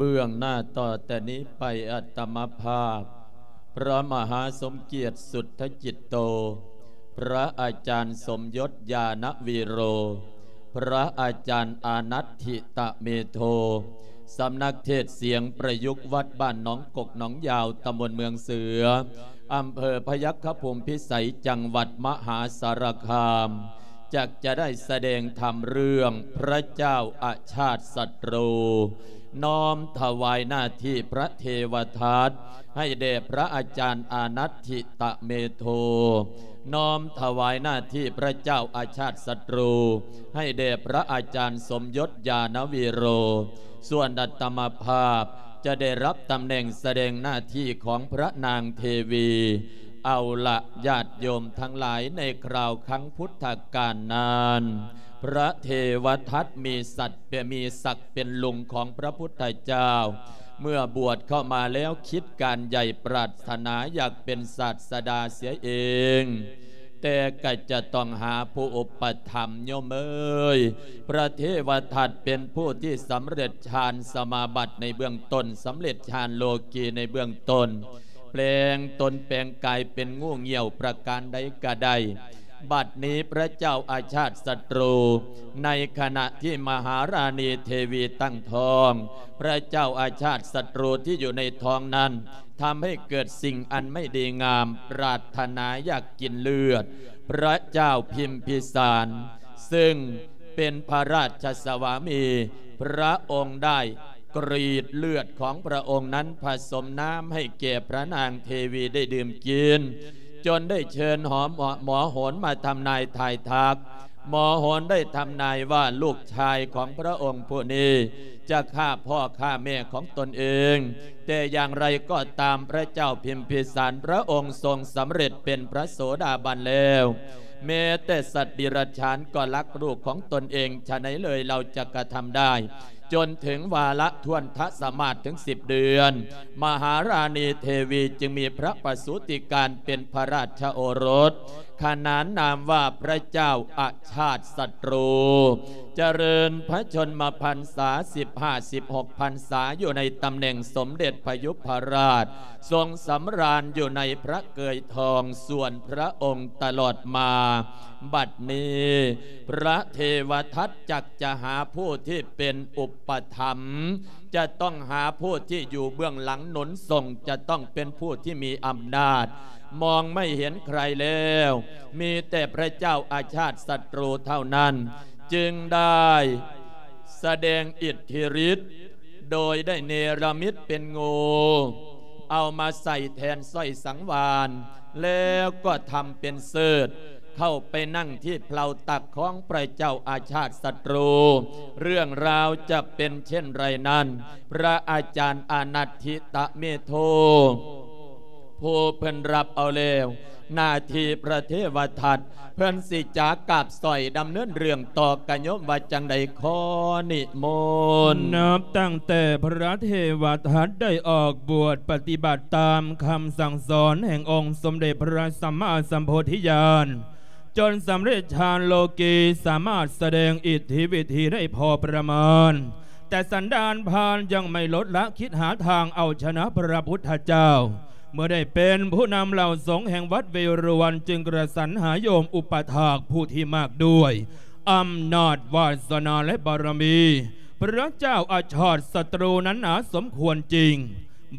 ເບື້ອງໜ້າຕໍ່ແຕ່ນີ້ໄປ ອາດຕະມະພາບ ພະມະຫາສົມກຽດ ສຸດທະຈິດໂຕ, ພະອາຈານສົມຍົດ ຍານະວິໂຣ, ພະອາຈານອານັດທິຕະເມໂທ, ສຳນັກເທດສຽງປະຍຸກວັດບ້ານໜອງກົກໜອງຍາວ, ຕຳບົນເມືອງເສືອ, ອຳເພີພະຍັກຂະພູມພິໄສ, ຈັງຫວັດມະຫາສາລະຄາມ, ຈັກຈະໄດ້ສະແດງທຳເລື່ອງພະເຈົ້າອາຊາດສັດຕູ ນ້ອມຖວາຍໜ້າທີ່ພະເທວະທັດໃຫ້ແດ່ພະອາຈານອານັດທິຕະເມໂທ, ນ້ອມຖວາຍໜ້າທີ່ພະເຈົ້າອາຊາດສັດຕູໃຫ້ແດ່ພະອາຈານສົມຍົດ ຍານະວິໂຣ, ສ່ວນອາດຕະມະພາບຈະໄດ້ຮັບຕຳແໜ່ງສະແດງໜ້າທີ່ຂອງພະນາງເທວີ ເອົາລະ ຍາດໂຍມທັງຫຼາຍ, ໃນຄາວຄັ້ງພຸດທະການນັ້ນ ພະເທວະທັດມີສັດເປັນ ມີສັກເປັນລຸງຂອງພະພຸດທະເຈົ້າ, ເມື່ອບວດເຂົ້າມາແລ້ວຄິດການໃຫຍ່ ປາດຖະໜາຢາກເປັນສາດສະດາເສຍເອງ, ແຕ່ກໍຈະຕ້ອງຫາຜູ້ອຸປະຖຳ, ໂຍມເອີຍ. ພະເທວະທັດເປັນຜູ້ທີ່ສຳເລັດฌານສະມາບັດໃນເບື້ອງຕົ້ນ, ສຳເລັດฌານໂລກີໃນເບື້ອງຕົ້ນ, ແປງຕົນແປງກາຍເປັນງູງຽວປະການໃດກໍໄດ້. ບັດນີ້ພະເຈົ້າອາຊາດສັດຕູ ໃນຂະນະທີ່ມະຫາລານີເທວີຕັ້ງທ້ອງ, ພະເຈົ້າອາຊາດສັດຕູທີ່ຢູ່ໃນທ້ອງນັ້ນ ທຳໃຫ້ເກີດສິ່ງອັນໄມ່ດີງາມ, ປາດຖະໜາຢາກກິນເລືອດພະເຈົ້າພິມພິສານ, ເຊິ່ງເປັນພະລາຊະສະວາມີ, ພະອົງໄດ້ ກຣີດເລືອດຂອງພະອົງນັ້ນ ຜະສົມນ້ຳໃຫ້ແກ່ພະນາງເທວີໄດ້ດື່ມກິນ, ຈົນໄດ້ເຊີນຫາໝໍໂຫນມາທຳນາຍທາຍທັກ. ໝໍໂຫນໄດ້ທຳນາຍວ່າລູກຊາຍຂອງພະອົງຜູ້ນີ້ຈະຂ້າພໍ່ຂ້າແມ່ຂອງຕົນເອງ, ແຕ່ຢ່າງໃດກໍຕາມ ພະເຈົ້າພິມພິສານພະອົງຊົງສຳເລັດເປັນພະໂສດາບັນແລ້ວ, ແມ້ແຕ່ສັດເດຍລະຈານກໍລັກລູກຂອງຕົນເອງ, ຈະໃດເລີຍລາວຈະກະທຳໄດ້? ຈົນເຖິງວາລະທ້ວນທະສະມາດເຖິງສິບເດືອນ, ມະຫາລານີເທວີຈຶ່ງມີພະປະສູຕິການເປັນພະລາຊະໂອລົດ, ຂະໜານນາມວ່າພະເຈົ້າອາຊາດສັດຕູ, ຈະເລີນພະຊົນມະພັນສາສິບຫ້າ ສິບຫົກພັນສາ ຢູ່ໃນຕຳແໜ່ງສົມເດັດພະຍຸບພະລາດ, ຊົງສຳລານຢູ່ໃນພະເກີຍທອງສ່ວນພະອົງຕະຫຼອດມາ. ບັດນີ້ ພະເທວະທັດຈັກຈະຫາຜູ້ທີ່ເປັນອຸປະຖຳ, ຈະຕ້ອງຫາຜູ້ທີ່ຢູ່ເບື້ອງຫຼັງໜູນສົ່ງ, ຈະຕ້ອງເປັນຜູ້ທີ່ມີອຳນາດ. ມອງໄມ່ເຫັນໃຄແລ້ວ, ມີແຕ່ພະເຈົ້າອາຊາດສັດຕູເທົ່ານັ້ນ ຈຶ່ງໄດ້ສະແດງອິດທິລິດ ໂດຍໄດ້ເນລະມິດເປັນງູ ເອົາມາໃສ່ແທນສ້ອຍສັງວານ, ແລ້ວກໍທຳເປັນເສີດ ເຂົ້າໄປນັ່ງທີ່ເພົາຕັກຂອງພະເຈົ້າອາຊາດສັດຕູ. ເລື່ອງລາວຈະເປັນເຊັ່ນໃດນັ້ນ, ພະອາຈານອານັດທິຕະເມໂທ ຜູ້ເພິ່ນຮັບເອົາແລ້ວໜ້າທີ່ພະເທວະທັດ, ເພິ່ນຊິຈາກາບສອຍດຳເນີນເລື່ອງຕໍ່ ກະໂຍມວ່າຈັ່ງໃດ? ຂໍນິມົນ. ນັບຕັ້ງແຕ່ພະເທວະທັດໄດ້ອອກບວດປະຕິບັດຕາມຄຳສັ່ງສອນແຫ່ງອົງສົມເດັດພະສຳມາສຳໂພທິຍານ, ຈົນສຳເລັດฌານໂລກີ, ສາມາດສະແດງອິດທິວິທີໄດ້ພໍປະມານ, ແຕ່ສັນດານພານຍັງໄມ່ລົດລະ, ຄິດຫາທາງເອົາຊະນະພະພຸດທະເຈົ້າ. ເມື່ອໄດ້ເປັນຜູ້ນຳເຫຼົ່າສົງແຫ່ງວັດເວຣວັນ, ຈຶ່ງກະສັນຫາໂຍມອຸປະຖາກຜູ້ທີ່ມາກດ້ວຍອຳນາດວາສະໜາ ແລະ ບາລະມີ, ພະເຈົ້າອາຊາດສັດຕູນັ້ນໜາສົມຄວນຈິງ.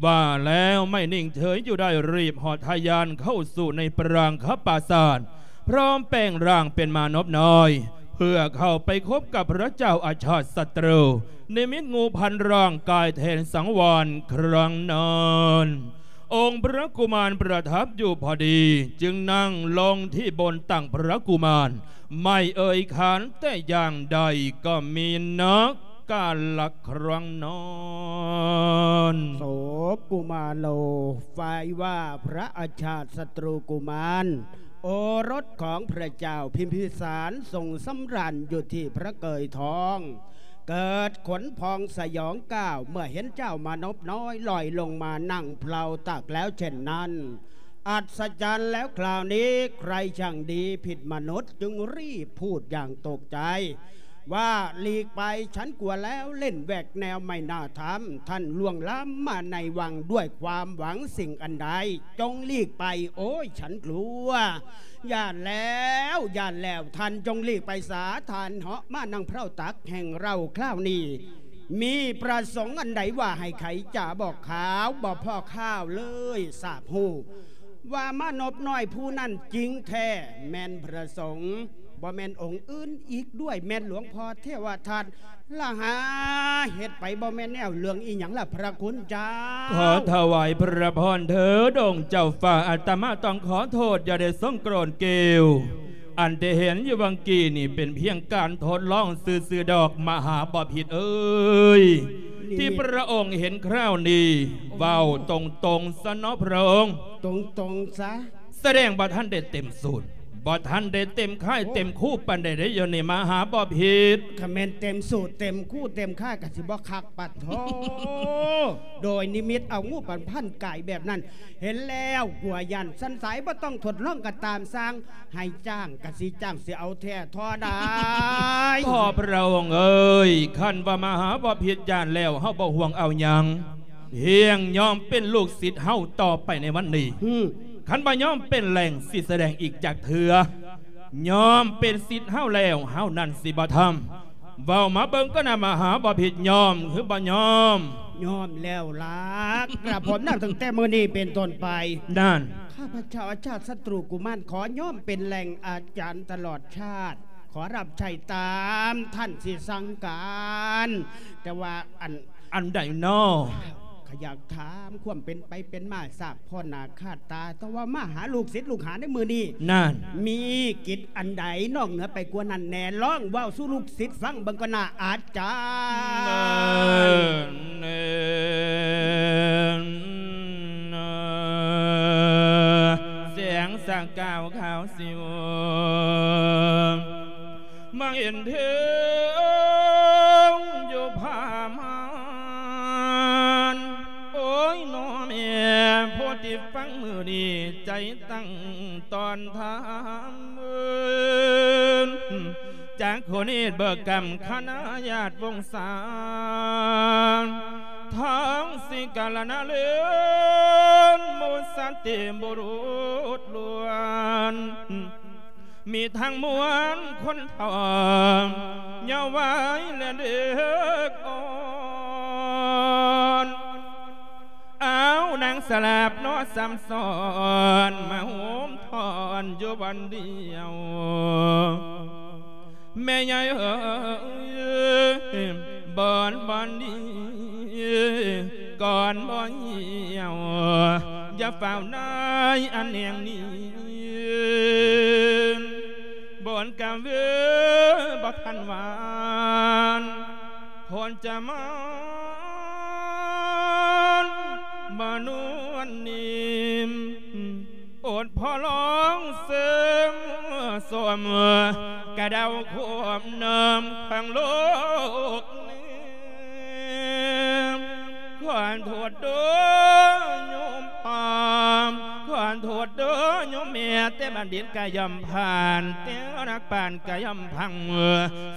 ວ່າແລ້ວໄມ່ນິ່ງເສີຍຢູ່ໄດ້, ຣີບເຫາະທະຍານເຂົ້າສູ່ໃນປາງຄະປາສາດ, ພ້ອມແປງຮ່າງເປັນມານົບນ້ອຍ ເພື່ອເຂົ້າໄປພົບກັບພະເຈົ້າອາຊາດສັດຕູ, ນິມິດງູພັນຮ່າງກາຍແທນສັງວານຄັ້ງນັ້ນ. ອົງພະກຸມານປະທັບຢູ່ພໍດີ, ຈຶ່ງນັ່ງລົງທີ່ບົນຕັ່ງພະກຸມານ, ໄມ່ເອີ່ຍຂານແຕ່ຢ່າງໃດ, ກໍມີນັກກາລະຄັ້ງນັ້ນ. ໂສກຸມາໂລ ຝ່າຍວ່າພະອາຊາດສັດຕູກຸມານ ໂອລົດຂອງພະເຈົ້າພິມພິສານ ຊົງສຳລານຢູ່ທີ່ພະເກີຍທອງ, ເກີດຂົນພອງສະຫຍອງກ້າວ ເມື່ອເຫັນເຈົ້າມານົບນ້ອຍລອຍລົງມານັ່ງເພົາຕັກແລ້ວເຊັ່ນນັ້ນ. ອັດສະຈັນແລ້ວຄາວນີ້, ໃຄຊ່າງດີຜິດມະນຸດ ຈຶ່ງຣີບພູດຢ່າງຕົກໃຈ. ว่า "หลีกไป ฉันกลัวแล้ว เล่นแหวกแนวไม่น่าทำ ท่านล่วงล้ำมาในวังด้วยความหวังสิ่งอันใด จงหลีกไป โอ้ย ฉันกลัว ย่านแล้ว ย่านแล้ว ท่านจงหลีกไปสา ท่านเหาะมานั่งเพราตักแห่งเราคราวนี้ มีประสงค์อันใดว่าให้ไขจ๋าบอกขาว บ่พอข้าวเลย ทราบฮู้ ว่ามานพน้อยผู้นั้นจริงแท้ แม่นพระสงฆ์ บ่แม่นองค์อื่นอีกด้วย แม่นหลวงพ่อเทวทัต ละหา เฮ็ดไปบ่แม่นแนว เรื่องอีหยังล่ะพระคุณเจ้า ขอถวายพระพรเถิดองค์เจ้าฟ้า อาตมาต้องขอโทษ อย่าได้ทรงโกรธเกลียว อันที่เห็นอยู่วังกี้นี่เป็นเพียงการทดลองซื่อๆดอก มหาบพิตรเอ้ย ที่พระองค์เห็นคราวนี้ เว้าตรงๆซะเนาะพระองค์ ตรงๆซะ แสดงบ่ทันได้เต็มสูตร บ่ทันได้เต็มค่ายเต็มคูปานใดเด้ อยู่นี่มหาบพิตร คันแม่นเต็มสูตรเต็มคูเต็มค่ายก็สิบ่คักปานโธ่ โดยนิมิตเอางูปันพันกายแบบนั้น เห็นแล้วกลัวย่าน สันสายบ่ต้องทดลองก็ตามสร้าง ให้จ้างกะสิจ้าง สิเอาแท้ท่อได้ พ่อพระองค์เอ้ย คันว่ามหาบพิตรย่านแล้ว เฮาบ่ห่วงเอาหยัง เพียงยอมเป็นลูกศิษย์เฮาต่อไปในวันนี้ อืม คันบ่ยอมเป็นแหล่งสิแสดงอีกจักเทื่อ ยอมเป็นศิษย์เฮาแล้ว เฮานั้นสิบ่ทำ เว้ามาเบิ่งก่อนนะ มหาบพิตรยอมหรือบ่ยอม ยอมแล้วล่ะ กระผมนับตั้งแต่มื้อนี้เป็นต้นไป นั่น ข้าพเจ้าอาชาติศัตรูกุมารขอยอมเป็นแหล่งอาจารย์ตลอดชาติ ขอรับใช้ตามท่านสิสั่งการ แต่ว่าอัน อันใดน้อ ข้าอยากถามความเป็นไปเป็นมา ทราบพ้อหน้าค่าตา แต่ว่ามาหาลูกศิษย์ลูกหาในมื้อนี้ นั่น มีกิจอันใดนอกเหนือไปกว่านั้นแน่ ลองเว้าสู่ลูกศิษย์ฟังเบิ่งก่อนนะอาจารย์ เสียงสางกาวขาวสิว มาเห็นเทิงอยู่ผ้าม่าน โอ้ยน้อแม่ ผู้ที่ฟังมื้อนี้ ใจตั้งตอนทำ จากโคเนตเบิกกำคณะญาติวงศา ทั้งสิกาลนาเลิน หมู่สันติบุรุษล้วน มีทั้งมวลคนเฒ่า เยาว์วัยและเด็กอ่อน เอานางสลาบเนาะซ้ำซ้อน มาโฮมทอนอยู่บ่อนเดียว แม่ใหญ่เอ๋ย บ่อน บ่อนนี้ ก่อนบ่เหี่ยว อย่าฟ้าวนายอันแห่งนี้ บ่อนกะเวอบ่ทันหวาน คนจะมานมานวลนิ่ม อดพอลองเสริมสม กะเดาควบน้ำขังโลกนี้ ขอโทษเด้อโยมพ่อ ขอโทษเด้อโยมแม่ แต่บัณฑิตกะย่อมผ่าน แต่นักปราชญ์กะย่อมพัง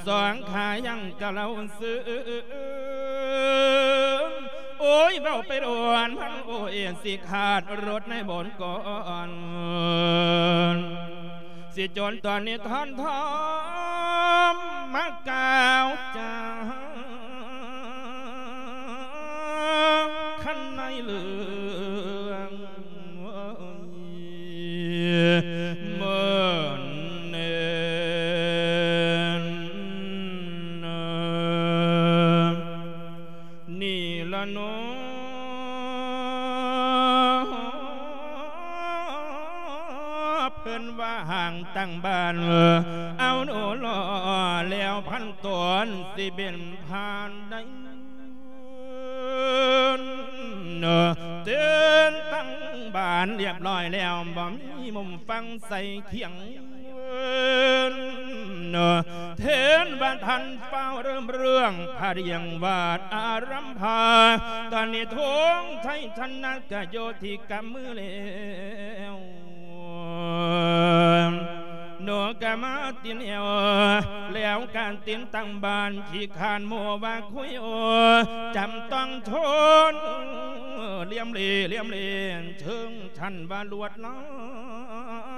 สองขายังกะเล่าซื่อ โอ้ย เว้าไปโดนมัน โอ้ย สิขาดรถในบนก่อน สิจนตอนนี้ท่อนทอม มากล่าวจา คันในเรื่อง เมินเนิน นี่ละเนาะ เพิ่นว่าห่างตั้งบ้าน เอาโนหล่อแล้วพันตนสิเป็นผ่านได้ เนาะ เตือนตั้งบ้านเรียบร้อยแล้ว บ่มีมุมฟังใส่เคียง เนาะ เทินบ่ทันฟ้าวเริ่มเรื่อง พาเรียงวาดอารัมพา ตอนนี้ทงชัยชนะกะโยที่กำมือแล้ว ໂນກະມາຕິນແອວ ແລ້ວການຕິນຕັ້ງບ້ານ ຂີ້ຄ້ານໂມວ່າຄຸຍໂອ ຈຳຕ້ອງທົນ ລຽມເລ ລຽມເລ ເຖິງຊັ້ນວ່າລວດລາ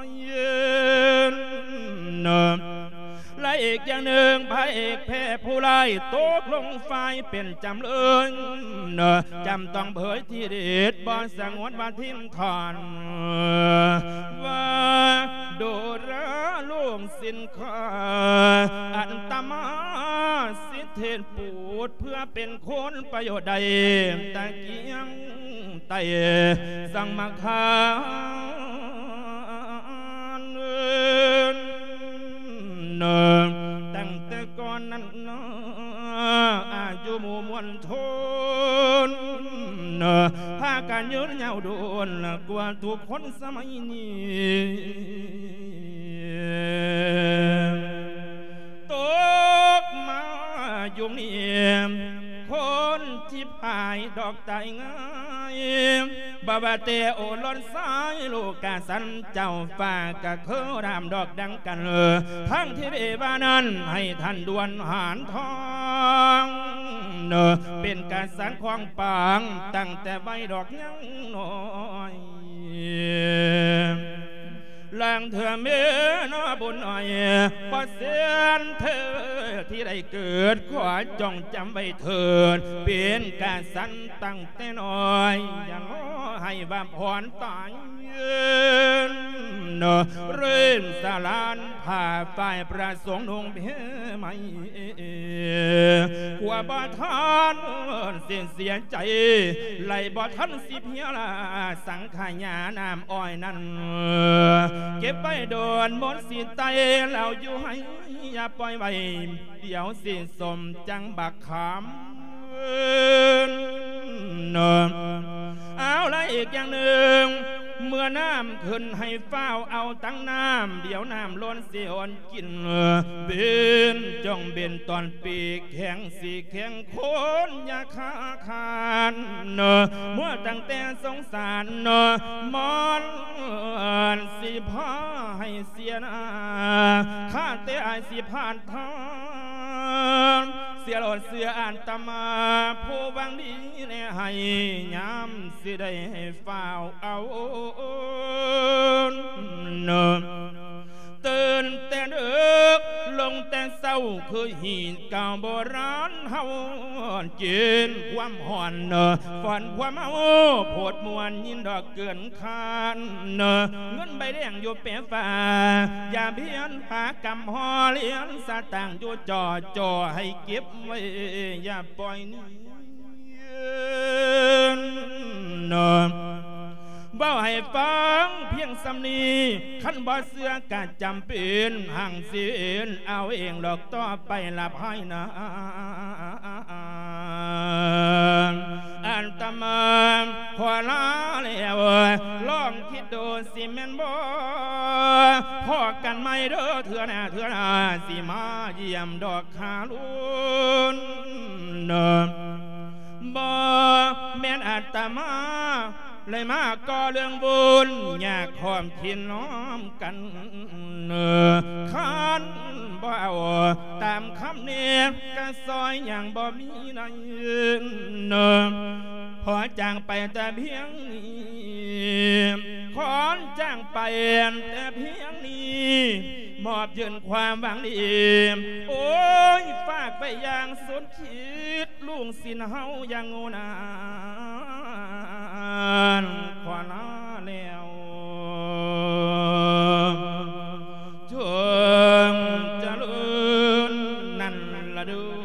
ຍ ແລະອີກຢ່າງໜຶ່ງ ພະເອກແພ້ຜູ້ຮ້າຍ ຕົກລົງຝ່າຍເປັນຈຳເລີຍ ຈຳຕ້ອງເຜີຍທີ່ເດັດ ບໍ່ສະຫງວນວ່າຖິ້ມ ທ່ອນວ່າ ໂດລາລູກສິນຂ້າ ອັນຕະມາສິເທດປູດ ເພື່ອເປັນຄຸນປະໂຫຍດໄດ້ ຕະກຽງໄຕສັງມະຄານ ຕັ້ງແຕ່ກ່ອນນັ້ນ ອາຍຸໝູ່ມວນຊົນ ພາກັນຍືນຍາວດົນກວ່າທຸກຄົນສະໄໝນີ້ ຕົກມາຍຸກນີ້ ຄົນທີ່ພາຍດອກຕາຍງ່າຍ ບໍ່ວ່າແຕ່ໂອລົດຊາຍ ລູກກະສັນເຈົ້າຟ້າກະຄືດຳດອກດັ່ງກັນ ທັງທີ່ເດວ່ານັ້ນ ໃຫ້ທ່ານດ່ວນຫານທອງ ເປັນກະສັນຂອງປາງ ຕັ້ງແຕ່ໄວດອກຍັງນ້ອຍ ລາງເທື່ອແມ່ນອບຸນໜ້ອຍ ບໍ່ແສນເທີທີ່ໄດ້ເກີດ ຂໍຈົ່ງຈຳໄວ້ເທີດ ເປັນກະສັນຕັ້ງ ແຕ່ນ້ອຍ ຢ່າລໍໃຫ້ວ່າພອນຕາຍ ເນາະ ເລີ່ມສະຫຼານຜ້າຝ້າຍ ພະສົງນຸ່ງເພໃໝ່ ກວ່າບໍ່ທັນຊິເສຍໃຈ ໄລ່ບໍ່ທັນຊິເພຍລາ ສັງຂະຫຍານ້ຳອ້ອຍນັ້ນ ເກັບໄວ້ດົນມົນຊິໄຕ ລາວຢູ່ໃຫ້ ຢ່າປ່ອຍໄວ້ ດຽວຊິສົມຈັ່ງບັກຂາມ ເນາະ ເອົາລະ ອີກຢ່າງໜຶ່ງ ເມື່ອນ້ຳຂຶ້ນໃຫ້ຟ້າວເອົາຕັງນ້ຳ ດຽວນ້ຳລົ້ນຊິອ່ອນກິນ ເບັນຈົ່ງເບັນຕອນປີກແຂງຊິແຂງຄົນ ຢ່າຄາຄານ ເນາະ ເມື່ອຕັ້ງແຕ່ສົງສານ ເນາະ ມັນຊິພາໃຫ້ ເສຍໜ້າ ຂ້າແຕ່ອາຍຊິຜ່ານທາງ ເສຍໂລດເສຍອາດຕະມາ ຜູ້ຫວັງດີແນໃຫ້ ຍາມຊິໄດ້ຟ້າວເອົາ ເນາະ ຕື່ນແຕ່ເດິກ ລົງແຕ່ເຊົ້າ ຄືຮີດເກົ່າໂບລານເຮົາ ກິນຄວາມຮ້ອນ ເນາະ ຟ້ອນຄວາມເມົາ ໂພດມ່ວນຍິນດອກເກີນ ຄານ ເງິນໃບແດງຢູ່ແປຟ້າ ຢ່າພຽນຫາກຳຫໍ່ ຫຼຽນສະຕາງຢູ່ຈໍ່ຈໍ່ ໃຫ້ເກັບໄວ້ ຢ່າປ່ອຍໜີ ເນາະ ເວົ້າໃຫ້ຟັງພຽງສ່ຳນີ້ ຄັນບໍ່ເຊື່ອກະຈຳເປັນ ຮັ່ງຊິເຫັນເອົາເອງດອກ ຕໍ່ໄປລະພາຍໜ້າ ອາດຕະມາຂໍລາແລ້ວ ລອງຄິດດູຊິແມ່ນບໍ່ ພໍ້ກັນໃໝ່ເດີເທື່ອໜ້າ ເທື່ອໜ້າຊິມາຢ້ຽມດອກ ຄາລຸນ ບໍ່ແມ່ນອາດຕະມາ ເລີຍມາກໍ່ເລື່ອງວຸ່ນ ຢາກຮ່ວມກິນຮ່ວມກັນ ຄັນບໍ່ເອົາຕາມຄຳແນະ ກະຊ່ອຍຫຍັງບໍ່ມີໃນ ຂໍຈາກໄປແຕ່ພຽງນີ້ ຂໍຈາກໄປແຕ່ພຽງນີ້ ມອບຍື່ນຄວາມຫວັງດີ ໂອ້ຍ ຝາກໄປຢ່າງສຸດ ຄິດລູກສິນເຮົາຢ່າງໂງ່ນານ ຂໍລາແລ້ວ ຈົ່ງຈະເລີນນັ້ນລະເດີ.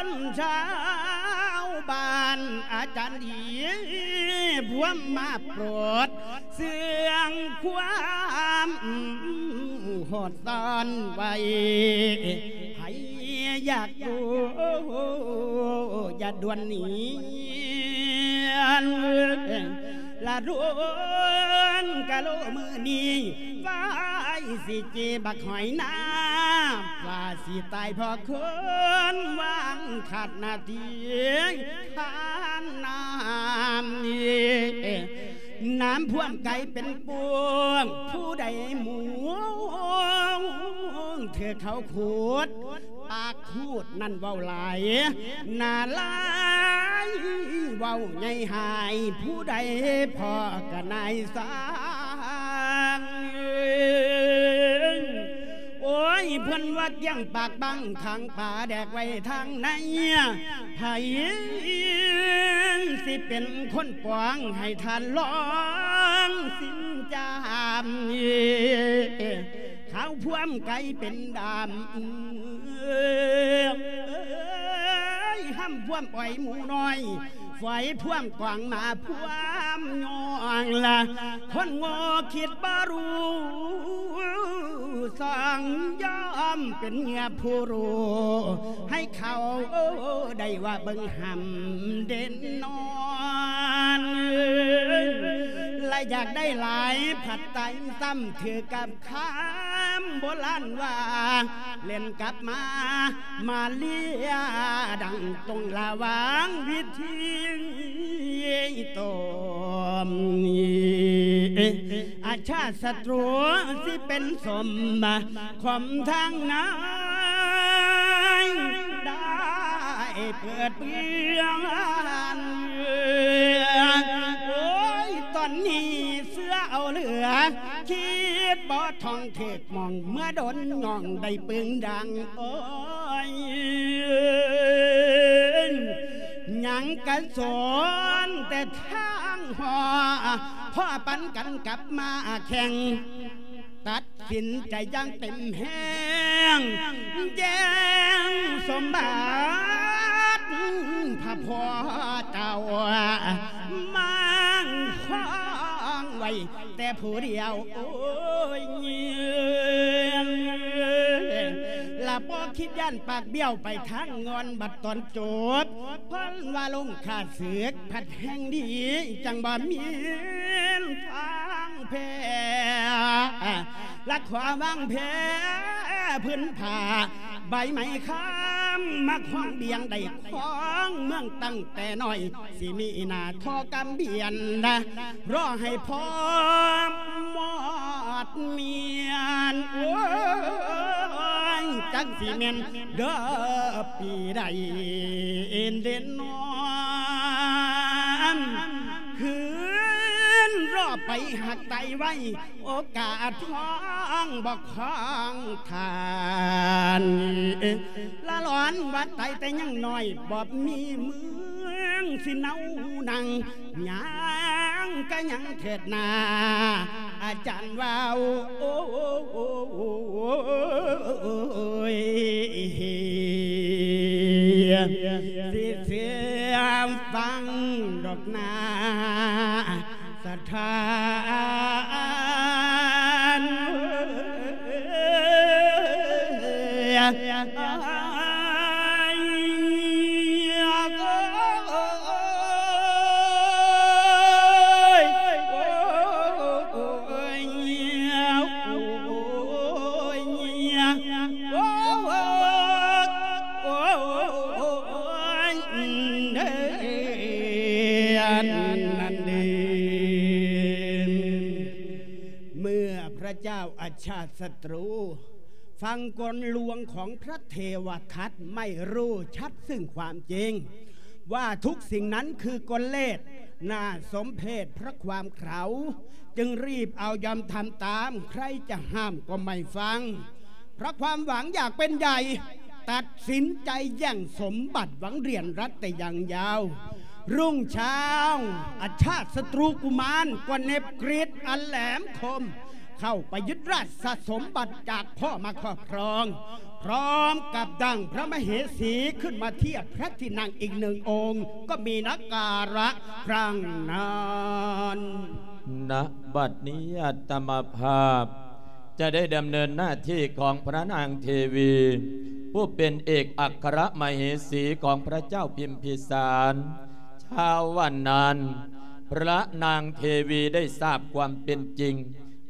ນຊາວບ້ານອາຈານດີ ພວມມາໂປດເຊື່ອງຄວາມໂຫດຮ້ອນໄວ້ ໃຜຢາກຮູ້ຢ່າດ່ວນໜີ ລະດົນກະໂລມື້ນີ້ ໄວ້ຊິຈີບັກຫອຍນາ ວ່າຊິຕາຍເພາະຄົນວາງຂາດໜ້າທີ່ຂານນ້ຳ ນ້ຳພວມໄກເປັນປວງ ຜູ້ໃດໝູງ ຖືກເຂົາຂູດ ປາກຂູດນັ້ນເວົ້າຫຼາຍ ໜ້າລາຍເວົ້າໃຫຍ່ຫາຍ ຜູ້ໃດພໍກະນາຍຊ່າງ ໂອ້ຍ ເພິ່ນວ່າກ້ຽງປາກບັງຂັງປາແດກໄວ້ທາງໃນ ໃຜຊິເປັນຄົນປອງໃຫ້ທ່ານລອງສິນຈາມ ຂາວພວມໄກເປັນດຳ ຫ້ຳພວມອ້ອຍໝູນ້ອຍ ຝອຍພວມກວາງໝາພວມຍ່ອງລະ ຄົນໂງ່ຄິດບໍ່ຮູ້ ສອງຍອມເປັນເຫຍື່ອຜູ້ຮູ້ ໃຫ້ເຂົາໄດ້ວ່າເບິ່ງຫ້ຳເດັ່ນນອນ ລະຢາກໄດ້ຫຼາຍ ຜັດໄຕຊ້ຳຖືກກັບຄຳໂບລານວ່າ ເລ່ນກັບມາ ມາເລຍດັງຕົງລະຫວ່າງວິທີໂຕມ ອາຊາດສັດຕູຊິເປັນສົມ ຄວາມທາງນາຍໄດ້ເປີດເບືອງ ໂອ້ຍ ຕອນນີ້ເສືອເອົາເຫຼືອ ຄິດບໍ່ທ່ອງເຖິກ ມອງເມື່ອດົນນ້ອງໄດ້ປຶງດັງ ໂອ້ຍ ຍັງກະສອນແຕ່ທາງຫໍ ພໍປັນກັນກັບມາແຂ່ງ ຕັດສິນໃຈຢ່າງເຕັມແຮງ ແຍ່ງສົມບັດພະພໍ່ເຈົ້າ ມ້າງຄອງໄວ້ແຕ່ຜູ້ດຽວ ໂອ້ຍ ລະບໍ່ຄິດຢ້ານປາກບ້ຽວໄປທາງງອນ ບັດຕອນຈົບ ເພິ່ນວ່າລົງຂ້າເສກ ພັດແຫ່ງດີ ຈັ່ງບໍ່ມີທາງແພ້ ລະຂໍວາງແຜ່ພື້ນຜ້າ ໃບໄມ້ຄຳມາຄອງບຽງ ໄດ້ຄອງເມືອງຕັ້ງແຕ່ນ້ອຍ ຊິມີໜ້າທໍ່ກຳບຽນນະ ລໍໃຫ້ພໍມອດມຽນ ໂອ້ຍ ຈັກຊິແມ່ນເດີປີໃດເດນອນ ຄືນລໍໄປຮັກໄຕໄວ້ ໂອກາດທອງບໍ່ຂອງທ່ານ ລະຫຼອນວ່າໄຕແຕ່ຍັງນ້ອຍ ບໍ່ມີເມືອງຊິເນົານັ່ງ ຍ່າງກະຍັງເທີດໜ້າ ອາຈານວ່າ ໂອ້ຍ ຊິເຊື່ອຟັງດອກນາ ສະຖານເມື່ອພະເຈົ້າອາຊາດສັດຕູ ຟັງກົນລວງຂອງພະເທວະທັດ ໄມ່ຮູ້ຊັດຊຶ່ງຄວາມຈິງ ວ່າທຸກສິ່ງນັ້ນຄືກົນເລດ ໜ້າສົມເພດພະຄວາມເຂົາ ຈຶ່ງຣີບເອົາຍອມທຳຕາມ ໃຄຈະຫ້າມກໍໄມ່ຟັງ ພະຄວາມຫວັງຢາກເປັນໃຫຍ່ ຕັດສິນໃຈແຍ່ງສົມບັດຫວັງເຣຍນລັດແຕ່ຢ່າງຍາວ ລຸງຊາວ ອາຊາດສັດຕູກຸມານ ກໍເໜັບກຣິດອັນແຫຼມຄົມ ເຂົ້າໄປຍຶດລາຊະສົມບັດຈາກພໍ່ມາຄອບຄອງ พร้อมกับดั่งพระมเหสีขึ้นมาเทียบพระที่นั่งอีกหนึ่งองค์ ก็มีนักการะครั้งนั้น ณ บัดนี้อาตมาภาพจะได้ดำเนินหน้าที่ของพระนางเทวี ผู้เป็นเอกอัครมเหสีของพระเจ้าพิมพิสาร เช้าวันนั้น พระนางเทวีได้ทราบความเป็นจริง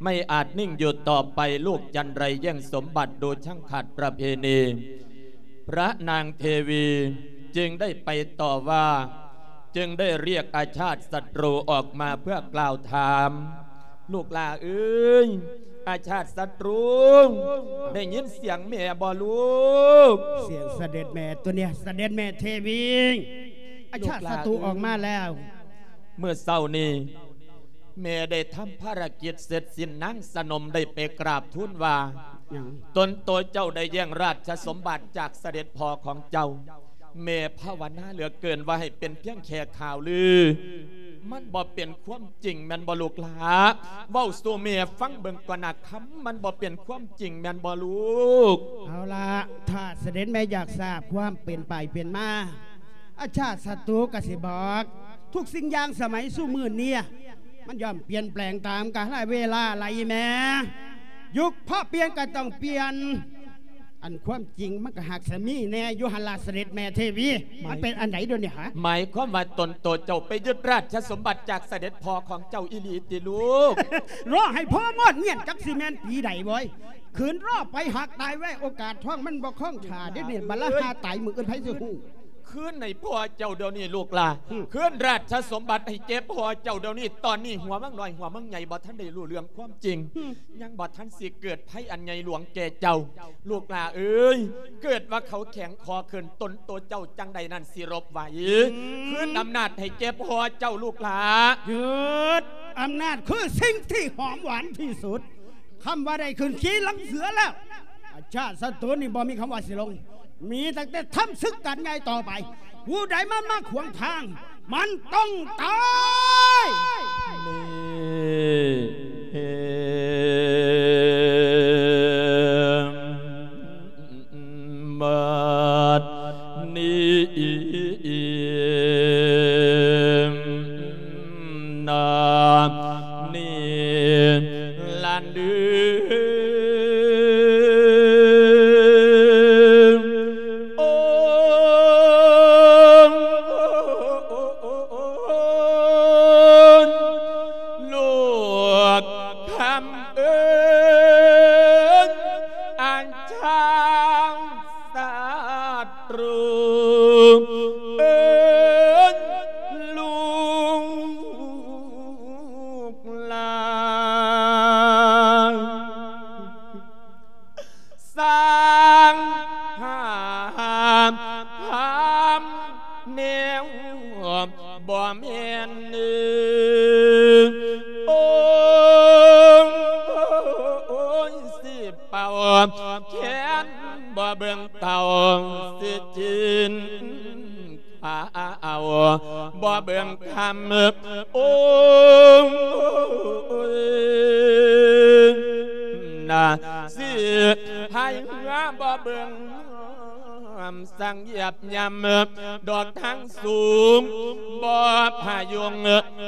ไม่อาจนิ่งอยู่ต่อไป ลูกจันไรแย่งสมบัติดูช่างขัดประเพณี พระนางเทวีจึงได้ไปต่อว่า จึงได้เรียกอาชาติศัตรูออกมาเพื่อกล่าวถาม ลูกหล่าเอ้ย อาชาติศัตรู ได้ยินเสียงแม่บ่ลูก เสียงเสด็จแม่ตัวเนี้ย เสด็จแม่เทวี อาชาติศัตรูออกมาแล้ว เมื่อเช้านี้ แม่ได้ทำภารกิจเสร็จสิ้น นางสนมได้ไปกราบทูลว่า หยัง ตนโตเจ้าได้แย่งราชสมบัติจากเสด็จพ่อของเจ้า แม่ภาวนาเหลือเกินว่าให้เป็นเพียงแค่ข่าวลือ มันบ่เป็นความจริงแม่นบ่ลูกหล่า เว้าสู่แม่ฟังเบิ่งก่อนนะคำ มันบ่เป็นความจริงแม่นบ่ลูก เอาละ ถ้าเสด็จแม่อยากทราบความเป็นไปเป็นมา อาชาติศัตรูก็สิบอก ทุกสิ่งอย่างสมัยซุมื้อนี้ มันย่อมเปลี่ยนแปลงตามกาลเวลา ล่ะอีแม่ ยุคพอเปลี่ยนก็ต้องเปลี่ยน อันความจริงมันก็หากสิมีแน่อยู่หั่นล่ะ เสด็จแม่เทวี หมาย มันเป็นอันใด๋เดี๋ยวนี้หะ หมายความว่าตนโตเจ้าไปยึดราชสมบัติจากเสด็จพ่อของเจ้าอีหลีติลูก รอให้พ่อมอดเมียน จักสิแม่นปีใด๋เว้ย คืนรอไปหากตายไว้ โอกาสทองมันบ่คงท่าเด้ เนี่ย บัดละหาตายมื้ออื่นไผสิฮู้ คืนให้พ่อเจ้าเดี๋ยวนี้ลูกหล่า อืม คืนราชสมบัติให้แก่พ่อเจ้าเดี๋ยวนี้ ตอนนี้หัวมังน้อยหัวมังใหญ่บ่ทันได้รู้เรื่องความจริง อืม ยังบ่ทันสิเกิดภัยอันใหญ่หลวงแก่เจ้า ลูกหล่าเอ้ย เกิดว่าเขาแข็งคอขึ้น ตนโตเจ้าจั่งใดนั้นสิรบไหว อืม คืนอำนาจให้แก่พ่อเจ้าลูกหล่า ยึดอำนาจคือสิ่งที่หอมหวานที่สุด คำว่าได้ขึ้นขี่หลังเสือแล้ว อาชาติศัตรูนี่บ่มีคำว่าสิลง มีตั้งแต่ทำศึกกันใหญ่ต่อไป ผู้ใดมา มาขวางทาง มันต้องตาย นี่ บัดนี้ นานี้ ละลืม โอ้ ลูกคำเอิ้น อันช่างศัตรู เอิ้นลูกหล่า สร้างหาทำแนวบ่แม่น โอ้ย สิเป่าแคนบ่เบิ่งเต้า สิกิน ข้าวบ่เบิ่งค่ำ โอ้ย นาสิไผหัวบ่เบิ่งน้ำ สั่งเหยียบย่ำดอกทางสูง บ่พยุง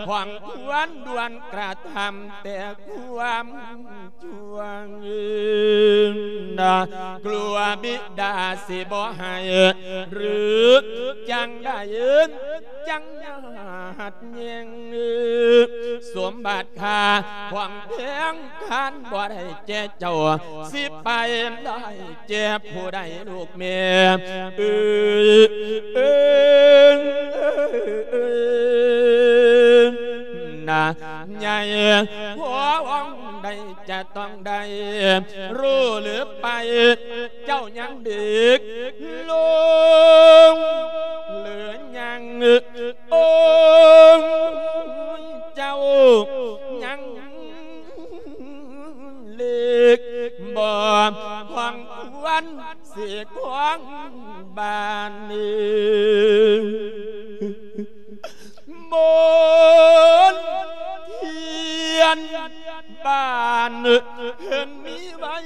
ของควรด่วนกระทำแต่ความ จวง กลัวบิดาสิบ่ให้ หรือจั่งใดจั่งหัดแย่ง สมบัติข้าของแพงคันบ่ได้แก่เจ้า สิไปได้แก่ผู้ใดลูกแม่ เอ้ย เอ้ย นา ใหญ่ พระองค์ใดจะต้องได้ รู้หรือไป เจ้ายังเด็กลง หรือยัง องค์เจ้ายังเล็ก บ่พองควรสิครองบ้านนี้ มนต์เทียนบ้านเพิ่นมีไว้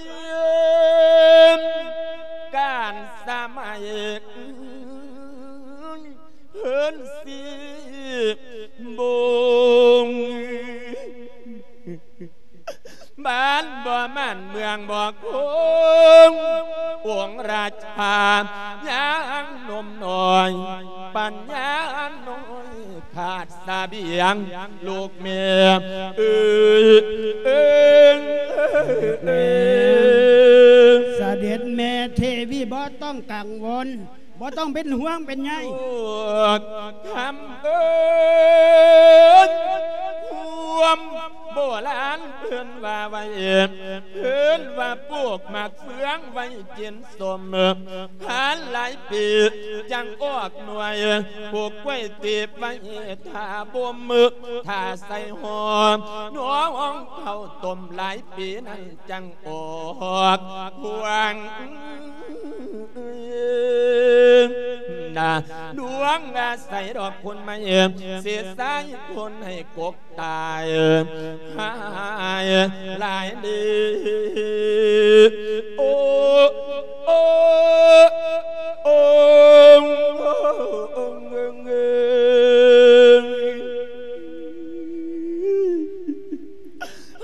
ນສີບົງ ບ້ານບໍ່ໝັ້ນເມືອງບໍ່ຄົງ ອົງລາຊາຍັງໜຸ່ມນ້ອຍ ປັນຍານ້ອຍຂາດສະບຽງ ລູກແມ່ເອີຍ ເອີຍ ເອີຍ ສະເດັດແມ່ເທວີບໍ່ຕ້ອງກັງວົນ ບໍ່ຕ້ອງເປັນຫ່ວງເປັນໃຍ ພວກຄຳເອີ້ນ ຄວາມໂບລານເພິ່ນວ່າໄວ້ ເພິ່ນວ່າປູກໝາກເຟືອງໄວ້ກິນສົ້ມ ຜ່ານຫຼາຍປີຈັ່ງອອກໜ່ວຍ ປູກກ້ວຍຕີບໄວ້ຖ້າບົ່ມ ຖ້າໃສ່ຫໍ່ ໜອງເຂົ້າຕົ້ມ ຫຼາຍປີນັ້ນຈັ່ງອອກພວງ ນາດວງອາໄສດອກຄົນໄມ້ ເສດສາຍຄົນໃຫ້ກົກຕາຍ ຫາຍຫຼາຍເດ ໂອ ໂອ ໂອ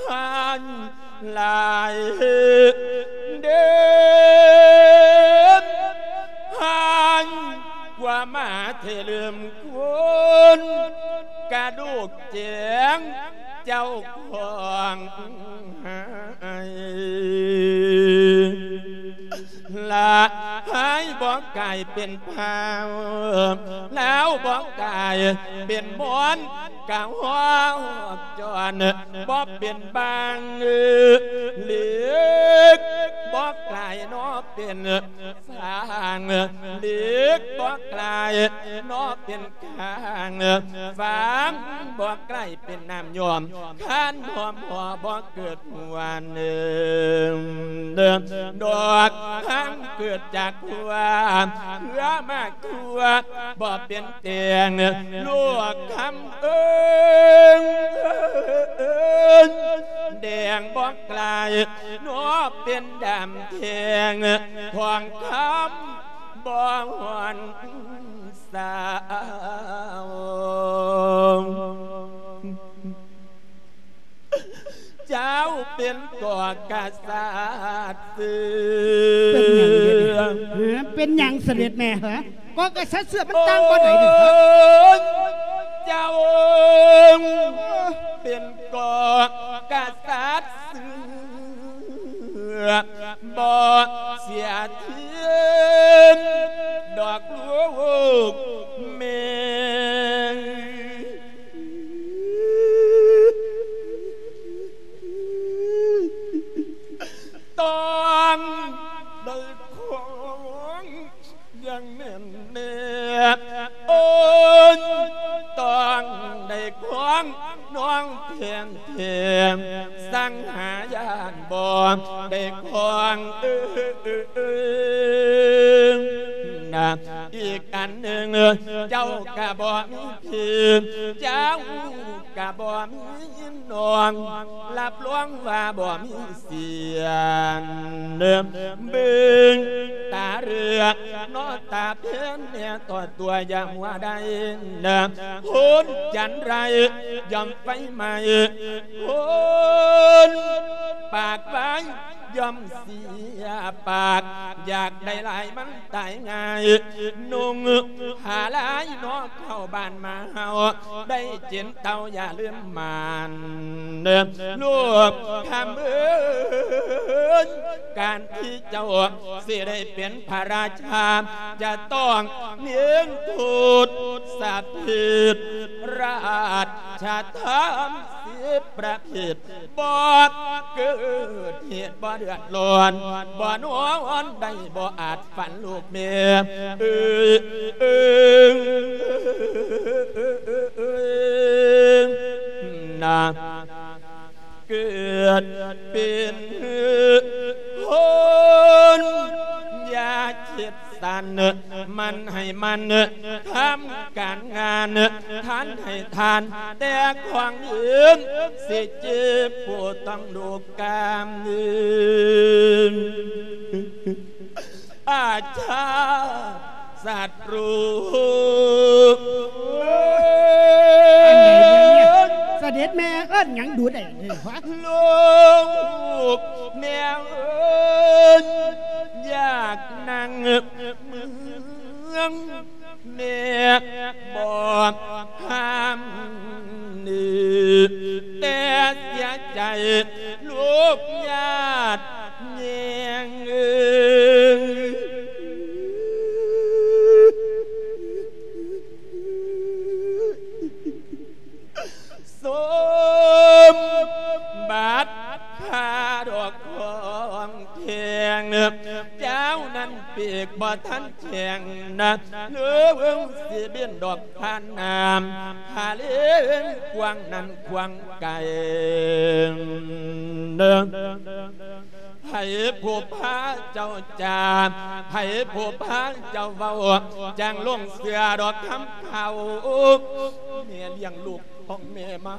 ຫາຍ ຫຼາຍເດີ ຫາຍກວ່າໝາເທເລີ່ມຄົນ ກະດູກແຈງເຈົ້າຂອງຫາຍ ລະຫາຍບໍ່ກາຍເປັນພາວ ລາວບໍ່ກາຍເປັນມອນ ກະຮອກຈອນ ບໍ່ເປັນບາງ ເຫຼັກບໍ່ກາຍເນາະເປັນຟາງ ເຫຼັກບໍ່ກາຍເນາະເປັນກາງ ຟາງບໍ່ກາຍເປັນນ້ຳຍ້ອມ ຄັນຫອມຫໍ່ບໍ່ເກີດຫົວເນີງ ດອກຫາງເກີດຈາກຫົວ ເຄືອມາກ ຕົວະບໍ່ເປັນແຕ່ງ ລູກຄຳເອີຍ ແດງບໍ່ກາຍເນາະເປັນດຳແທງ ທອງຄຳບໍ່ຮ່ອນສາວ. ເຈົ້າເປັນກໍກະສັດຊື່ ເປັນຫຍັງເດນີ້ ຮະ ເປັນຫຍັງສະເດັດແມ່ ຮະ ກໍກະສັດເຊື່ອມັນຕ່າງບໍ່ໄດ້ນີ້ ເຈົ້າເປັນກໍກະສັດຊື່ ບໍ່ເສຍທີມດອກລູກແມ່ ຕ້ອງໄດ້ຄອງຢ່າງແໜ້ນແນບ ໂອ້ຍ ຕ້ອງໄດ້ຄອງນ້ອງແຜ່ນແທ້ ສັງຫາຢ້ານບໍ່ໄດ້ຄອງ ເອີ ນະ ອີກອັນໜຶ່ງ ເຈົ້າກະບໍ່ມີພີ່ ເຈົ້າກະບໍ່ມີນ້ອງ ຮັບຮອງວ່າບໍ່ມີສຽນ ເບິ່ງຕາເລືອກເນາະ ຕາເພັນແນ່ຕໍ່ຕົວຢ່າມົວໄດ້ນະ ໂພນຈັນໄຮ້ຍ່ອມໄຟໄໝ້ ໂພນປາກໄວ້ ຍ່ອມເສຍປາກ ຢາກໄດ້ຫຼາຍມັນຕາຍງ່າຍ ນຸ່ງຜ້າລາຍເນາະເຂົ້າບ້ານມາເຮົາ ໄດ້ກິນເຕົ້າຢ່າລືມໝານ ລູກຄຳເອີຍ ການທີ່ເຈົ້າຊິໄດ້ເປັນພະລາຊາ ຈະຕ້ອງເໜັງໂທດສະເພດ ລາຊະທຳສິບປະເພດ ບໍ່ເກີດເຫດບໍ່ເດືອດຮ້ອນ ບໍ່ນອນໄດ້ບໍ່ອາດຝັນລູກແມ່ ເອີຍ ເອີຍ ນາ ເກີດເປັນຄົນຢ່າຄິດ ສັນ ມັນໃຫ້ມັນທຳການງານ ທານໃຫ້ທານແຕ່ຂອງອື່ນ ຊິເຈັບປົວຕ້ອງລູກກາມອື່ນ ອາຊາສັດຣູ ນຫຍັງດູໄດ້ນີ້ຫວາ? ລູກແມ່ເອີຍ ຢາກນັ່ງເມືອງ ແມ່ບໍ່ຫ້າມນີ້ ແຕ່ເສຍໃຈລູກຍາດແຍງເອີຍ. ສົມບັດພາດອກຂອງແພງ ເຈົ້ານັ້ນປີກບໍ່ທັນແຂງນະ ເລີງຊິບິນດອກຜ່ານນ້ຳ ຫາເລງກວ້າງນັ້ນກວ້າງໄກ ໃຜຜູ້ພາເຈົ້າຈາ ໃຜຜູ້ພາເຈົ້າເວົ້າ ຈັ່ງຫຼົງເຊື່ອດອກຄຳເຂົາ. ແມ່ລ້ຽງລູກຂອງແມ່ມາ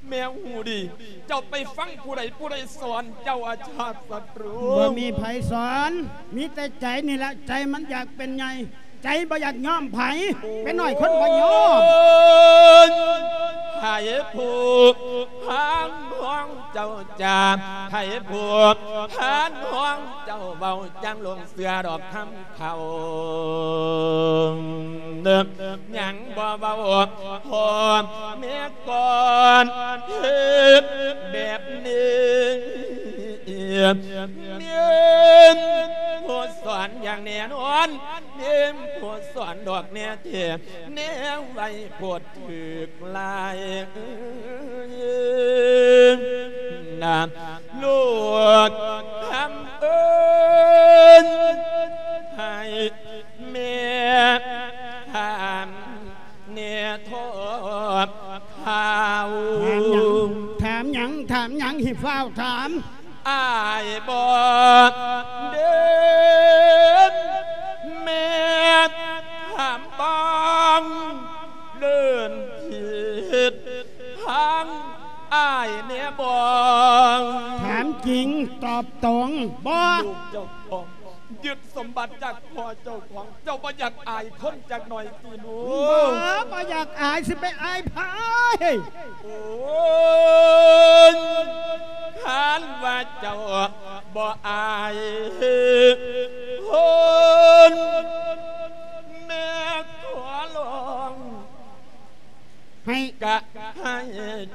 ແມ່ຮູ້ດີ ເຈົ້າໄປຟັງຜູ້ໃດ ຜູ້ໃດສອນເຈົ້າ ອາຊາດສັດຕູ? ບໍ່ມີໃຜສອນ ມີແຕ່ໃຈນີ້ລະ ໃຈມັນຢາກເປັນໃຫຍ່ ໃຈບໍ່ຢາກຍອມໃຜ ເປັນນ້ອຍຄົນບໍ່ຍອມ. ໃຜຜູ້ພານຫ້ອງເຈົ້າຈາ ໃຜຜູ້ພານຫ້ອງເຈົ້າເວົ້າ ຈັ່ງຫຼົງເຊື່ອດອກຄຳເຂົາ ຍັງບໍ່ເວົ້າ ພໍ່ແມ່ກ່ອນ ເຮັດແບບນີ້ ແມ່ນຜູ້ສອນຢ່າງແນ່ນອນ ແມ່ນຜູ້ສອນດອກແນ່ແທ້ ແນວໄວໂພດຖືກຫຼາຍນະ ລູກຄຳເອີຍ ໃຫ້ແມ່ຖາມແດ່ ທອດຂ່າວ ຖາມຫຍັງ? ຖາມຫຍັງ? ຖາມຫຍັງ? ໃຫ້ຟ້າວຖາມ. ອ້າຍບໍ່ເດີນ ແມ່ຖາມບ້າງ ເດີນຜິດທາງອ້າຍແນ່ບໍ່? ຖາມຈິງ ຕອບຕົງ. ບໍ່. ລູກເຈົ້າຂອງ ຍຶດສົມບັດຈາກພໍ່ເຈົ້າຂອງ ເຈົ້າບໍ່ຢາກອາຍຄົນຈັກໜ່ອຍຕິລູກ? ບໍ່ ບໍ່ຢາກອາຍ ຊິໄປອາຍໃຜ? ໂອ້ຍ ຄັນວ່າເຈົ້າບໍ່ອາຍຄົນ ແມ່ຂໍຮ້ອງ ໃຫ້ ກະໃຫ້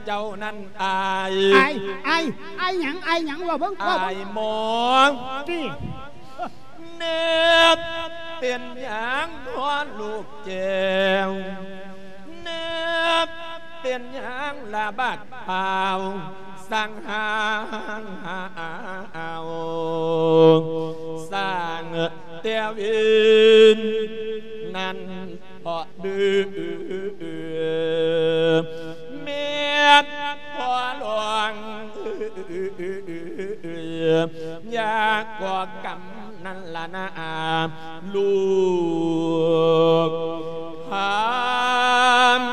ເຈົ້ານັ້ນອາຍ. ອາຍ ອາຍ ອາຍຫຍັງ? ອາຍຫຍັງ? ເວົ້າເບິ່ງ ເວົ້າເບິ່ງ. ອາຍໝໍ ຕິ ແນບເປັນຫຍັງພໍລູກແກ້ວ ແນບເປັນຫຍັງລະບາດພ້າວ ສ້າງຫາງຫາວ ສ້າງແຕ່ວິນນັ້ນ ເພາະດື້ແມ່ນພໍ່ຫຼວງ ຢ່າກໍ່ກຳນັ້ນລະນາ ລູກພານ.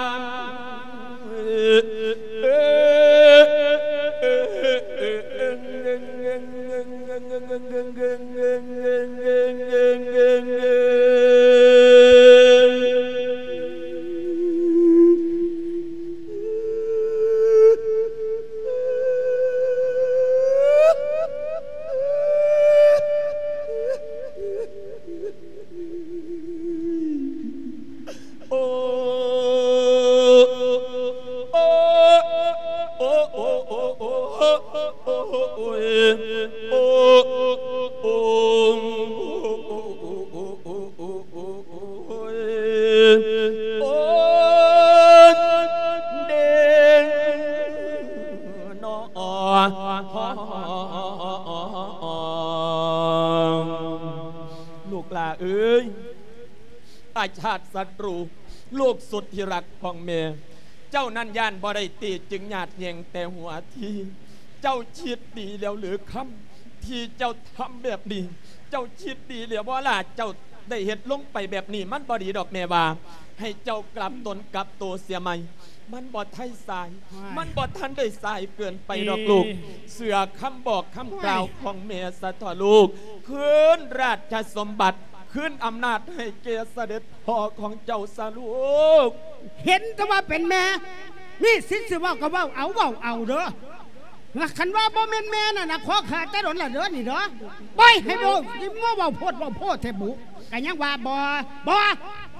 ລູກຫຼ້າເອີຍ ອາຊາດສັດຕູ ລູກສຸດທີ່ຮັກຂອງແມ່ ເຈົ້ານັ້ນຢ້ານບໍ່ໄດ້ຕີ ຈຶ່ງຍາດແຍ່ງແຕ່ຫົວທີ. ເຈົ້າຄິດດີແລ້ວຫຼືຄຳ ທີ່ເຈົ້າທຳແບບນີ້? ເຈົ້າຄິດດີແລ້ວບໍ່ລະ? ເຈົ້າໄດ້ເຮັດລົງໄປແບບນີ້ ມັນບໍ່ດີດອກແມ່ວ່າ. ໃຫ້ເຈົ້າກັບຕົນກັບໂຕເສຍໃໝ່ ມັນບໍ່ໄດ້ສາຍ ມັນບໍ່ທັນໄດ້ສາຍເກີນໄປດອກລູກ. ເຊື່ອຄຳບອກຄຳກ່າວຂອງແມ່ສະເທາະລູກ. ຄືນລາຊະສົມບັດ ຄືນອຳນາດໃຫ້ແກ່ສະເດັດພໍ່ຂອງເຈົ້າຊະລູກ. ເຫັນແຕ່ວ່າເປັນແມ່ ມີສິດຊິເວົ້າກໍເວົ້າເອົາ ເວົ້າເອົາເດີ້. ຄັນວ່າບໍ່ແມ່ນແມ່ນັ້ນນະ ຂໍຂ້າແຕ່ດົນລະເດີ້ນີ້ເດີ້. ປ່ອຍໃຫ້ເວົ້າ ຊິມາເວົ້າໂພດເວົ້າໂພແທ້ບຸ. ກໍຍັງວ່າບໍ່ ບໍ່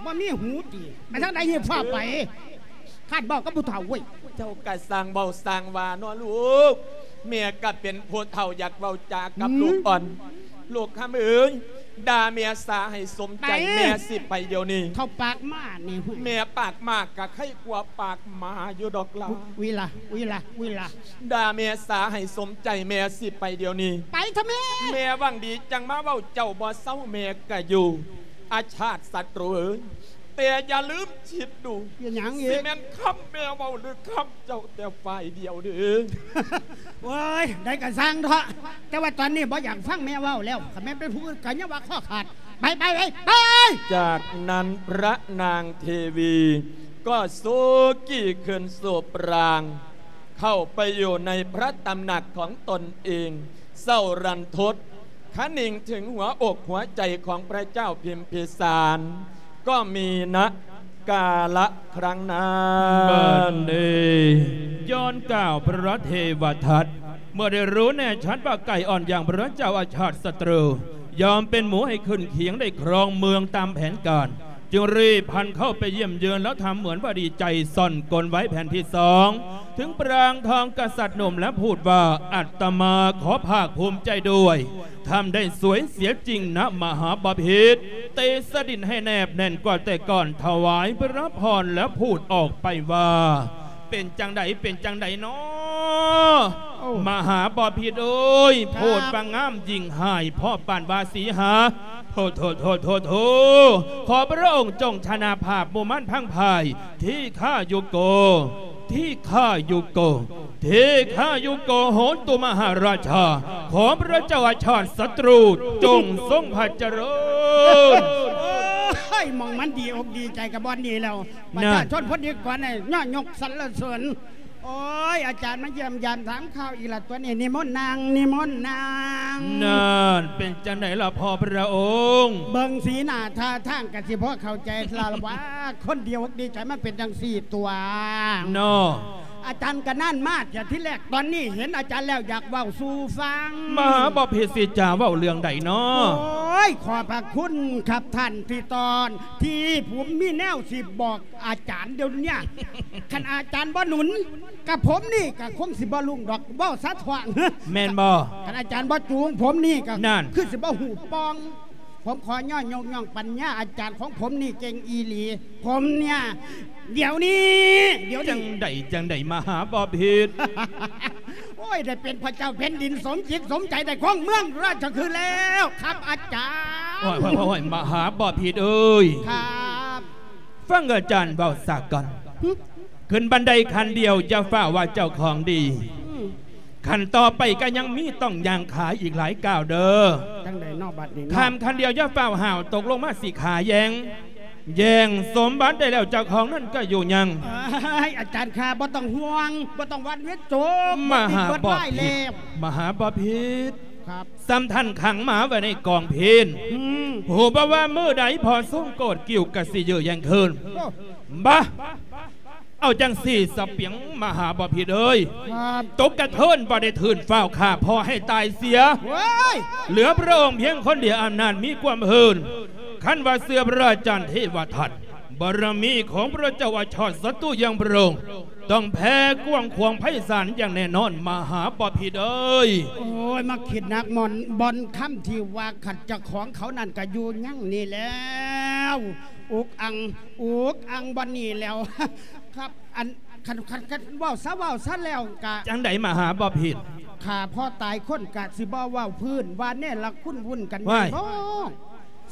ບໍ່ມີຫູຕິ ໄປທາງໃດຮີບຟ້າວໄປ. ຄາດເວົ້າກັບຜູ້ເຖົ້າເວີຍ. ເຈົ້າກໍຊ່າງເວົ້າຊ່າງວ່າເນາະລູກ. ແມ່ກໍເປັນຜູ້ເຖົ້າຢາກເວົ້າຈາກັບ ອືມ ລູກອ່ອນ. ລູກຄຳເອີຍ ດ່າແມ່ສາໃຫ້ສົມໃຈ ໄປ ແມ່ຊິໄປດຽວນີ້. ເຂົ້າປາກໝານີ້ ແມ່ປາກໝາກໍໄຄກວ່າປາກໝາຢູ່ດອກຫຼາ. ວິລະ ວິລະ ວິລະ. ດ່າແມ່ສາໃຫ້ສົມໃຈ ແມ່ຊິໄປດຽວນີ້. ໄປເຖາະແມ່. ແມ່ຫວັງດີຈັ່ງມາເວົ້າ ເຈົ້າບໍ່ເຊົາແມ່ກໍຢູ່. ອາຊາດສັດຕູເອີຍ ແຕ່ຢ່າລືມຄິດດູ ເປັນຫຍັງອີກ? ຊິແມ່ນຄຳແມ່ເວົ້າ ຫຼື ຄຳເຈົ້າແຕ່ຝ່າຍດຽວເດີ້. ໂອ້ຍ ໃດກໍຊ່າງເຖາະ ແຕ່ວ່າຕອນນີ້ບໍ່ຢາກຟັງແມ່ເວົ້າແລ້ວ. ຄັນແມ່ນເປັນຜູ້ອື່ນກໍຢ່າວ່າຄໍຂາດ. ໄປ ໄປ ໄປ ໄປ. ຈາກນັ້ນພະນາງເທວີກໍຊູກີ້ຂຶ້ນສູ່ປາງ ເຂົ້າໄປຢູ່ໃນພະຕຳໜັກຂອງຕົນເອງ ເສົ້າລັນທົດຄະໜິງເຖິງຫົວອົກຫົວໃຈຂອງພະເຈົ້າພິມພິສານ ກໍມີນະກາລະຄັ້ງນັ້ນ. ບັດນີ້ຍ້ອນກ່າວພະເທວະທັດ ເມື່ອໄດ້ຮູ້ແນ່ຊັດວ່າໄກ່ອ່ອນຢ່າງພະເຈົ້າອາຊາດສັດຕູ ຍອມເປັນໝູໃຫ້ຂຶ້ນຄຽງໄດ້ຄອງເມືອງຕາມແຜນການ ຈຶ່ງຣີບພັນເຂົ້າໄປຢ້ຽມເຢີອນ ແລ້ວທຳເໝືອນວ່າດີໃຈ ສ່ອນກົນໄວ້ແຜ່ນທີສອງ ເຖິງປາງທອງກະສັດໜຸ່ມ ແລະ ພູດວ່າ ອາດຕະມາຂໍພາກພູມໃຈດ້ວຍ ທ່ານໄດ້ສວຍເສຍຈິງນະມະຫາບໍພິດ ເຕສະດິນໃຫ້ແນບແໜ້ນກວ່າແຕ່ກ່ອນ ຖວາຍພະພອນ ແລະ ພູດອອກໄປວ່າ ເປັນຈັ່ງໃດ ເປັນຈັ່ງໃດນໍ ໂອ້ ມະຫາບໍພິດເອີຍ ຄັບ ໂພດວ່າງາມຍິ່ງຮ້າຍ ພໍປານວ່າສີຫາ ໂທ ໂທ ໂທ ໂທ ໂທ ຂໍພະອົງຈົ່ງຊະນະພາບໝູ່ມານພັງພາຍ ທີຄາຍຸໂກ ທີຄາຍຸໂກ ທີຄາຍຸໂກ ໂຫຕຸມະຫາລາຊາ ຂໍພະເຈົ້າອາຊາດສັດຕູ ຈົ່ງຊົງພະຈະເລີນ. ໂອ້ຍ ໝ່ອງມັນດີອົກດີໃຈກັບບ່ອນນີ້ແລ້ວ ປະຊາຊົນ ນັ້ນ ພົນນິກອນນີ້ຍ້ອນຍົກສັນລະເສີນ. ໂອ້ຍ ອາຈານມາຢ້ຽມຢາມຖາມຂ່າວອີກລະຕົວນີ້ ນິມົນນັ່ງ ນິມົນນັ່ງ. ນັ້ນ ເປັນຈັ່ງໃດລະພໍ່ພະອົງ? ເບິ່ງສີໜ້າທ່າທາງກະຊິພໍເຂົ້າໃຈລະວ່າ ຄົນດີອົກດີໃຈມັນເປັນຈັ່ງຊີ້ຕົວະເນາະ. ອາຈານກະນານມາເທື່ອທີແລກ ຕອນນີ້ເຫັນອາຈານແລ້ວຢາກເວົ້າສູ່ຟັງ. ມະຫາບໍພິດຊິຈາເວົ້າເລື່ອງໃດເນາະ? ໂອ້ຍ ຂອບພະຄຸນຄັບທ່ານທີ່ຕ້ອນ ທີ່ຜົມມີແນວຊິບອກ ອາຈານດຽວເນີ້ຍ ຄັນອາຈານບໍ່ໜູນ ກະຜົມນີ້ກະຄົງຊິບໍ່ລຸ້ງດອກ ເວົ້າສະເຖາະ. ແມ່ນບໍ່? ຄັນອາຈານບໍ່ຈູງ ຜົມນີ້ກະ ນັ້ນ ຄືຊິບໍ່ຮູ້ປ່ອງ. ຜົມຂໍຍ້ອນຍົກຍ້ອງປັນຍາອາຈານຂອງຜົມນີ້ເກັ່ງອີ່ຫຼີ. ຜົມເນີ້ຍ ດຽວນີ້ ດຽວນີ້ ຈັ່ງໃດ ຈັ່ງໃດ ມະຫາບໍພິດ? ໂອ້ຍ ໄດ້ເປັນພະເຈົ້າແຜ່ນດິນສົມຈິດສົມໃຈ ໄດ້ຄອງເມືອງລາຊະຄຶແລ້ວຄັບອາຈານ. ໂອ້ຍ ໂອ້ຍ ໂອ້ຍ ມະຫາບໍພິດເອີຍ ຄັບ ຟັງອາຈານເວົ້າສາກ່ອນ. ຫຶ? ຂຶ້ນບັນໄດຂັ້ນດຽວ ຢ່າຟ້າວວ່າເຈົ້າຂອງດີ. ອືມ. ຂັ້ນຕໍ່ໄປກໍຍັງມີ ຕ້ອງຍ່າງຂາອີກຫຼາຍກ້າວເດີ້. ຈັ່ງໃດເນາະບັດນີ້ເນາະ? ຂ້າມຂັ້ນດຽວ ຢ່າຟ້າວຫ້າວ ຕົກລົງມາຊິຂາແຢງ. ແຍ່ງສົມບັດໄດ້ແລ້ວ ເຈົ້າຂອງນັ້ນກໍຢູ່ຍັງ. ເອີຍ ອາຈານຂ້າ ບໍ່ຕ້ອງຫ່ວງ ບໍ່ຕ້ອງຫວັ່ນວິຕົກ. ມະຫາບໍພິດ ມະຫາບໍພິດ. ຄັບ. ສ່ຳທ່ານຂັງໝາໄວ້ໃນກອງເພນ. ອືມ. ຮູ້ບໍ່ວ່າມື້ໃດພໍ່ຊົງໂກດກິ້ວກະຊິເຍີ້ແຍ່ງຄືນ. ໂອ້. ບາ ເອົາຈັ່ງຊີ້ສະປຽງມະຫາບໍພິດເອີຍ. ຄັບ. ຕົກກະເທີນບໍ່ໄດ້ທຶນ ຟ້າວຂ້າພໍ່ໃຫ້ຕາຍເສຍ. ໂອ້ຍ. ເຫຼືອພະອົງພຽງຄົນດຽວອຳນາດມີຄວາມເຫີນ. ຄັນວ່າເຊື່ອພະອາຈານເທວະທັດ ບາລະມີຂອງພະເຈົ້າອາຊາດສັດຕູຢ່າງພະອົງ ຕ້ອງແຜ່ກວ້າງຂວາງໄພສານຢ່າງແນ່ນອນ ມະຫາບໍພິດເອີຍ. ໂອ້ຍ ມາຄິດໜັກໝ່ອນ ບ່ອນຄຳທີ່ວ່າ ຄັນເຈົ້າຂອງເຂົານັ້ນກະຢູ່ຍັງນີ້ແລ້ວ ອຸກອັ່ງ ອຸກອັ່ງບ່ອນນີ້ແລ້ວ. ຄັບ ອັນ ຄັນ ຄັນ ຄັນເວົ້າຊະ ເວົ້າຊະແລ້ວກະ ຈັ່ງໃດມະຫາບໍພິດ? ຂ້າພໍ່ຕາຍຄົນກະຊິບໍ່ເວົ້າພື້ນ ວ່າເນລະຄຸນວຸ້ນກັນແມ່ນບໍ່?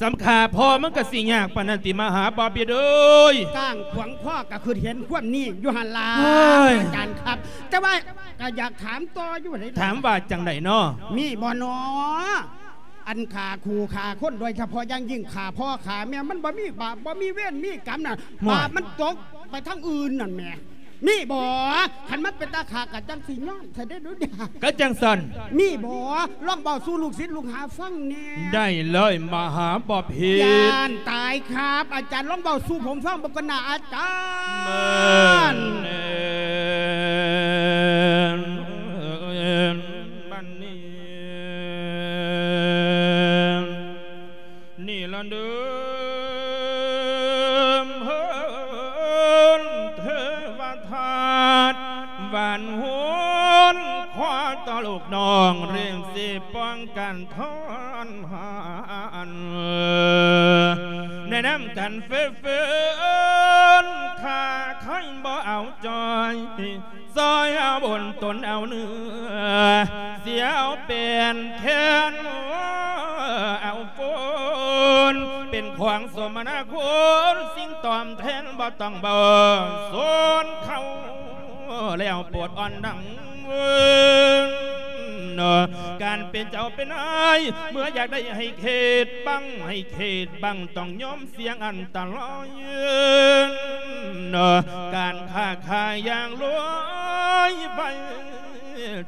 ສ່ຳຂ້າພໍ່ມັນກະຊິຍາກປານນັ້ນຕິມະຫາບໍພິດເອີຍ? ກ້າງຂວາງຄໍກະຄຶດເຫັນຄວາມນີ້ຢູ່ຫັ້ນລະ ເຮີ້ຍ ອາຈານຄັບ. ແຕ່ວ່າກະຢາກຖາມຕໍ່ຢູ່ເດ. ຖາມວ່າຈັ່ງໃດນໍ? ມີບໍ່ນໍ? ອັນຂ້າຄູ່ຂ້າຄົນ ໂດຍສະເພາະຢ່າງຍິ່ງຂ້າພໍ່ຂ້າແມ່ ມັນບໍ່ມີບາບ ບໍ່ມີເວນມີກຳນະ ໂອ້ຍ ບາບມັນຕົກໄປທາງອື່ນນັ້ນແໝ່. ມີບໍ່? ຄັນມັນເປັນຕາຂ້າກະຈັ່ງຊິຍອມຊະເດ້ດູ. ກະຈັ່ງຊັ້ນ. ມີບໍ່? ລອງເວົ້າສູ່ລູກສິດລູກຫາຟັງແດ່. ໄດ້ເລີຍມະຫາບໍພິດ. ຢ້ານຕາຍຄັບ ອາຈານ ລອງເວົ້າສູ່ຜົມຟັງເບິ່ງກ່ອນນະອາຈານ. ແມ່ນແລ້ວ. ນ້ອງເລີ່ມຊິປ້ອງກັນທອນຫັນ ແນະນຳກັນເຟື້ນເຟີນ ຖ້າໃຄບໍ່ເອົາຈ່ອຍ ຊ່ອຍເອົາບົນຕົນເອົາເນື້ອ ຊິເອົາແປນແຂນເອົາຝົນ ເປັນຂອງສົມນາຄຸນ ສິ່ງຕອບແທນບໍ່ຕ້ອງເວົ້າ ສົນເຂົາແລ້ວໂປດອ່ອນດັງ ເນາະ ການເປັນເຈົ້າເປັນນາຍ ເມື່ອຢາກໄດ້ໃຫ້ເຂດບັງ ໃຫ້ເຂດບັງ ຕ້ອງຍອມສ່ຽງອັນຕະລາຍ ເນາະ ການຄ້າຂາຍຢ່າງລວຍໄປ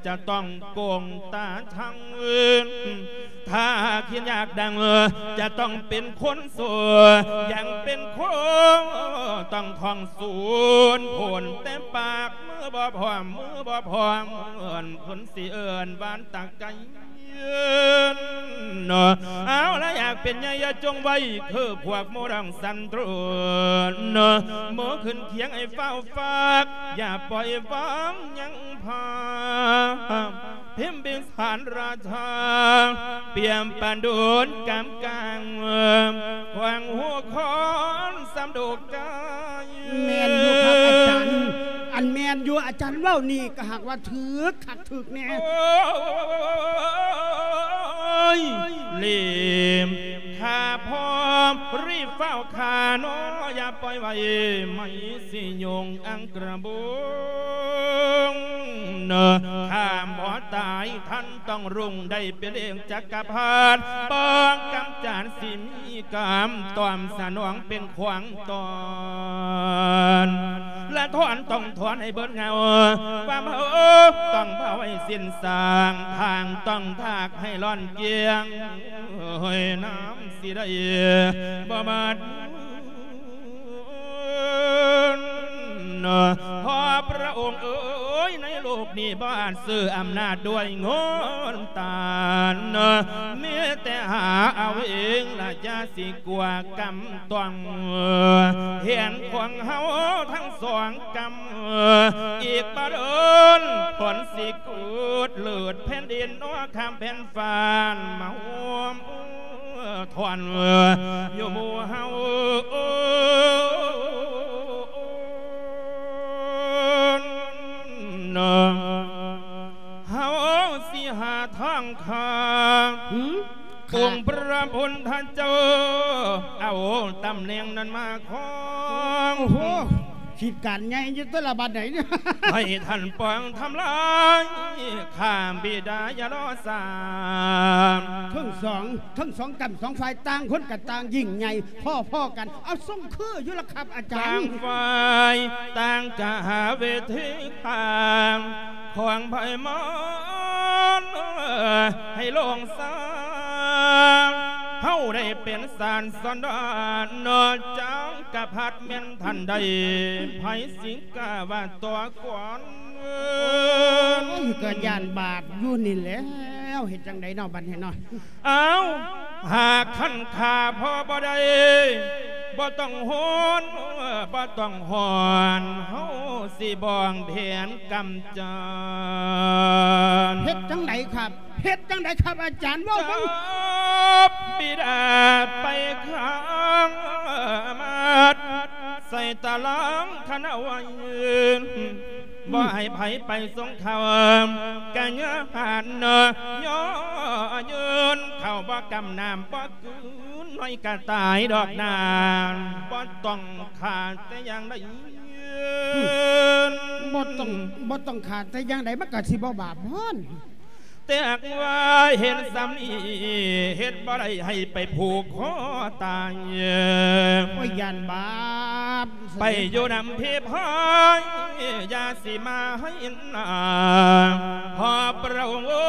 ຈະຕ້ອງໂກງຕາທັງ ຖ້າຄິດຢາກດັງ ຈະຕ້ອງເປັນຄົນຊົ່ວ ຢ່າງເປັນຄົນຕ້ອງທ່ອງສູນ ໂພນແຕ່ປາກ ມືບໍ່ພ້ອມ ມືບໍ່ພ້ອມ ເພິ່ນຊິເອີ້ນຫວານຕາໄກ ເນາະ ເອົາລະ ຢາກເປັນໃຫຍ່ຢ່າຈົ່ງໄວ້ ຄືພວກໝູ່ດັງສັນຕຣູນ ເນາະ ໝູ່ຂຶ້ນຄຽງໃຫ້ຟ້າວຟາກ ຢ່າປ່ອຍວາງຍັງພາ ພິມພິສານລາຊາ ປ່ຽມປານໂດນກຳກາງ ຂວາງຫົວຄອນສຳໂດກກາຍ ແມ່ນຢູ່ຄັບອາຈານ ອັນແມ່ນຢູ່ ອາຈານເວົ້ານີ້ກໍຫາກວ່າຖືກຄັກຖືກແນ່ ໂອ້ຍ ເລມຂ້າພ້ອມ ຣີບຟ້າວຂ້າເນາະ ຢ່າປ່ອຍໄວ້ ໄໝຊິຍົງອັງກະບົງ ເນາະ ຂ້າບໍ່ຕາຍ ທ່ານຕ້ອງຮຸ່ງ ໄດ້ເປັນເອກຈັກກະພັດ ປ້ອງກຳຈັດ ຊິມີກຳຕອມສະໜອງເປັນຂວາງຕອນ ລະຖອນຕ້ອງຖອນໃຫ້ເບິດເຫງົາ ຄວາມເຮົາຕ້ອງເຜົາໃຫ້ສິ້ນຊາງ ທາງຕ້ອງທາກໃຫ້ລ້ອນກຽງ ໂອ້ຍ ນ້ຳຊິໄດ້ບໍ່ໝົດ ເນາະ ພໍ່ພະອົງເອີຍ ໃນໂລກນີ້ບໍ່ອາດຊື້ອຳນາດດ້ວຍເງິນຕານ ເນາະ ມີແຕ່ຫາເອົາເອງລະ ຢ່າຊິກົວກຳຕ້ອງ ແຂນຂວາງເຮົາທັງສອງກຳ ອີກບໍ່ດົນ ຝົນຊິກຸດເລີດແຜ່ນດິນ ເນາະ ຂ້າມແຜ່ນຟ້າມາຮ່ວມ ທ່ອນຢູ່ໝູ່ເຮົາ ເຮົາຊິຫາທາງຂ້າ ຫືມ ອົງພະພຸດທະເຈົ້າ ເອົາຕຳແໜ່ງນັ້ນມາຄອງ ໂອ້ໂຫ ຄິດການໃຫຍ່ຢູ່ແຕ່ລະບັດໃດ ໃຫ້ທ່ານປອງທຳລາຍ ຂ້າບິດາຢ່າລໍຊ້າ ທັງສອງ ທັງສອງກ້ຳສອງຝ່າຍ ຕ່າງຄົນກໍຕ່າງຍິ່ງໃຫຍ່ພໍໆກັນ ເອົາ ຊົງຄືຢູ່ລະຄັບອາຈານ ຕ່າງຝ່າຍຕ່າງກະຫາເວທີຂ້າງ ຂວາງໄພມານໃຫ້ໂລ່ງສາງ ເຮົາໄດ້ເປັນສານສອນດານ ນອກຈາກກະພັດແມ່ນທ່ານໃດ ໃຜຊິກ້າວ່າຕໍ່ກ່ອນ ໂອ້ຍ ກໍຢ້ານບາບຢູ່ນີ້ແຫຼ້ວ ເຮັດຈັ່ງໃດເນາະ ບັດນີ້ເນາະ ອ້າວ ຫາກຄັນຂ້າພໍບໍ່ໄດ້ ບໍ່ຕ້ອງໂຫນ ບໍ່ຕ້ອງຮ້ອນ ເຮົາຊິບອງແຜນກຳຈັດ ເຮັດຈັ່ງໃດຄັບ ເຮັດຈັ່ງໃດຄັບ ອາຈານເວົ້າເບິ່ງ ຈັບບິດາໄປຂັງມັດ ໃສ່ຕາລາງຂັງເອົາໄວ້ ບໍ່ໃຫ້ໃຜໄປສົ່ງເຂົ້າ ກະຍາກຫັ້ນເນາະ ຍໍຢືນ ເຂົ້າບໍ່ກຳ ນ້ຳບໍ່ກືນ ໜ້ອຍກະຕາຍດອກນາງ ບໍ່ຕ້ອງຂາດແຕ່ຢ່າງໃດ ບໍ່ຕ້ອງ ບໍ່ຕ້ອງຂາດແຕ່ຢ່າງໃດ ມັນກະຊິບໍ່ບາບບໍ? ແຕ່ຫາກວ່າເຫັນສ່ຳນີ້ ເຮັດບໍ່ໄດ້ໃຫ້ໄປຜູກຄໍຕາຍ ໂອ້ຍ ຢ້ານບາບ ໄປຢູ່ນຳເພພາຍ ຢ່າຊິມາໃຫ້ນາ ພໍ່ພະອົງເອີ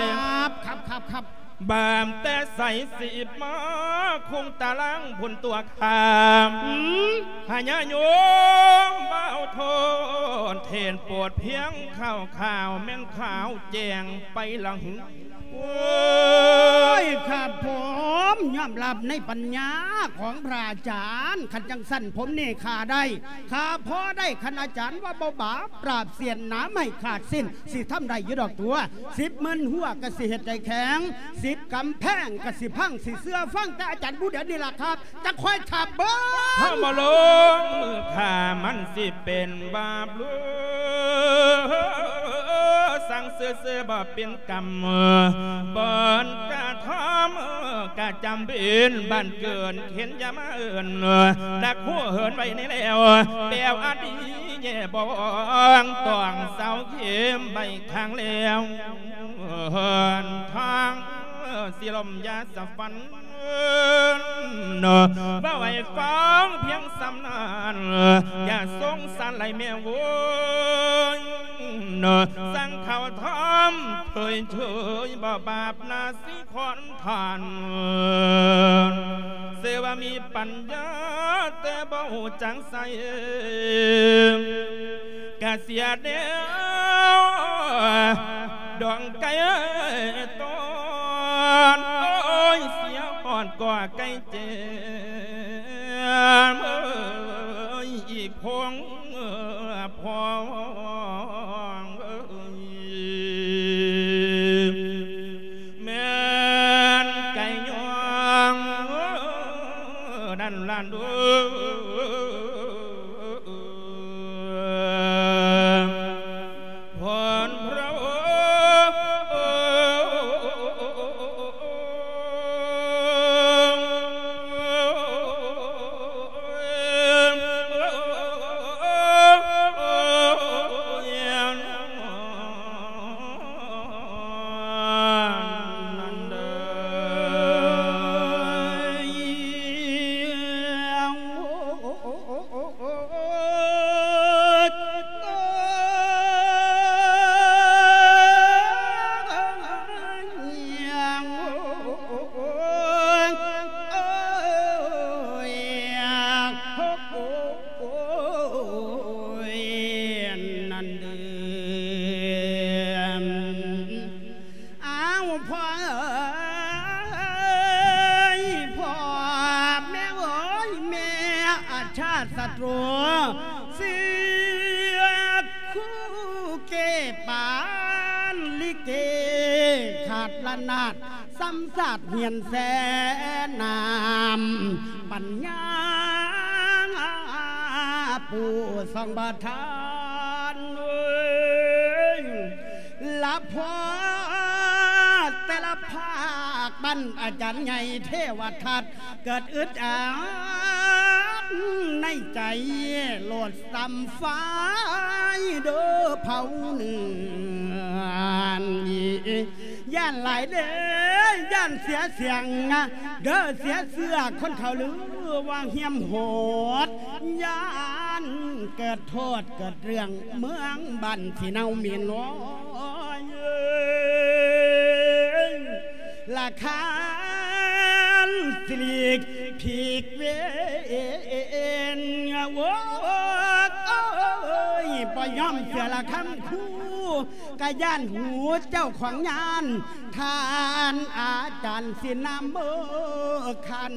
ຍ ຄັບ ຄັບ ຄັບ ບາບແຕ່ໃສຊິມາຄົງຕາລາງພຸ້ນຕົວ ຂ້າມ ຫາຍາໂຍມເບົາໂທນ ເທນໂປດພຽງຂ່າວໆ ແມ່ນຂາວແຈ້ງໄປລະຫື. ໂອ້ຍ ຂ້າພວມຍອມຮັບໃນປັນຍາຂອງພະອາຈານ. ຄັນຈັ່ງຊັ້ນ ຜົມນີ້ຂ້າໄດ້ ຂ້າພໍໄດ້. ຄັນອາຈານວ່າບໍ່ບາບ ປາບສຽນໜາໄມ້ຂາດສິ້ນ ຊິທຳໄດ້ຢູ່ດອກຕົວະ. ສິບໝື່ນຮົ້ວກະຊິເຮັດໃຫ້ແຂງ ສິບກຳແພງກະຊິພັງ ຊິເຊື່ອຟັງແຕ່ອາຈານຜູ້ດຽວນີ້ລະຄັບ ຈັກຄອຍຖ້າເບິ່ງ. ເຮົາບໍ່ລົງມືຂ້າ ມັນຊິເປັນບາບຫຼວງ ສັ່ງຊື່ໆບໍ່ເປັນກຳ ບ່ອນກະທຳກະຈຳເປັນ ບ້ານເກີດເຫັນຢ່າມາເອີ້ນ ນັກຮູ້ເຫີນໄວ້ໃນແລ້ວ ແປວອາດີແຍ່ບອງ ຕ້ອງເສົາເຂັມໄວ້ຂ້າງແລ້ວ ທາງຊິລົມຢ່າສະຝັນ ເນາະ ເວົ້າໃຫ້ຟັງພຽງສ່ຳນັ້ນ ຢ່າສົງສານຫຼາຍແມ່ໂວ້ຍ ເນາະ ສັ່ງເຂົ້າຖ້ຳເຜີຍເຜີຍ ບໍ່ບາບນາຊິຂອນທ່ານ ຊື່ວ່າມີປັນຍາ ແຕ່ບໍ່ຮູ້ຈັກໃຊ້ ກະເສຍແນວ ດອງໄກ່ຕອນ ໂອ້ຍ ເສຍຮອດກໍໄກ່ເຈັບ ເອີຍ ອີກພອງ ພອງ ເອີຍ ແມ່ນໄກ່ຍ່ອງ ນັ້ນລະເດີ. ພອນພຣະອົງນັ້ນເດີ ອ້າວ ພໍ່ເອີຍ ພໍ່ແມ່ເອີຍ ແມ່ອາຊາດສັດຕູ ເສຍຄູ່ເກປານລິເກຂາດລະນາດ ຊ້ຳຊາດຮຽນແສນນາມ ປັນຍາປູ່ສ່ອງບໍ່ທັນເອີຍ ລະພໍແຕ່ລະພາກ ບັ້ນອາຈານໃຫຍ່ເທວະທັດ ເກີດອຶດອັດໃນໃຈ ໂລດສ່ຳໄຟເດີເຜົາເໜືອນ ຢ້ານຫຼາຍເດ້ ຢ້ານເສຍສຽງ ເດີເສຍເຊື້ອ ຄົນເຂົາລືວ່າຮຽມໂຫດ ຢ້ານເກີດໂທດເກີດເລື່ອງ ເມືອງບ້ານຊິເນົ່າໝິ່ນ ໂອ້ຍ ລະຄານຊິຫຼີກ ພິກເວນ ໂອ້ຍ ບໍ່ຍອມເຊື່ອລະຄຳຄູ ກະຢ້ານຫູເຈົ້າຂອງຍານ ທ່ານອາຈານຊິນຳເມີຄັນ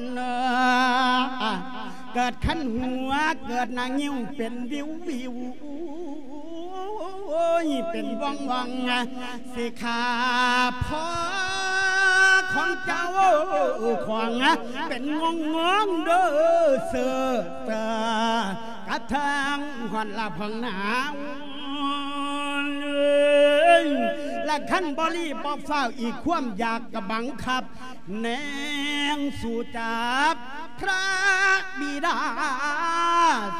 ເກີດຄັນຫົວ ເກີດໜ້າງິ້ວເປັນວິວໆ ໂອ້ຍ ເປັນວ່ອງໆ ຊິຂ້າພໍ່ຂອງເຈົ້າຂອງ ເປັນງອງໆເດີ ເຊີເຕີ ກະເທິງຮອດລະພອງນາວ ລະຄັນບໍ່ລີບບໍ່ຟ້າວ ອີກຄວາມຢາກກະບັງຄັບ ແນງສູ້ຈັບພະບິດາ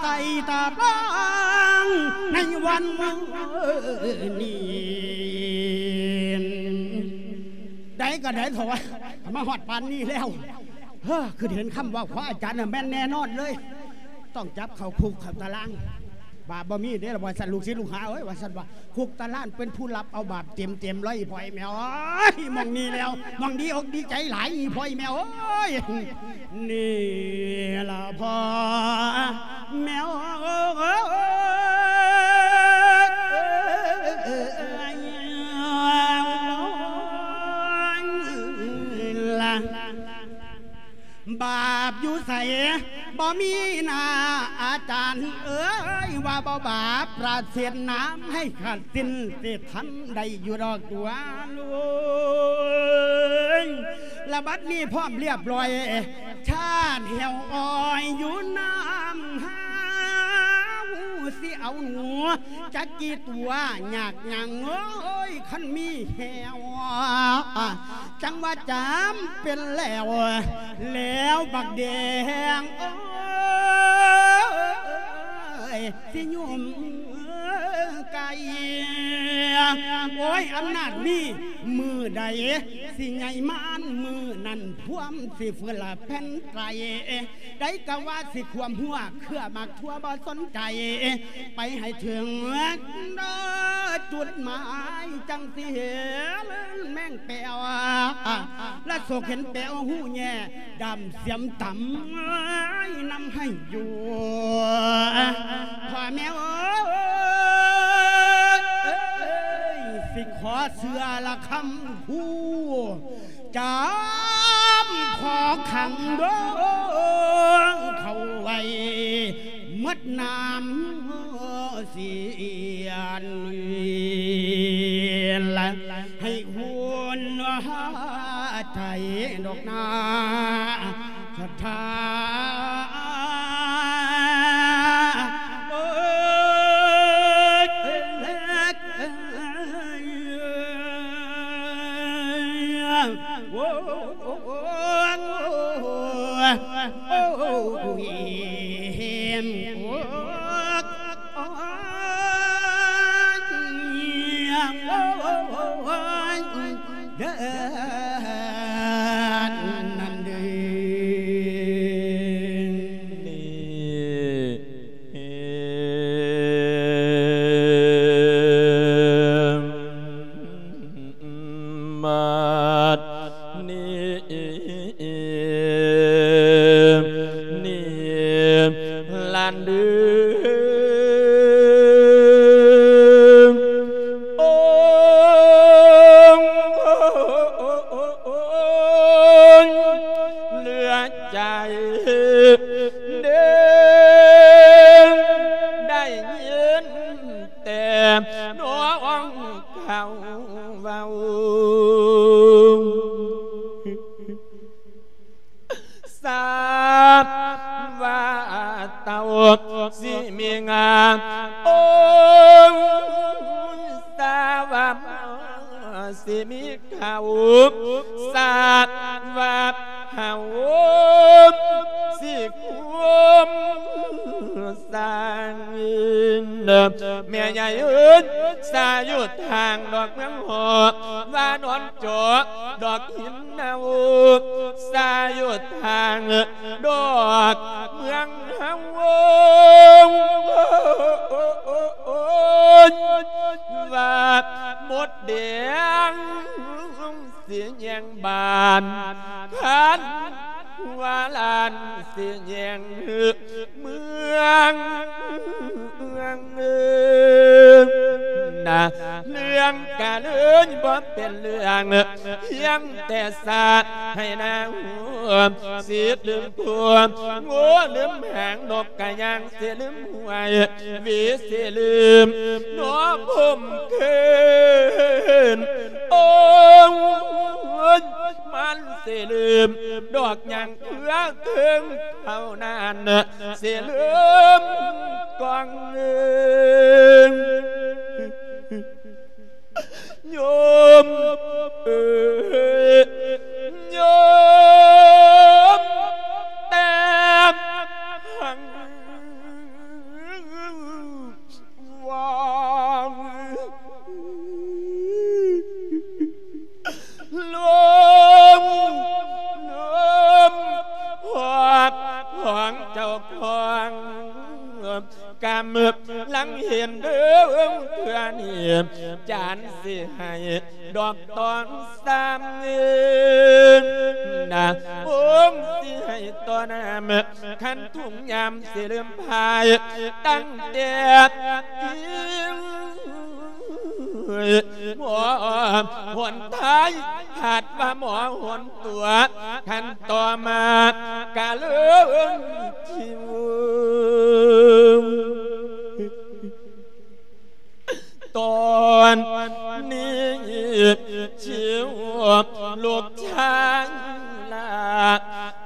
ໃສ່ຕາບາງໃນວັນນີ້ ໃດກະໃດເຖາະ ມາຮອດປານນີ້ແລ້ວ ເຮີ ຄືເຫັນຄຳເວົ້າຂອງອາຈານນະແມ່ນແນ່ນອນເລີຍ ຕ້ອງຈັບເຂົ້າຄຸກເຂົ້າຕາລາງ ບາບບໍ່ມີເດ້ລະ ວ່າຊັ້ນ ລູກສິດລູກຫາເອີຍ ວ່າຊັ້ນວ່າ ຄຸກຕາລາງເປັນຜູ້ຮັບເອົາບາບເຕັມໆເລີຍ ອີ່ພໍ່ອີ່ແມ່ເອີຍ ໝ່ອງນີ້ແລ້ວ ໝ່ອງດີອົກດີໃຈຫຼາຍ ອີ່ພໍ່ອີ່ແມ່ເອີຍ ນີ້ລະພໍ່ແມ່ເອີຍ. ມີໜ້າອາຈານເອີຍ ວ່າບໍ່ບາປະເສດນາມໃຫ້ຂາດສິ້ນ ຊິທັນໄດ້ຢູ່ດອກຕົວລຸງ. ລະບັດນີ້ພ້ອມລຽບລ້ອຍ ຊາດແຫ້ວອ້ອຍຢູ່ນ້ຳຫາວ ຊິເອົາໜູຈັກກີ່ຕົວຍາກຫຍັງເອີຍ ຄັນມີແຫ້ວ ຈັ່ງວ່າຈຳເປັນແລ້ວ ແລ້ວບັກແດງເອີຍ ຊິຫຍຸ້ມໄກ່ ໂອ້ຍ ອຳນາດມີ ມື້ໃດຊິໃຫຍ່ມານ ມື້ນັ້ນພວມຊິເຟືອລະແຜ່ນໄຕ ໃດກະວ່າຊິຂວມຫົວ ເຄືອໝາກຖົ່ວບໍ່ສົນໃຈ ໄປໃຫ້ເຖິງຈຸດໝາຍ ຈັ່ງຊິເຫັນແມງແປວ ລະສົກເຫັນແປວຫູແຍ່ ດຳສຽມຕຳນຳໃຫ້ຢູ່ ພໍ່ແມ່ເອີຍ ຊິຂໍເຊື່ອລະຄຳຜູ້ ຈຳຂໍຂັງດອງເຂົາໄວ້ ໝົດນ້ຳສຽນ ໃຫ້ຫວນໃຈດອກນາສັດທາ ໂອ້ຍ ໂອ້ຍ ໂອ້ຍ ໂອ້ຍ ໂອ້ຍ ເດີ ນັ້ນເດີ ນີ້ ບັດນີ້ ນີ້ລະເດີ ໂອ້ຍ ເຫຼືອໃຈເດີ ໄດ້ຍິນແຕ່ນ້ອງເຂົາເວົ້າ ຊາບວ່າເຕົ້າຊິມີງາ ໂອ້ ຊາບວ່າໝໍຊິມີເຂົ້າ ຊາບວ່າເຮົາຊິຄວາມ ສ້າງ ແມ່ໃຫຍ່ເອີຍ ສາຢູ່ທາງດອກເມືອງຫອກ ວ່ານອນເຈາະດອກຫີນເນົ່າ ສາຢູ່ທາງດອກເມືອງເຮົາ ວ່າມົດແດງ ຊິແຍງບ້ານ ຄັນຫົວລ້ານຊິແຍງເມືອງນະ ເລື່ອງກະເລີຍບໍ່ເປັນເລື່ອງ ພຽງແຕ່ສາດໃຫ້ໜ້າຫົວ ສິດລືມຕົວ ໂງ່ລືມຫາງ ນົກກະຍ່າງ ຊິລືມຫ້ວຍ ຫວີຊິລືມໜໍພົມຄືນ ໂອ້ຍ ມັນຊິລືມດອກຫຍັງເຄືອເທິງເທົ່ານັ້ນ ຊິລືມກອງເງິນ ໂຍມເອີຍ ໂຍມແຕ່ງຫາງ ວ່າລົມ ລົມ ຮອດຂອງເຈົ້າຂອງ ກຳລັງເຫັນເດີເທື່ອນີ້ ຈານຊິໃຫ້ດອກຕອງສາມເງິນນະ ອົງຊິໃຫ້ຕໍ່ນ້ຳ ຄັນທຸງຍາມຊິລືມພາຍ ຕັ້ງແຕ່ ໝໍຫົນທ້າຍ ຄາດວ່າໝໍຫົນຕົວ ຂັ້ນຕໍ່ມາກະເລີຍຊິວ ຕອນນີ້ຊິວລູກຊາຍລາ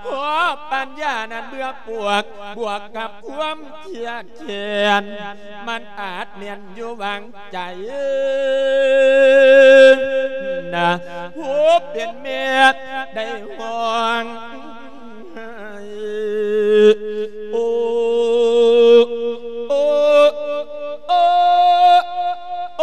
ເພາະປັນຍານັ້ນເບື່ອປວກ ບວກກັບຄວາມຄຽດແຄ້ນ ມັນອາດແມ່ນຢູ່ຫວ່າງໃຈ ນະ ຜູ້ເປັນແມ່ໄດ້ຮ້ອງ ໂອ ໂອ ໂອ ໂອ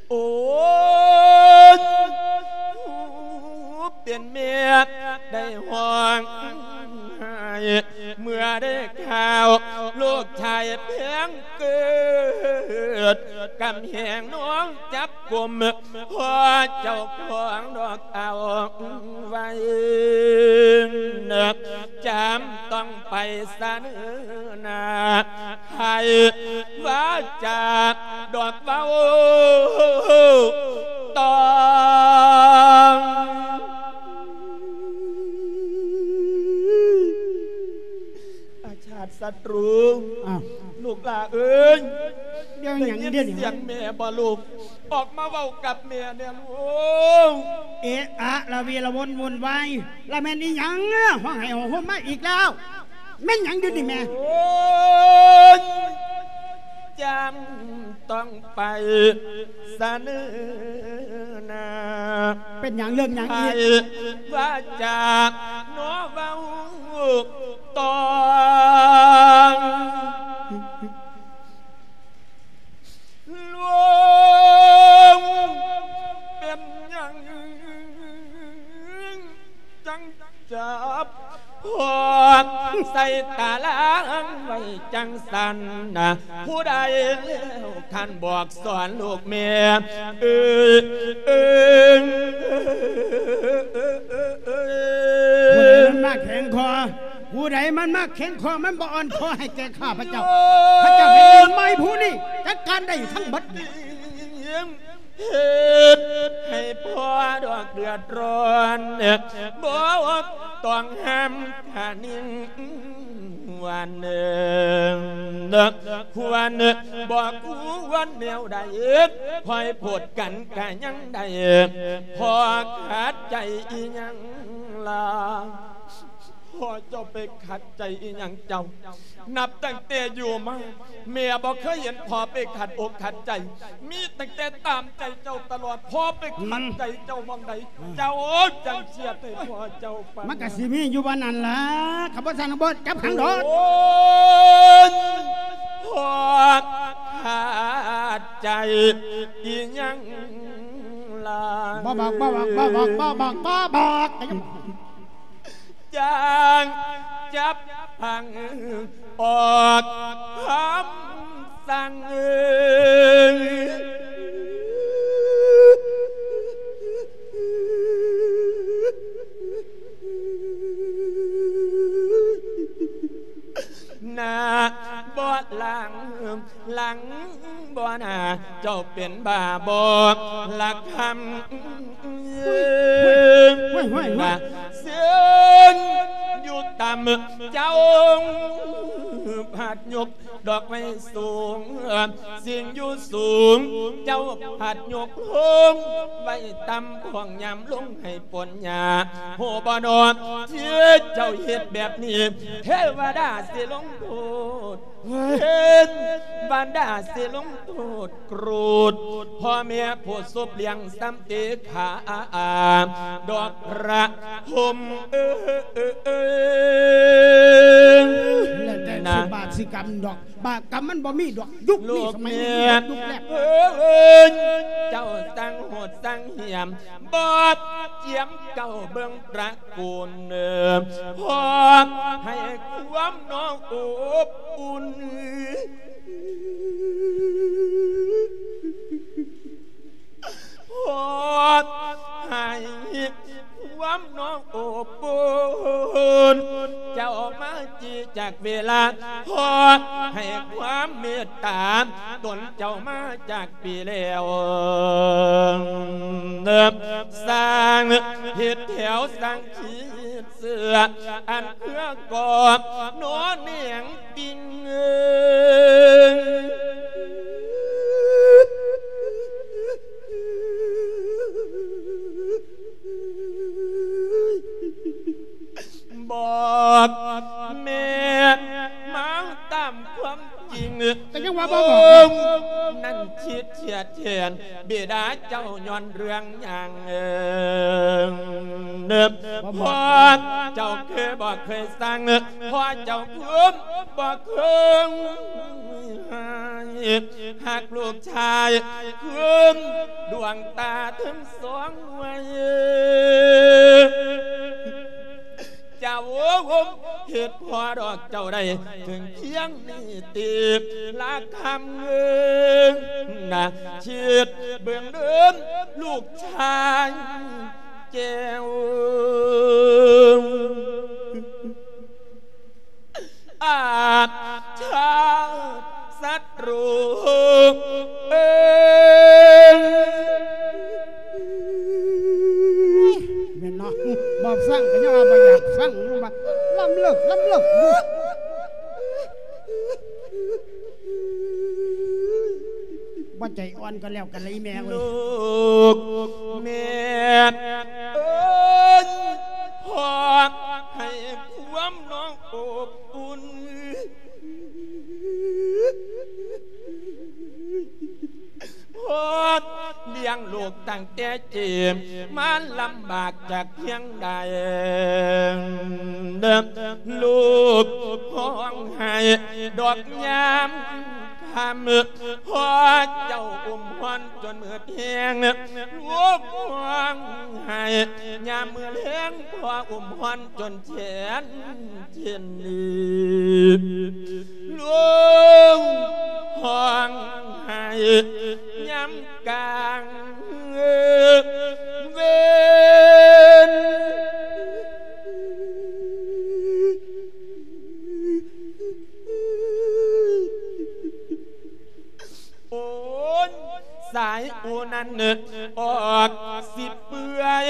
ໂອ້ຍ ຜູ້ເປັນແມ່ໄດ້ຮ້ອງໄຫ້ ເມື່ອໄດ້ຂ່າວລູກຊາຍແພງເກີດ ກຳແຫງນ້ອງຈັບກຸມ ພໍ່ເຈົ້າຂອງດອກເອົາໄວ້ ຈຳຕ້ອງໄປສະເໜີໜ້າ ໃຫ້ວາຈາດອກເວົ້າຕ້ອງ ອາຊາດສັດຣູ. ອ້າວ ລູກຫຼ້າເອີຍ ດຽວຫຍັງ ໄດ້ຍິນ ດຽວຫຍັງ ສຽງແມ່ບໍ່ລູກ? ອອກມາເວົ້າກັບແມ່ແດ່ລູກ. ເອະອະລະເວລະວົນວຸ່ນວາຍ ລະແມ່ນອີຫຍັງ ຮ້ອງໄຫ້ໂຫມມາອີກແລ້ວ? ແມ່ນຫຍັງຢູ່ນີ້ແມ່? ໂອ້ຍ ຈຳຕ້ອງໄປສະເໜີໜ້າ. ເປັນຫຍັງ ເລື່ອງຫຍັງອີກ? ໃຫ້ວາຈາເນາະເວົ້າຕ້ອງ ຫຼວງ ເປັນຫຍັງຈັ່ງຈັບພອກໃສ່ຕາລາງໄວ້ຈັ່ງຊັ້ນນະ? ຜູ້ໃດແລ້ວຄັນບອກສອນລູກແມ່ເອີຍ ເອີຍ ເອີຍ ເອີຍ ເອີຍ ເອີຍ ຜູ້ໃດມັນມາແຂງຄໍ? ຜູ້ໃດມັນມາແຂງຄໍ ມັນບໍ່ອ່ອນຄໍໃຫ້ແກ່ຂ້າພະເຈົ້າ. ພະເຈົ້າແຜ່ນດິນໃໝ່ຜູ້ນີ້ຈັດການໄດ້ທັງໝົດ. ເຮັດໃຫ້ພໍ່ດອກເດືອດຮ້ອນ ບໍ່ຕ້ອງຫ້າມກະນິ່ງວັນ ຄວນບໍ່ຄວນແນວໃດ ຄ່ອຍໂພດກັນກະຍັງໄດ້ ພໍ່ຂັດໃຈອີ່ຫຍັງລະ? ພໍ່ເຈົ້າໄປຂັດໃຈອີ່ຫຍັງເຈົ້າ? ນັບຕັ້ງແຕ່ຢູ່ມາ ແມ່ບໍ່ເຄີຍເຫັນພໍ່ໄປຂັດອົກຂັດໃຈ ມີຕັ້ງແຕ່ຕາມໃຈເຈົ້າຕະຫຼອດ. ພໍ່ໄປຂັດໃຈເຈົ້າໝ່ອງໃດ ອືມ ເຈົ້າຈັ່ງສຽດໃຫ້ພໍ່ເຈົ້າຟັງ? ມັນກະຊິມີຢູ່ວ່ານັ້ນລະ ຄັນບໍ່ຊັ້ນບໍ່ຈັບຂັງດອກ. ໂອ້ຍ ພໍ່ຂັດໃຈອີ່ຫຍັງລະ? ບໍ່ບອກ ບໍ່ບອກ ບໍ່ບອກ ບໍ່ບອກ ບໍ່ບອກ. ຈ້າງຈັບຜັງອອກຄຳສັ່ງ ໜ້າບໍ່ຫຼັງ ຫຼັງບໍ່ໜ້າ ເຈົ້າເປັນບ້າບໍ່ລະຄຳ ເຊິ່ງຢູ່ຕ່ຳ ເຈົ້າພັດຍົກດອກໄມ້ສູງ ສິ່ງຢູ່ສູງ ເຈົ້າພັດຍົກລົງໄວ້ຕ່ຳ ພວກຍາມລົງໃຫ້ຝົນຫຍ້າ ຮູ້ບໍ່ນອ ທີ່ເຈົ້າເຮັດແບບນີ້ ເທວະດາຊິລົງໂທດ ເທວະດາຊິລົງໂທດໂກດ ພໍ່ແມ່ຜູ້ສົບລ້ຽງ ສຳເອກຂາດອກພະຫົມເອີຍ ແລ້ວແຕ່ ນະ ຊິບາບຊິກຳດອກ ບາບກຳມັນບໍ່ມີດອກ ຍຸກນີ້ສະໄໝນີ້ ແມ່ນ ມັນເບິດຍຸກແລ້ວ ເອີຍ ເຈົ້າຊ່າງໂຫດຊ່າງຫຽມ ບໍ່ຈຽມເຈົ້າເບິ່ງຕະ ໂກນເນີ ພໍໃຫ້ຄວາມນອງອົບອຸ່ນ ເມດຕາຕົນເຈົ້າມາຈາກປີແລ້ວ ສ້າງເຮັດແຖວສ້າງຂີດເສືອ ອັນເພື່ອກໍໜໍແໜງ ຕິງເອີຍ ບອກແມ່ນມາຕາມຄວາມຈິງ ກໍຍັງວ່າບໍ່ບອກ ນັ້ນຄິດເຄຍແທນບິດາເຈົ້າຍ້ອນເລື່ອງຫຍັງ ເອີ ພໍ່ເຈົ້າຄືບໍ່ເຄີຍສັ່ງ ພໍ່ເຈົ້າຄືບໍ່ເຄີຍໃຫ້ ຮັກລູກຊາຍຄືດວງຕາທັງສອງໄວ້ ເຈົ້າເຮັດພໍ່ດອກເຈົ້າໄດ້ເຖິງພຽງນີ້ຕິ ລະຄຳເອີຍນະ ຄິດເບິ່ງເດີລູກຊາຍແກ້ວ ອາດຊາດສັດຮູເອີຍ ແມ່ນເນາະ ບໍ່ຟັງກໍຍັງວ່າບໍ່ຢາກຟັງ ມັນວ່າລຳເລີກ ລຳເລີກ ບໍ່ໃຈອ່ອນກໍແລ້ວກັນລະອີແມ່ເອີຍ ລູກແມ່ເອີຍ ພໍ່ໃຫ້ຄວາມນ້ອງອົບອຸ່ນ ພໍ່ລ້ຽງລູກຕັ້ງແຕ່ເກມ ມາລຳບາກຈາກພຽງໃດ ລູກຮ້ອງໄຫ້ດອກຍາມຄ່ຳ ພໍ່ເຈົ້າອຸ້ມຮ້ອນຈົນມືດແຫ້ງ ລູກຮ້ອງໄຫ້ຍາມມື້ແລງ ພໍ່ອຸ້ມຮ້ອນຈົນແຂນເຈັນ ລູກຮ້ອງໄຫ້ຍາມກາງເວັນ ໂອ້ຍ ສາຍອູນັ້ນອອກຊິເປື່ອຍ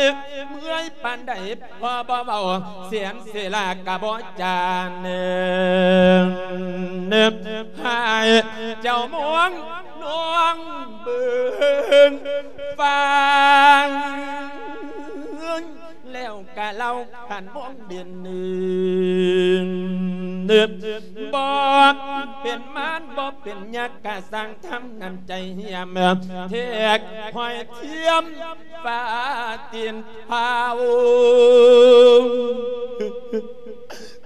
ເມື່ອຍປານໃດ ພໍ່ບໍ່ເວົ້າແສນເສລາກະບໍ່ຈານ ໃຫ້ເຈົ້າມອງນອງເບິ່ງຟັງ ແລ້ວກະເລົ່າຂັນມອງເດັ່ນ ບໍ່ເປັນມານບໍ່ເປັນຍັກ ກະສ້າງທຳນ້ຳໃຈຫ້ຽມ ແທກຫ້ອຍທຽມຝາຕີນພາວ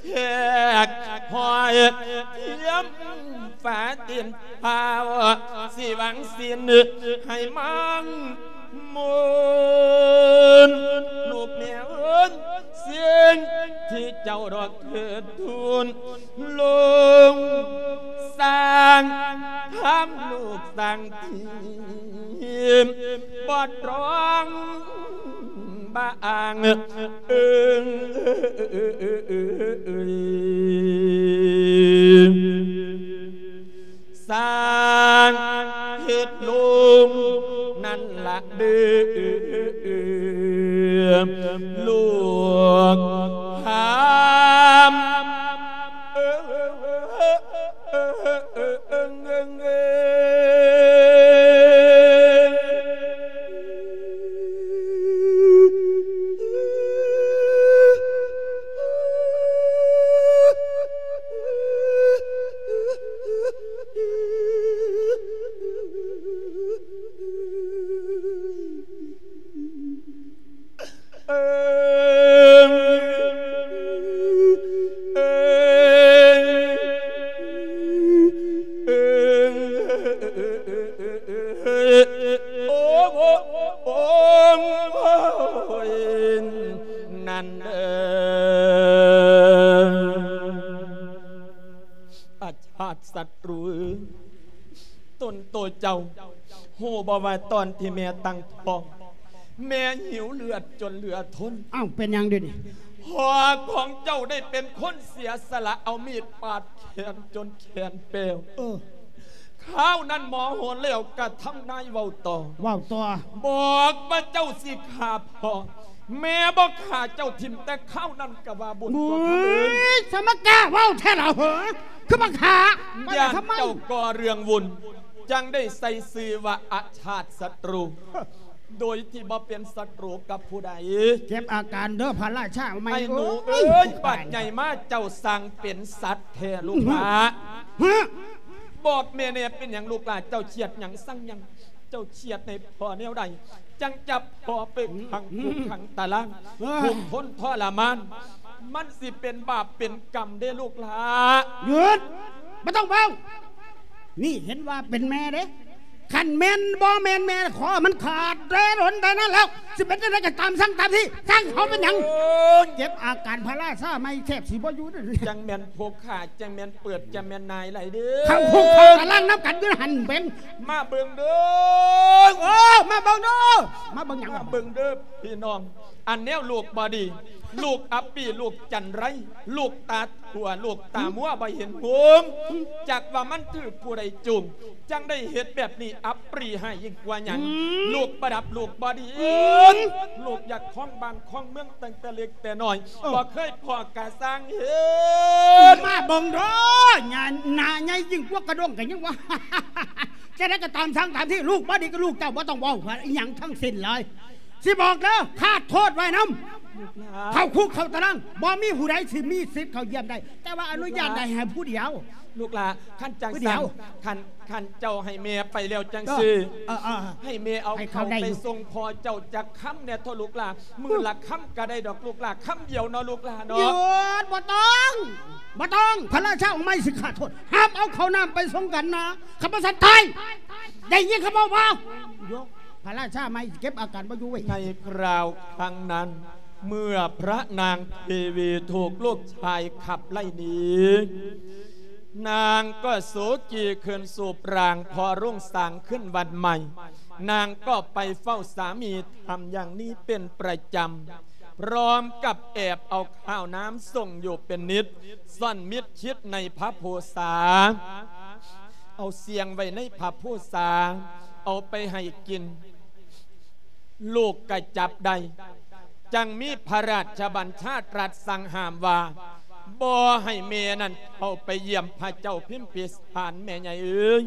ແທກຫ້ອຍທຽມຝາຕີນພາວ ຊິຫວັງສິນໃຫ້ມັນ ມົນ ລູກແມ່ເອີຍ ສິ່ງທີ່ເຈົ້າດອກເທີດທູນ ລົງສ້າງທຳລູກສ້າງທີມ ບໍ່ຕ້ອງບາອ້າງເອີງ ສ້າງເຮັດລົງນັ້ນລະເດີ ລູກຫາມ ນັ້ນເອີ ອາຊາດສັດ ຮູ້ເອີຍ ຕົນໂຕເຈົ້າ ຮູ້ບໍ່ວ່າຕອນທີ່ແມ່ຕັ້ງທ້ອງ ແມ່ຫິວເລືອດຈົນເຫຼືອທົນ? ອ້າວ ເປັນຫຍັງເດນີ້? ພໍ່ຂອງເຈົ້າໄດ້ເປັນຄົນເສຍສະຫຼະເອົາມີດປາດແຂນຈົນແຂນແປວ. ເອີ. ທ້າວນັ້ນໂມໂຫແລ້ວກະທຳນາຍເວົ້າຕໍ່ ເວົ້າຕໍ່ ບອກວ່າເຈົ້າຊິຂ້າພໍ່ ແມ່ບໍ່ຂ້າເຈົ້າຖິ້ມແຕ່ຄາວນັ້ນກະວ່າບຸນຕົວເຂົາເອີຍ ໂອ້ຍ ສະມາກ້າເວົ້າແທ້ລະເຫີ ຄືມາຂ້າ ຢ້ານເຈົ້າກໍ່ເລື່ອງວຸ່ນ ຈັ່ງໄດ້ໃສ່ຊື່ວ່າອາຊາດສັດຕູ ໂດຍທີ່ບໍ່ເປັນສັດຕູກັບຜູ້ໃດ. ເກັບອາການເດີພະລາຊາໃໝ່ ໄອ້ໜູເອີຍ ໂອ້ຍ ບາດໃຫຍ່ມາເຈົ້າຊ່າງເປັນສັດແທ້ລູກຫຼ້າ. ຮະ? ບອກແມ່ແດ່ ເປັນຫຍັງລູກຫຼ້າ ເຈົ້າຄຽດຫຍັງ ຊັງຫຍັງ ເຈົ້າຄຽດໃນພໍ່ແນວໃດ ຈັ່ງຈັບພໍ່ໄປຂັງຄຸກຂັງຕາລາງ ເອີຍ ທຸກທົນທໍລະມານ ມັນຊິເປັນບາບເປັນກຳເດ້ລູກຫຼ້າ. ຢຸດ ບໍ່ຕ້ອງເວົ້າ ນີ້ເຫັນວ່າເປັນແມ່ເດ້ ຄັນແມ່ນບໍ່ແມ່ນແມ່ ຂໍມັນຂາດແຕ່ດົນແຕ່ນັ້ນແລ້ວ ຊິເປັນຈັ່ງໃດກໍຕາມ ສັ່ງຕາມທີ່ ຊ່າງເຂົາເປັນຫຍັງ. ໂອ້ຍ ເກັບອາການພະລາຊາໃໝ່ ແທບຊິບໍ່ຢູ່ເດ້. ຈັ່ງແມ່ນຜູ້ຂ້າ ຈັ່ງແມ່ນເປີດ ຈັ່ງແມ່ນນາຍຫຼາຍເດີ້ ເຂົ້າຄຸກເຂົ້າຕາລາງນຳກັນຢູ່ຫັ້ນເບິ່ງ ມາເບິ່ງເດີ້. ໂອ້ ມາເບິ່ງເດີ້ ມາເບິ່ງຫຍັງ ມາເບິ່ງເດີ້ພີ່ນ້ອງ ອັນແນວລູກບໍ່ດີ ລູກອັບປີ ລູກຈັນໄລ ລູກຕາຖົ່ວ ລູກຕາມົວ ບໍ່ເຫັນຫຸງ ຈັກວ່າມັນຖືກຜູ້ໃດຈູງ ຈັ່ງໄດ້ເຮັດແບບນີ້ ອັບປຣີຮ້າຍຍິ່ງກວ່າຫຍັງ. ອືມ ລູກບໍ່ດັບ ລູກບໍ່ດີ ອືມ ລູກຢາກຄອງບ້ານຄອງເມືອງຕັ້ງແຕ່ເລັກແຕ່ນ້ອຍ ເອີ ບໍ່ເຄີຍພໍ້ກະຊ່າງເຫັນ. ມາເບິ່ງເດີ ໜ້າ ໜ້າໃຫຍ່ຍິ່ງກວ່າກະດ້ວງກະຍັງວ່າ ຈັ່ງໃດກໍຕາມ ຊ່າງຕາມທີ່ ລູກບໍ່ດີກໍລູກເຈົ້າ ບໍ່ຕ້ອງເວົ້າອີຫຍັງທັງສິ້ນເລີຍ. ຊິບອກເດີ ຂາດໂທດໄວ້ນຳ ເຂົ້າຄຸກເຂົ້າຕາລາງ ບໍ່ມີຜູ້ໃດຊິມີສິດເຂົ້າຢ້ຽມໄດ້ ແຕ່ວ່າອະນຸຍາດໄດ້ໃຫ້ຜູ້ດຽວ. ລູກຫຼ້າ ຄັນຈັ່ງຊັ້ນ ຄັນ ຄັນເຈົ້າໃຫ້ແມ່ໄປແລ້ວຈັ່ງຊີ້ ເອີ ເອີ ເອີ ໃຫ້ແມ່ເອົາເຂົ້າໄປສົ່ງພໍ່ເຈົ້າຈັກຄຳແດ່ເຖາະລູກຫຼ້າ ມື້ລະຄຳກະໄດ້ດອກລູກຫຼ້າ ຄຳດຽວເນາະລູກຫຼ້າເນາະ. ຢຸດ ບໍ່ຕ້ອງ ບໍ່ຕ້ອງ ພະລາຊາອົງໃໝ່ຊິຂາດໂທດ ຫ້າມເອົາເຂົ້ານ້ຳໄປສົ່ງກັນນະ ຄັນບໍ່ຊັ້ນຕາຍ ໄດ້ຍິນຄຳເວົ້າບໍ່? ພະລາຊາໃໝ່ເກັບອາການບໍ່ຢູ່ເວີຍ. ໃນຄາວຄັ້ງນັ້ນ ເມື່ອພະນາງເທວີຖືກລູກຊາຍຂັບໄລ່ໜີ ນາງກໍໂສກີຂຶ້ນສູ່ປາງພໍລຸງສາງຂຶ້ນວັດໃໝ່ ນາງກໍໄປເຝົ້າສາມີ ທຳຢ່າງນີ້ເປັນປະຈຳ ພ້ອມກັບແອບເອົາຂ້າວນ້ຳສົ່ງຢູ່ເປັນນິດ ຊ່ອນມິດຄິດໃນພະພູສາ ເອົາສ່ຽງໄວ້ໃນພະພູສາ ເອົາໄປໃຫ້ກິນ ລູກກະຈັບໄດ້ ຈັ່ງມີພະລາຊະບັນຊາຕລັດສັ່ງຫ້າມວ່າ ບໍ່ໃຫ້ແມ່ນັ້ນເຂົ້າໄປຢ້ຽມພະເຈົ້າພິມພິສານ ແມ່ໃຫຍ່ເອີຍ.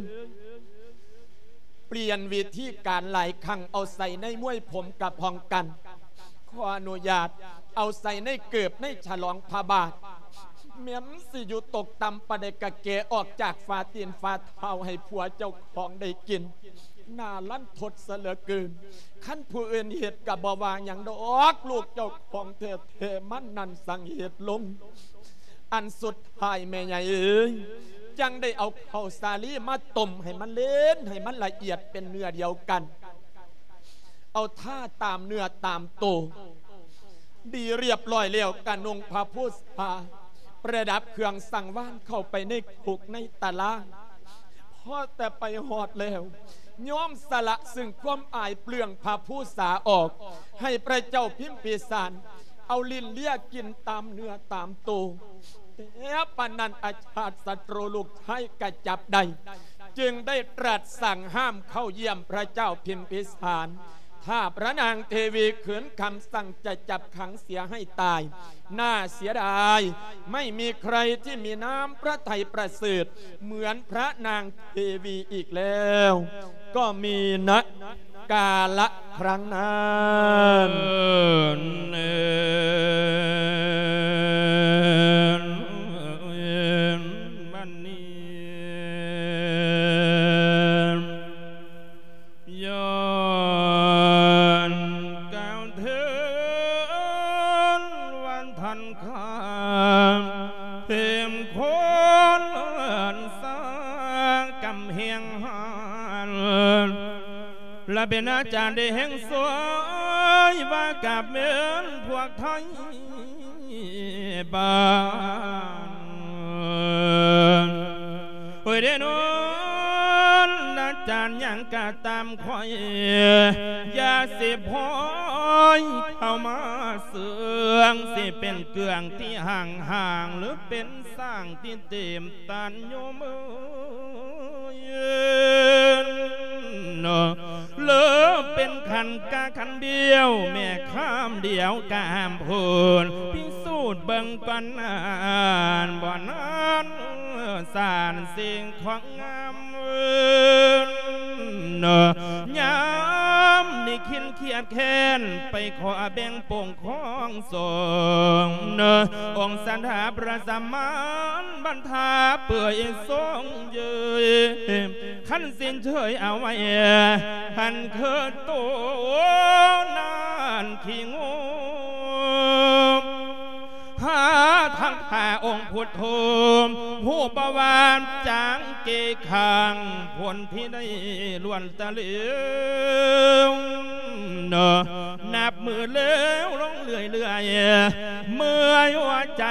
ປ່ຽນວິທີການຫຼາຍຄັ້ງ ເອົາໃສ່ໃນມວຍຜົມກະພ້ອງກັນ ຂໍອະນຸຍາດ ເອົາໃສ່ໃນເກີບໃນສະຫຼອງພະບາດ ແມ່ນຊິຢູ່ຕົກຕ່ຳປານໃດກະແກະອອກຈາກຝາຕີນຝາເທົ້າໃຫ້ຜົວເຈົ້າຂອງໄດ້ກິນ ໜ້າລັນທົດຊະເຫຼືອເກີນ ຄັນຜູ້ອື່ນເຮັດກະບໍ່ວ່າຫຍັງດອກ ລູກເຈົ້າຂອງແທ້ໆ ມັນນັ້ນສັ່ງເຮັດລົງ ອັນສຸດທ້າຍແມ່ໃຫຍ່ເອີຍ ຈັ່ງໄດ້ເອົາເຂົ້າສາລີມາຕົ້ມໃຫ້ມັນເລນ ໃຫ້ມັນລະອຽດເປັນເນື້ອດຽວກັນ ເອົາທາຕາມເນື້ອຕາມໂຕ ດີລຽບລ້ອຍແລ້ວ ກະນຸ່ງພະພູສາ ປະດັບເຄື່ອງສັງວານເຂົ້າໄປໃນຄຸກໃນຕາລາງ ພໍແຕ່ໄປຮອດແລ້ວ ຍອມສະລະຊຶ່ງຄວາມອາຍເປືອງພະພູສາອອກ ໃຫ້ພະເຈົ້າພິມພິສານ ເອົາລິ້ນເລຍກິນຕາມເນື້ອຕາມໂຕ ແຕ່ປານນັ້ນອາຊາດສັດຕູລູກຊາຍກະຈັບໄດ້ ຈຶ່ງໄດ້ຕລັດສັ່ງຫ້າມເຂົ້າຢ້ຽມພະເຈົ້າພິມພິສານ ຖ້າພະນາງເທວີຂືນຄຳສັ່ງຈະຈັບຂັງເສຍໃຫ້ຕາຍ ໜ້າເສຍດາຍ ໄມ່ມີໃຄທີ່ມີນ້ຳພະໄທປະເສີດເໝືອນພະນາງເທວີອີກແລ້ວ ກໍມີນະກາລະຄັ້ງນັ້ນ. ບັດນີ້ ຍ້ອນກ່າວເຖິງວັນທັນຄາ ເພມຄົນເອີ້ນສາກຳແຮງຫັນ ລະເປັນອາຈານໄດ້ແຮງຊ່ວຍວ່າກັບເມີນພວກໄທ ບ້ານ ໂອ້ຍ ເດນອນ ອາຈານຫຍັງກະຕາມຂ້ອຍ ຢ່າຊິພອຍເຂົ້າມາເຊື່ອງ ຊິເປັນເກືອງທີ່ຫ່າງໆ ຫຼືເປັນສ້າງທີ່ເຕັມຕັນໂຍມເອີຍ. ກະຂັນດຽວ ແມ່ຄຳດຽວກະຫ້າມໂພນ ພິສູດເບິ່ງກ່ອນນັ້ນ ບໍ່ນັ້ນສານສິ່ງຂອງງາມ ຍາມນີ້ຄິນຄຽດແຄ້ນ ໄປຂໍແບ່ງປົງຄອງສົງ ອົງສັນດາພະສະມານບັນທາເປື່ອຍຊົງເຍີຍ ຄັນສິ້ນເຊີຍເອົາໄວ້ ຫັ້ນຄືໂຕນານຂີ້ງູ ຫາທາງພະອົງພຸດໂທ ຮູ້ບໍ່ວ່າຈາງເກຂັງ ຜົນທີ່ໄດ້ລ້ວນຕະເລວ ນັບມື້ເລວລົງເລື້ອຍໆ ເມື່ອຍຫົວໃຈ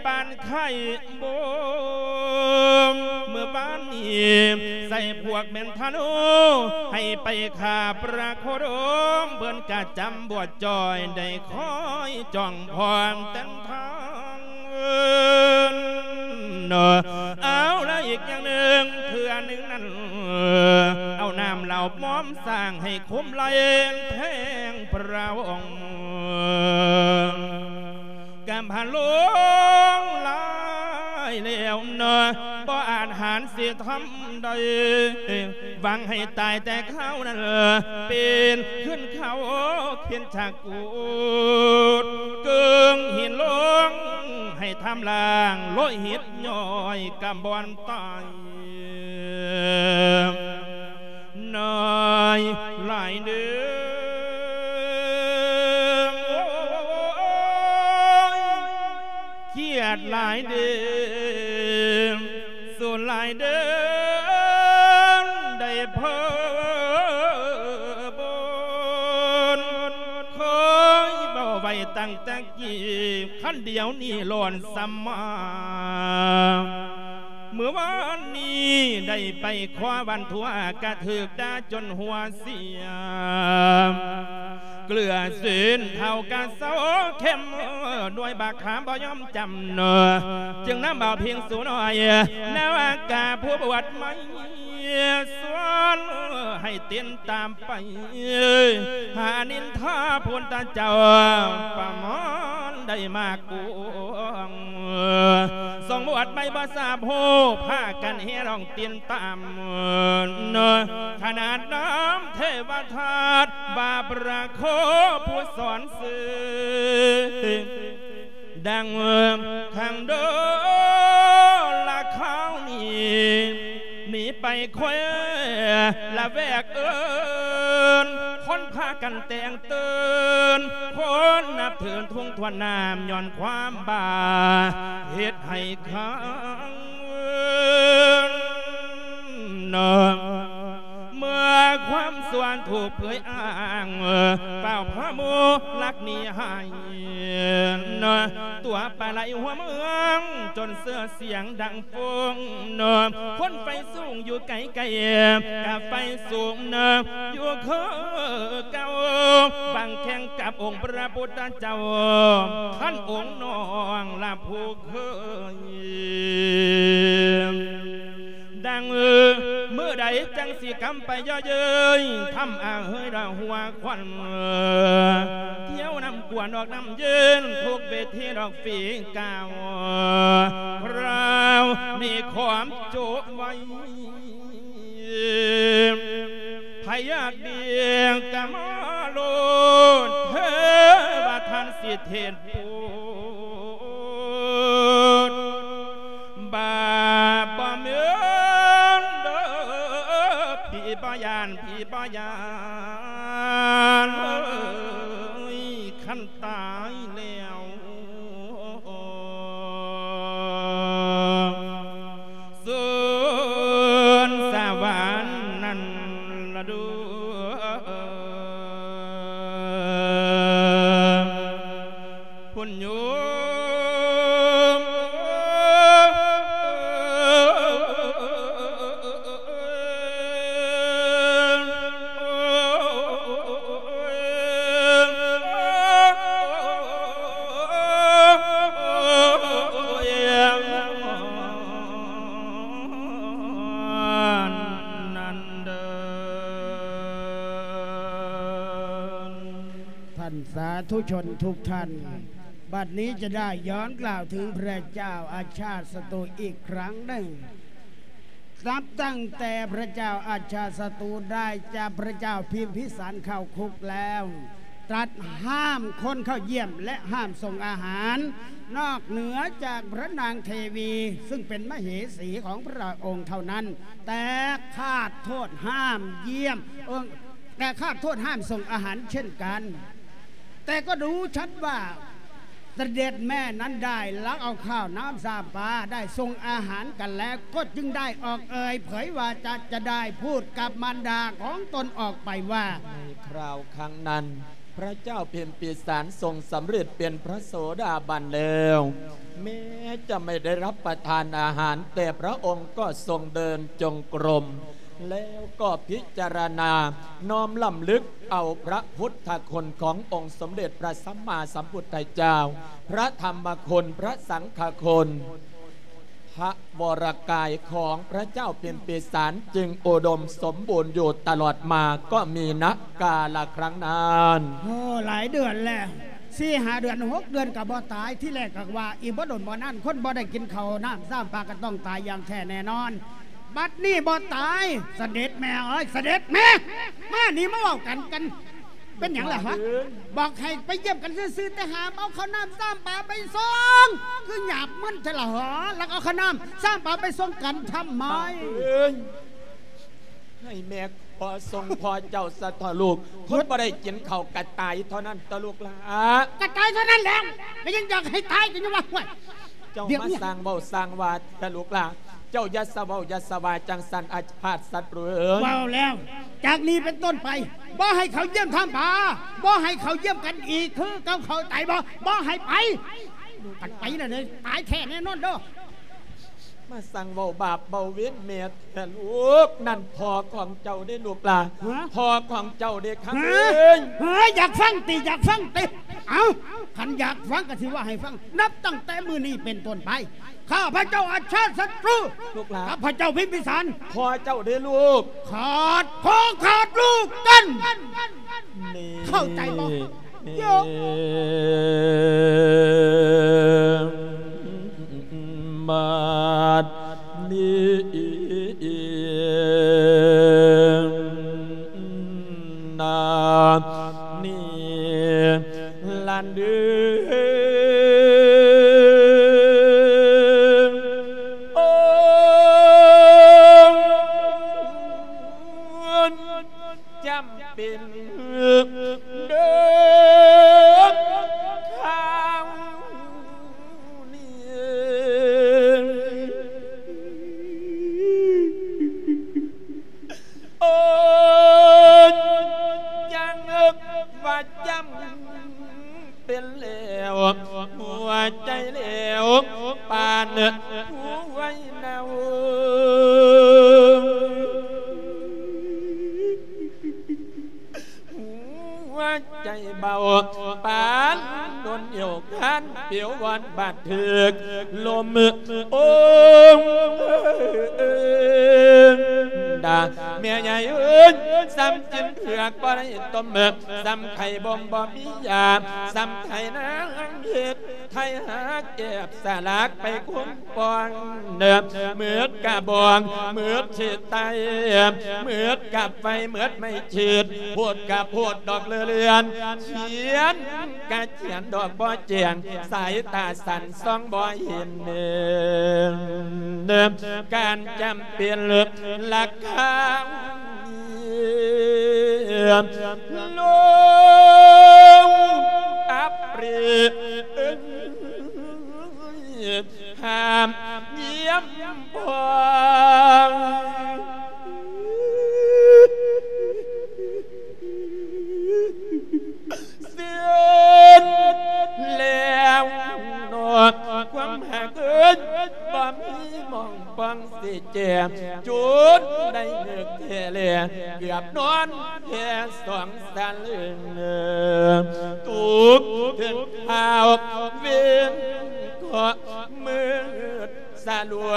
ປານໄຂ້ ໂບມ ເມື່ອວານນີ້ໃສ່ພວກແມ່ນທະນູ ໃຫ້ໄປຂ້າພະໂຄດົມ ເພິ່ນກະຈຳບວດຈ່ອຍ ໄດ້ຄອຍຈ້ອງພ້ອມແຕ່ນທາງ ເອົາລະອີກຢ່າງໜຶ່ງ ເທື່ອໜຶ່ງນັ້ນ ເອົານ້ຳເຫຼົ້າມອມສ້າງໃຫ້ຄຸ້ມໄຫຼແທງພະອົງ ກຳພັນຫຼົງຫຼາຍແລ້ວເນາະ ບໍ່ອາດຫານຊິທຳໄດ້ ຫວັງໃຫ້ຕາຍແຕ່ຄາວນັ້ນ ເປັນຂຶ້ນເຂົາເຂັນຈາກກູດ ເກິ່ງຫີນລົງໃຫ້ທຳລາງ ໂລຫິດຍ້ອຍກຳບ່ອນຕາຍ ນ້ອຍຫຼາຍເດີ ໂອ້ຍ ຄຽດຫຼາຍເດີ ສູນຫຼາຍເດີ ໄດ້ເພີບົນ ເຄີຍເວົ້າໄວ້ຕັ້ງແຕ່ກີ້ ຄັນດຽວນີ້ຫຼອນສຳມາ ມື້ວານນີ້ໄດ້ໄປຂໍວັນທົ່ວ ກະຖືກດ່າຈົນຫົວເສຍ ເກືອເສັ້ນເທົ່າກະເຊົາເຂັມ ໜ່ວຍບາກຂາບໍ່ຍອມຈຳ ຈຶ່ງນຳເອົາເພງສູນ້ອຍ ນາວາກາຜູ້ບວດໃໝ່ ຊວນໃຫ້ຕິດຕາມ ໄປຫານິນທາພຸດທະເຈົ້າ ປະມານໄດ້ມາກວງ ສອງບວດໃໝ່ບໍ່ຊາບຮູ້ ພາກັນແຫ່ຮ້ອງຕິນຕາມ ຂະໜາດນຳເທວະທາດ ບາບຣະໂຄຜູ້ສອນຊື່ ດັ່ງຂັງໂດລະຄາວນີ້ ໜີໄປແຄວລະແວກເອີນ ຄົນພາກັນແຕ່ງຕື່ນ ຄົນນັບຖືທຸ່ງທວນນ້ຳ ຍ້ອນຄວາມບ້າເຮັດໃຫ້ຄັງ ເມື່ອຄວາມຊົ່ວຖືກເຜີຍອ້າງ ຟ້າວພາໝູ່ລັກໜີຫາຍ ຕົວປາໄຫຼຫົວເມືອງ ຈົນເຊື່ອສຽງດັງຟົງ ຄົນໄຟສູງຢູ່ໄກໆ ກະໄຟສູງຢູ່ຄືເກົ່າ ບັງແຂ່ງກັບອົງພະພຸດທະເຈົ້າ ຄັນອົງນ້ອງລະຜູ້ເຄີຍ ດັ່ງມື້ໃດຈັ່ງຊິກຳໄປເຍາະເຍີ້ຍ ທຳອາເຮີຍດອກຫົວຄວັນ ທ່ຽວນຳກວນອອກນ້ຳເຢັນ ທຸກເວທີດອກຝີກ້າວ ຄາວນີ້ຂອມໂຈະໄວ້ ໃຜຢາກດີກະມາໂລດ ເທວະທ່ານສິເທດໂປດ ບາບບໍ່ແມ່ນເດີ ຜີບໍ່ຢ້ານ ຜີບໍ່ຢ້ານ ຄັນຕາຍແລ້ວ ສວນສະຫວັນນັ້ນລະດູ ພຸ້ນໂຍມ สาธุชนทุกท่าน บัดนี้จะได้ย้อนกล่าวถึงพระเจ้าอาชาติศัตรูอีกครั้งหนึ่ง นับตั้งแต่พระเจ้าอาชาติศัตรูได้จับพระเจ้าพิมพิสารเข้าคุกแล้ว ตรัสห้ามคนเข้าเยี่ยมและห้ามส่งอาหาร นอกเหนือจากพระนางเทวีซึ่งเป็นมเหสีของพระองค์เท่านั้น แต่ขาดโทษห้ามเยี่ยม เอ่อ แต่ขาดโทษห้ามส่งอาหารเช่นกัน แต่ก็รู้ชัดว่าเสด็จแม่นั้นได้ลักเอาข้าวน้ำสามปา ได้ส่งอาหารกันแล้ว ก็จึงได้ออกเอ่ยเผยวาจาจะได้พูดกับมารดาของตนออกไปว่า ในคราวครั้งนั้น พระเจ้าพิมพิสารทรงสำเร็จเป็นพระโสดาบันแล้ว แม้จะไม่ได้รับประทานอาหาร แต่พระองค์ก็ทรงเดินจงกรม แล้วก็พิจารณาน้อมรำลึกเอาพระพุทธคุณขององค์สมเด็จพระสัมมาสัมพุทธเจ้า พระธรรมคุณ พระสังฆคุณ พระวรกายของพระเจ้าพิมพิสารจึงอุดมสมบูรณ์อยู่ตลอดมา ก็มี ณ กาลครั้งนั้น โอ้ หลายเดือนแล้ว สี่ห้าเดือน หกเดือนก็บ่ตาย ทีแรกก็ว่าอีกบ่โดนบ่นาน คนบ่ได้กินข้าวน้ำสามปาก็ต้องตายอย่างแท้แน่นอน บัดนี้บ่ตาย เสด็จแม่เอ้ย เสด็จแม่ มานี่มาเว้ากัน กัน เป็นหยังล่ะฮะ บอกให้ไปเยี่ยมกันซื่อๆ แต่ห้ามเอาข้าวน้ำสามปาไปส่ง คือหยาบมึนแท้ล่ะหอ แล้วเอาข้าวน้ำสามปาไปส่งกันทำไม เอ้ย ให้แม่ขอส่งพ่อเจ้าซะเถาะลูก คนบ่ได้กินข้าวกะตายเท่านั้นเถาะลูกหลา กะตายเท่านั้นแหละ ก็ยังอยากให้ตายก็ยังว่า ห้วย เจ้า เดี๋ยว มาสร้างเว้าสร้างว่าเถาะลูกหลา เจ้าอย่าสะเว้าอย่าสะว่าจั่งซั้น อาชาติศัตรูเอ๋ย เว้าแล้ว จากนี้เป็นต้นไป บ่ให้เขาเยี่ยมทำปา บ่ให้เขาเยี่ยมกันอีก คือเก่า เข้าใจบ่ บ่ให้ไป คันไปแล้วเนี่ย ตายแท้แน่นอนเด้อ มาสร้างเว้าบาปเว้าเวรแม่แท้ลูก นั่นพ่อของเจ้าเด้ลูกหลา ฮะ พ่อของเจ้าเด้ คำ ฮะ เอ้ย เฮ้ย อยากฟังติ อยากฟังติ เอ้า คันอยากฟังก็สิว่าให้ฟัง นับตั้งแต่มื้อนี้เป็นต้นไป ข้าพเจ้าอาชาติศัตรู ลูกหลาน ข้าพเจ้าพิมพิสาร พ่อเจ้าเด้อลูก ขาดพ่อขาดลูกกัน นี่ เข้าใจบ่ นี่ โยม บัดนี้ นานี้ หลานเด้อ โอ้ จำเป็นเด้อคราวนี้ โอ้ย ยังว่าจำเป็นแล้ว หัวใจแล้ว ปานหัวเน่า หัวใจเบา ปานโดนเหี่ยว คันปิววอนบาดถืกลม โอ้ ดา แม่ใหญ่เอ้ย ซ้ำกินเผือกบ่ได้ต้ม ซ้ำไข่บ่มบ่มียา ซ้ำไถนาเฮ็ดไถหาแกบสลากไปคุ้มปอง เนิบ มืดกะบอง มืดสิไต มืดกะไฟ มืดไม่ฉีด โพดกะโพดดอกเลือเลือน เขียนกะเขียนดอกบ่แจ้ง สายตาสั้นส่องบ่เห็น เนิบ การจำเป็นราคา ลงอับปรี ห้ามเยี่ยมพอง สิ้นแล้วเนาะ ความหักเอิ้นบ่มีหม่องปองสิแจ่ม จุดได้นึกแท้แล เกือบนอนแค่สองสลึง ตกถึงคาวเวรเคราะห์มืดสลัว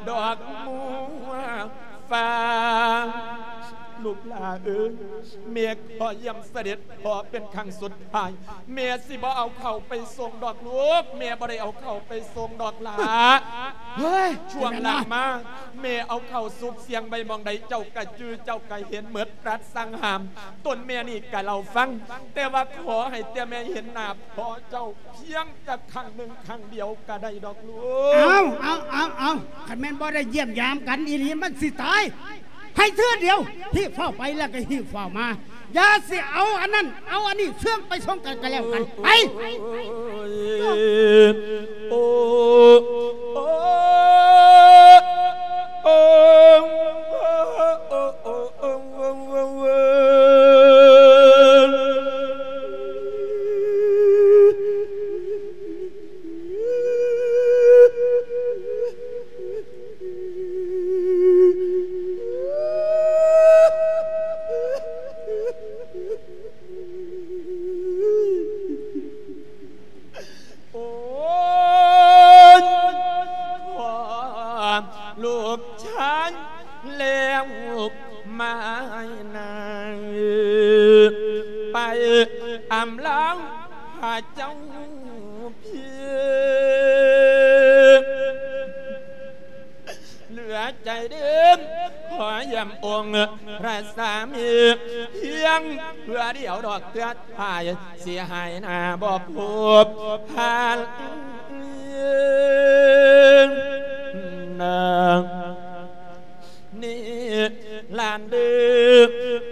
ดอกบัวฟ้า ຫຼ້າເອີຍ ແມ່ຂໍຢ້ຽມສະເດັດພໍ່ເປັນຄັ້ງສຸດທ້າຍ ແມ່ຊິບໍ່ເອົາເຂົ້າໄປສົ່ງດອກລູກ ແມ່ບໍ່ໄດ້ເອົາເຂົ້າໄປສົ່ງດອກຫຼ້າ. ເຮີ້ຍ ຊ່ວງຫຼັງມາ ແມ່ເອົາເຂົ້າສຸກສ່ຽງໄວ້ໝ່ອງໃດ ເຈົ້າກະຈື່ ເຈົ້າກະເຫັນໝົດ ຕັດສັ່ງຫ້າມ ຕົນແມ່ນີ້ກະເລົ່າຟັງ ແຕ່ວ່າຂໍໃຫ້ແຕ່ແມ່ເຫັນໜ້າພໍ່ເຈົ້າພຽງຈັກຄັ້ງໜຶ່ງຄັ້ງດຽວກະໄດ້ດອກລູກ. ເອົາ ເອົາ ເອົາ ເອົາ ຄັນແມ່ນບໍ່ໄດ້ຢ້ຽມຢາມກັນອີ່ຫຼີ ມັນຊິຕາຍ ໃຫ້ເທື່ອດຽວ ຮີບຟ້າວໄປແລ້ວກໍຮີບຟ້າວມາ ຢ່າຊິເອົາອັນນັ້ນເອົາອັນນີ້ ເຊື່ອງໄປສົ່ງກັນກໍແລ້ວກັນ ໄປ. ໂອ້ ໂອ້ ໂອ້ ໂອ້ ໂອ້ ໂອ້ ໂອ້ ໂອ້ ໂອ້ ໂອ້ຍ ພໍ່ລູກຊາຍແລ້ວມານາ ໄປອຳລາພະເຈົ້າເພິ່ນ ເຫຼືອໃຈເດີມ ຂໍຢ້ຽມອົງພະສາມີ ພຽງເທື່ອດຽວດອກເທື່ອທ້າຍ ຊິຫາຍໜ້າບໍ່ພົບພັນນາ ນີ້ຫຼານເດີ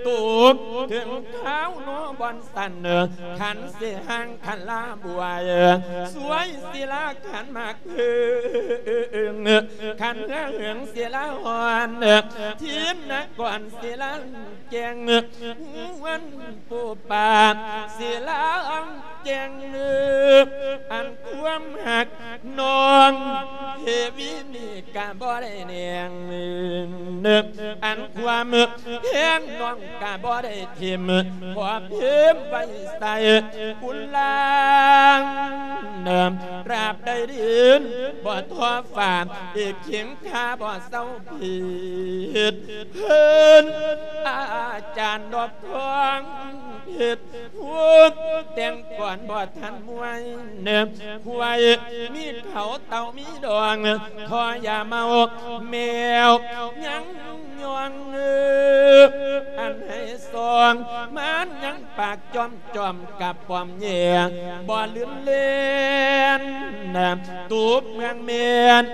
ຕົກເຖິງຄາວເນາະບ່ອນ ສັນ ຄັນຊິຫ່າງຄັນລາບວຍ ສວຍສິລາຄັນໝາກເພິ່ງ ຄັນເຫືອເຫືອງສິລາຮ້ອນ ທິນນະກອນສິລາແຈ້ງ ຫວນປູປາສິລາແຈ້ງ ອັນຄວາມຮັກ ນ້ອງເທວີນີ້ກະບໍ່ໄດ້ແໜງ ອັນຄວາມແພງນ້ອງກະບໍ່ໄດ້ຖິ້ມ ຂໍພິມໄວ້ໃສ່ອຸລາງ ຕາບໃດດິນບໍ່ທໍ້ຟ້າ ອີກຄິງຂ້າບໍ່ເຊົາຜິດ ເພິ່ນອາຈານດອກທອງເພັດ ຜູ້ແຕ່ງກ່ອນບໍ່ທັນມວຍ ຄວາຍມີເຂົາເຕົ່າມີດອງ ທໍ່ຢາເມົາແມວຍັງຍ່ອງ ອັນໃຫ້ສອງມານຍັງປາກຈ້ອມ ຈອມກັບປ້ອມແຍ່ ບໍ່ລືນເລນ ຕູບເມືອງແມ່ນ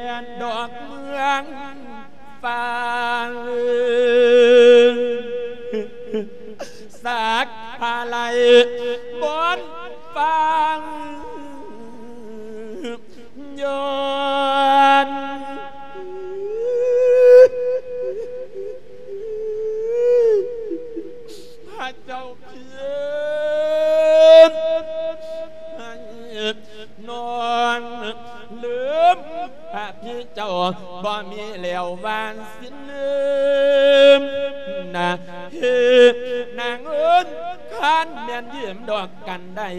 ດອກເມືອງ ຟາງ ສາກພາໄລບ່ອນຟາງ ຍ້ອນພະເຈົ້າ ເພິ່ນໃຫ້ນ້ອງລືມພະພີ່ເຈົ້າ ບໍ່ມີແລ້ວວານສິນລືມນະ ເຮີ ນາງເອີຍ ຄັນແມ່ນຢືມດອກກັນໄດ້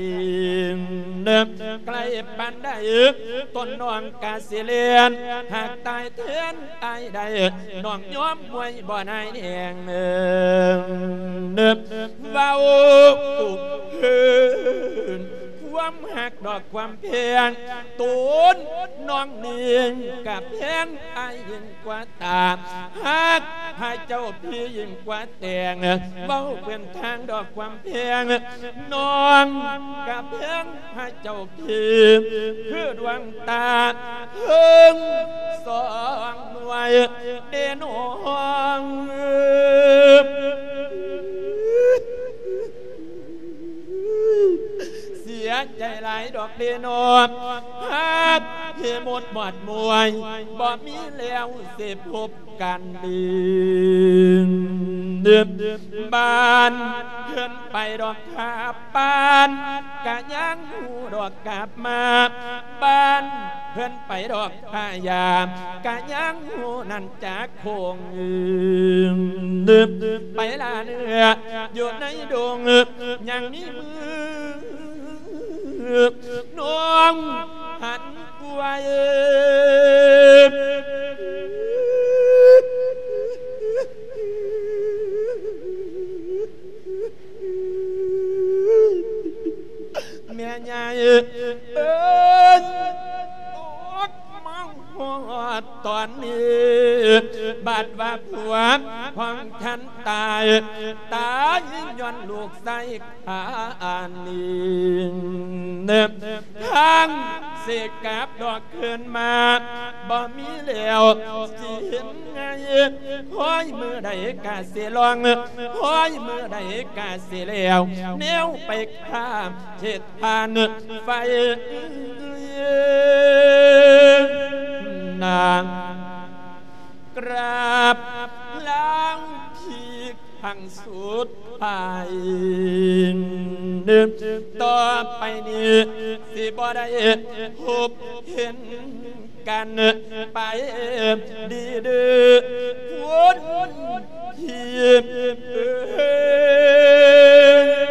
ໃກ້ປານໃດ ຕົນນ້ອງກະຊິແລ່ນ ຫາກຕາຍແທນ ອ້າຍໄດ້ ນ້ອງຍອມມວຍບໍ່ນາຍແນງ ເວົ້າເຖິງຄວາມຮັກດອກຄວາມແພງ ໂຕນນ້ອງນີ້ກະແພງອ້າຍຍິ່ງກວ່າຕາ ຮັກພະເຈົ້າພີ່ຍິ່ງກວ່າແຕ່ງ ເວົ້າເປັນທາງດອກຄວາມແພງ ນ້ອງກະແພງພະເຈົ້າ ພີ່ ຄືດວງຕາເທິງສອງໜ່ວຍເດນ້ອງ ເສຍໃຈຫຼາຍດອກເດນ້ອງ ຮັກເຮໝົດໝອດມວຍ ບໍ່ມີແລ້ວຊິພົບ ກັນດີ ບ້ານເພິ່ນໄປດອກຂາບປານ ກະຍັງຮູ້ດອກກັບມາ ບ້ານເພິ່ນໄປດອກຂາຍາ ກະຍັງຮູ້ນັ້ນຈາກໂຄງ ໄປລ່າເນື້ອຢູ່ໃນດົງ ຍັງມີມື ນ້ອງຫັນກວ່າເອີ ເອີ້ນ ໂອດມາຮອດຕອນນີ້ ບັດວ່າຜົວຂອງທ່ານຕາຍ ຕາຍຍ້ອນລູກຊາຍຂ້ານີ້ ທາງຊິກັບດອກຄືນມາ ບໍ່ມີແລ້ວຊິເຫັນໄງ ຮ້ອຍມື້ໃດກະຊິລ່ອງ ຮ້ອຍມື້ໃດກະຊິແລ້ວ ແນວໄປຂ້າເຂດ ຜ່ານໄຟນາງ ກາບລາພີ່ຄັ້ງສຸດທ້າຍ ຕໍ່ໄປນີ້ຊິບໍ່ໄດ້ພົບເຫັນ ກັນໄປດີເດີ ຄົນທີ່ເອີຍ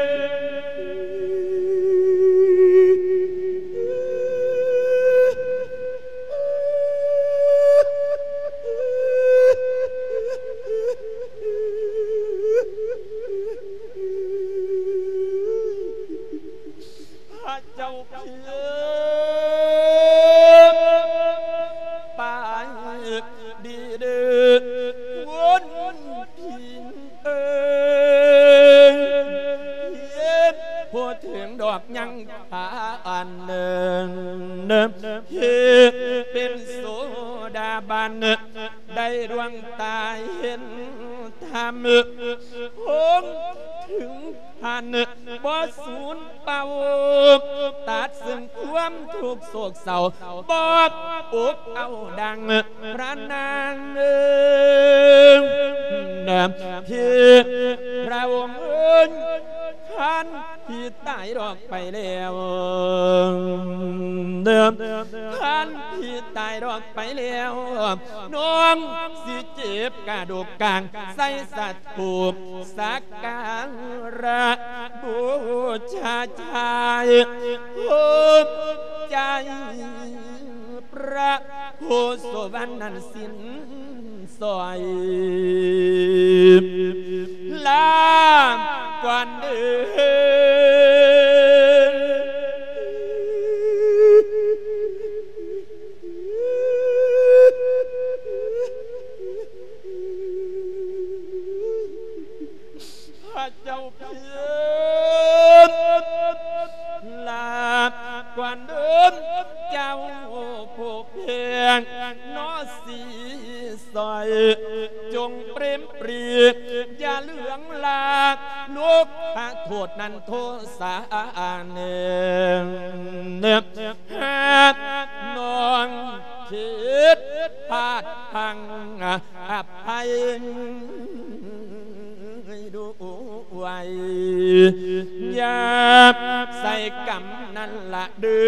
ພະເຈົ້າ ໄປດີເດີ ຄົນທີ່ເອີຍ ເຮັດບໍ່ເຖິງດອກຍັງຂາອັນໜຶ່ງ ເຮັດເປັນໂສດາບັນ ໄດ້ດວງຕາເຫັນທຳ ຄົງເຖິງ ຫັ້ນບໍ່ສູນເປົ່າ ຕັດເຊິ່ງຄວາມທຸກໂສກເສົ້າ ບໍ່ອົບເອົາດັ່ງພະນາງເອີຍ ທີ່ພະອົງເອີຍ ທ່ານທີ່ຕາຍດອກໄປແລ້ວ ທ່ານທີ່ຕາຍດອກໄປແລ້ວ ນ້ອງຊິເຈັບກະດູກກາງ ໃສ່ສະ ພູມສັກກາລະບູຊາ ໃຈພູມໃຈພະໂພສະຫວນນັ້ນສິ້ນສອຍ ລາກ່ອນເດີ. ພະເຈົ້າພຽງ ລາກ່ອນເດີເຈົ້າຜູ້ແພງ ເນາະສີສອຍ ຈົ່ງເປຣມປຣີ ຢ່າເຫຼືອງລາ ໂລກະໂທດນັ້ນໂທສາແນ່ ຫາກນ້ອງຜິດພາດພັງ ອະໄພດ້ວຍ ຢ່າໃສ່ກຳນັ້ນລະເດີ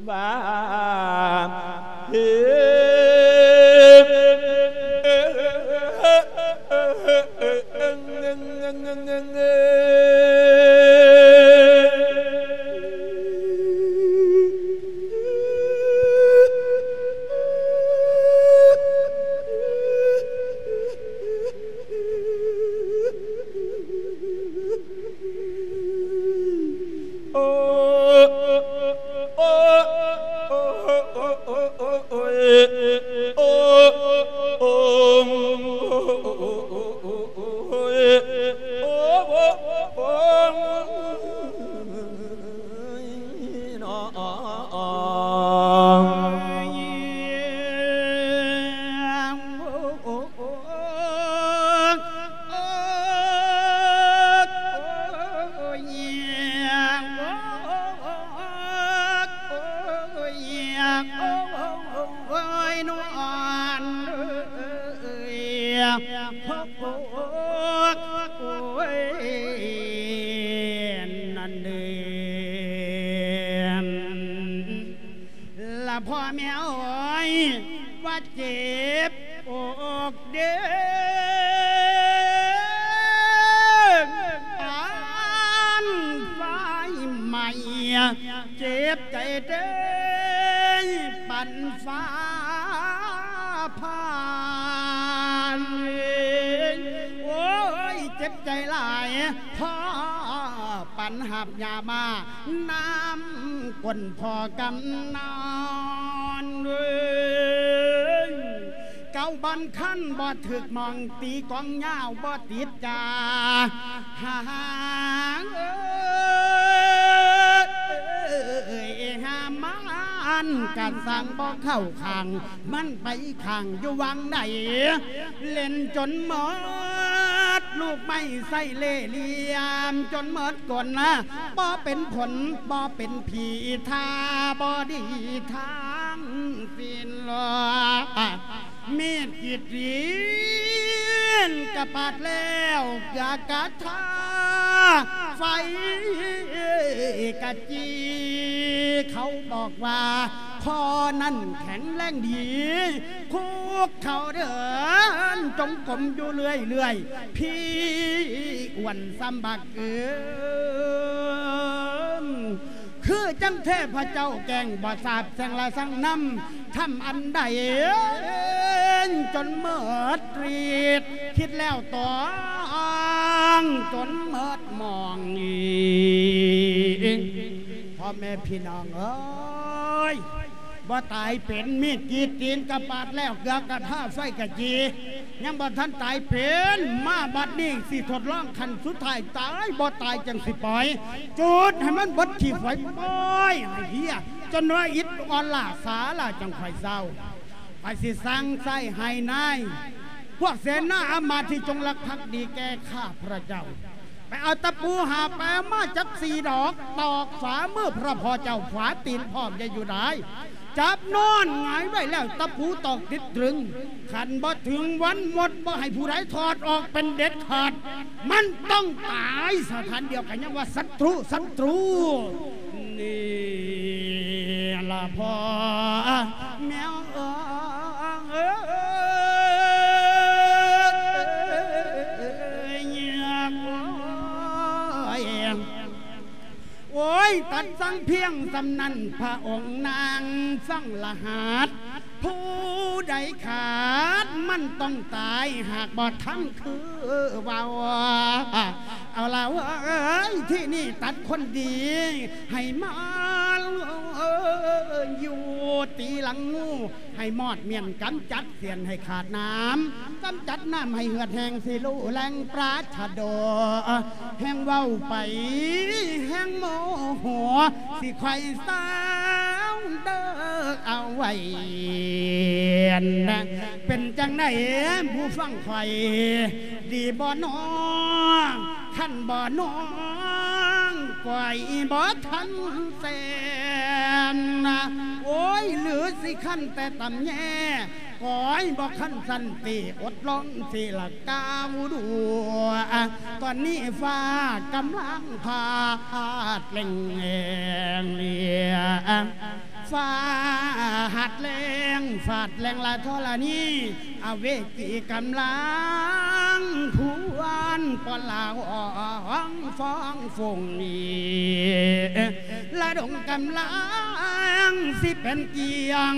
ວ່າເຮັດ ລະພໍ່ແມ່ເອີຍ ວ່າເຈັບ ເດີ ປານໄຟໄໝ້ ເຈັບໃຈເດີ ປານຟ້າຜ່າ ໂອ້ຍ ເຈັບໃຈຫຼາຍ ພໍ່ ນຫາບຢາບ້ານຳກົ້ນພໍ່ກຳນອນເອີຍ. ເກົ້າບ່ອນຄັນບໍ່ຖືກໝ່ອງ ຕີກອງຍາວບໍ່ຕິດຈາ ຫາເອີຍ ຫາມານການສ້າງບໍ່ເຂົ້າຂ້າງ ມັນໄປຂ້າງຢູ່ຫວ່າງໃດ ຫຼິ້ນຈົນໝົດລູກໄມ້ໃສ່ເລ່ຫຼ່ຽມ ຈົນໝົດກົນນະ ບໍ່ເປັນຜົນ ບໍ່ເປັນຜີ ທ່າບໍ່ດີທັງສິ້ນ. ມີດກີດຕີນກະປາດແລ້ວ ເກືອກະທາໄຟກະຈີ ເຂົາບອກວ່າ ພໍ່ນັ້ນແຂງແຮງດີ ຄຸກເຂົ່າເດີນຈົງກົມຢູ່ເລື້ອຍໆ ພີ່ອ້ວນສ່ຳບັກເອີນ ຄືຈັ່ງເທບພະເຈົ້າແກງ ບໍ່ຊາບແສງລະສັງນຳ ທຳອັນໃດ ຈົນໝົດຣິດ ຄິດແລ້ວຕ້ອງ ຈົນໝົດໝອງອີກ. ພໍ່ແມ່ພີ່ນ້ອງເອີຍ ບໍ່ຕາຍເປັນ ມີດກີດຕີນກະປາດແລ້ວ ເກືອກະທາໄຟກະຈີ ຍັງບໍ່ທັນຕາຍເປັນ ມາບັດນີ້ຊິທົດລອງຂັ້ນສຸດທ້າຍ ຕາຍບໍ່ຕາຍຈັ່ງຊິປ່ອຍ ຈູດໃຫ້ມັນເບິດຂີ້ໄຟ ປ່ອຍໃຫ້ເຫຍ ຈົນວ່າອິດອ່ອນລ້າສາລາຈັ່ງຄ່ອຍເຊົາ. ຂ້ອຍຊິສັ່ງໃຊ້ໃຫ້ນາຍ ພວກເສນາອາມາດທີ່ຈົງລັກພັກດີແກ່ຂ້າພະເຈົ້າ ໄປເອົາຕະປູຫາບ ໄປເອົາມາຈັກສີ່ດອກ ຕອກຝາມືພະພໍ່ເຈົ້າ ຝາຕີນພ້ອມ ຢ່າຢູ່ດາຍ ຈັບນອນຫງາຍໄວ້ແລ້ວ ຕະປູຕອກຕິດຕຶງ ຄັນບໍ່ເຖິງວັນໝົດ ບໍ່ໃຫ້ຜູ້ໃດຖອດອອກເປັນເດັດຂາດ ມັນຕ້ອງຕາຍສະຖານດຽວກັນ ຍັງວ່າສັດຕຣູ ສັດຕຣູ ນີ້ລະພໍ່ແມວເອີຍ ໂອ້ຍ ໂອ້ຍ ຕັດສັ່ງພຽງສ່ຳນັ້ນ ພະອົງນາງສັ່ງລະຫັດ ຜູ້ໃດຂາດມັນຕ້ອງຕາຍ ຫາກບໍ່ທຳຄືເວົ້າ ເອົາລະເອີຍ ທີນີ້ຕັດຄົນດີໃຫ້ມາຢູ່ ຕີຫຼັງງູໃຫ້ມອດມ້ຽນ ກຳຈັດສຽນໃຫ້ຂາດນ້ຳ ກຳຈັດນ້ຳໃຫ້ເຫືອດແຫ້ງ ຊິຮູ້ແຫຼ່ງປາຊະໂດ ແຮ່ງເວົ້າໄປແຮ່ງໂມໂຫ ຊິຄ່ອຍເຊົາເດີ ເອົາໄວ້ ເປັນຈັ່ງໃດຜູ້ຟັງຂ້ອຍ ດີບໍ່ນໍ ຄັນບໍ່ນໍ ກ້ອຍບໍ່ທັນແຊນ ໂອ້ຍ ຫຼືຊິຄັນແຕ່ຕຳແຍ ກ້ອຍບໍ່ຄັນສັນຕິ ອົດລົງຊິລະກ້າວດູ ຕອນນີ້ຟ້າກຳລັງພາດແລງ ຟ້າຫາດແລ້ງ ຟາດແລ້ງລະທໍລະນີ ອະເວຈີກຳລັງພວນ ປ້ອນລາວອອງຟອງຟົງນີ້ ລະດົງກຳລັງຊິເປັນກຽງ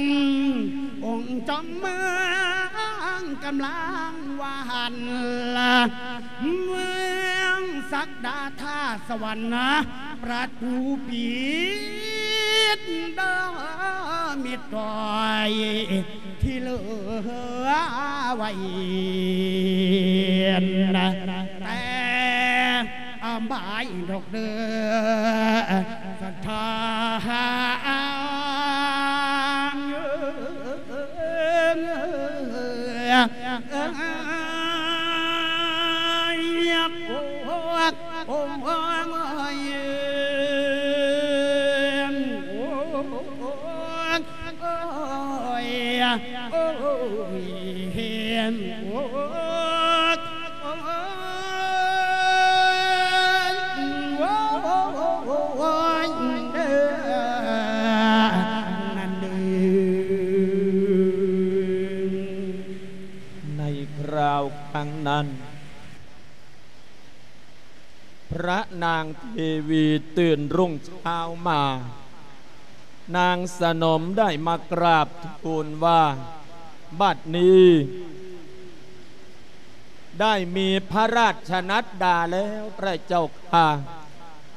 ອົງຈອມເມືອງກຳລັງຫວັ່ນ ເມືອງສັກດາທ່າສະຫວັນນະ ປະຕູປິດເດີ ມິດຕອຍທີ່ເຫຼືອໄວ້ ແຕ່ອາບາຍດອກເດີ ສັດທາ ໂອ້ຍ ໂອ້ຍ ໂອ້ຍ ໂອ້ຍ ໂອ້ຍ ເຫັນ ໂອ້ຍ ໂອ້ຍ ໂອ້ຍ ເດີ ນັ້ນເດີ. ໃນຄາວຄັ້ງນັ້ນ ພະນາງເທວີຕື່ນຮຸ່ງເຊົ້າມາ, ນາງສະໜົມໄດ້ມາກາບທູນວ່າ, ບັດນີ້ໄດ້ມີພະລາຊະນັດດາແລ້ວ ພະເຈົ້າຂ້າ.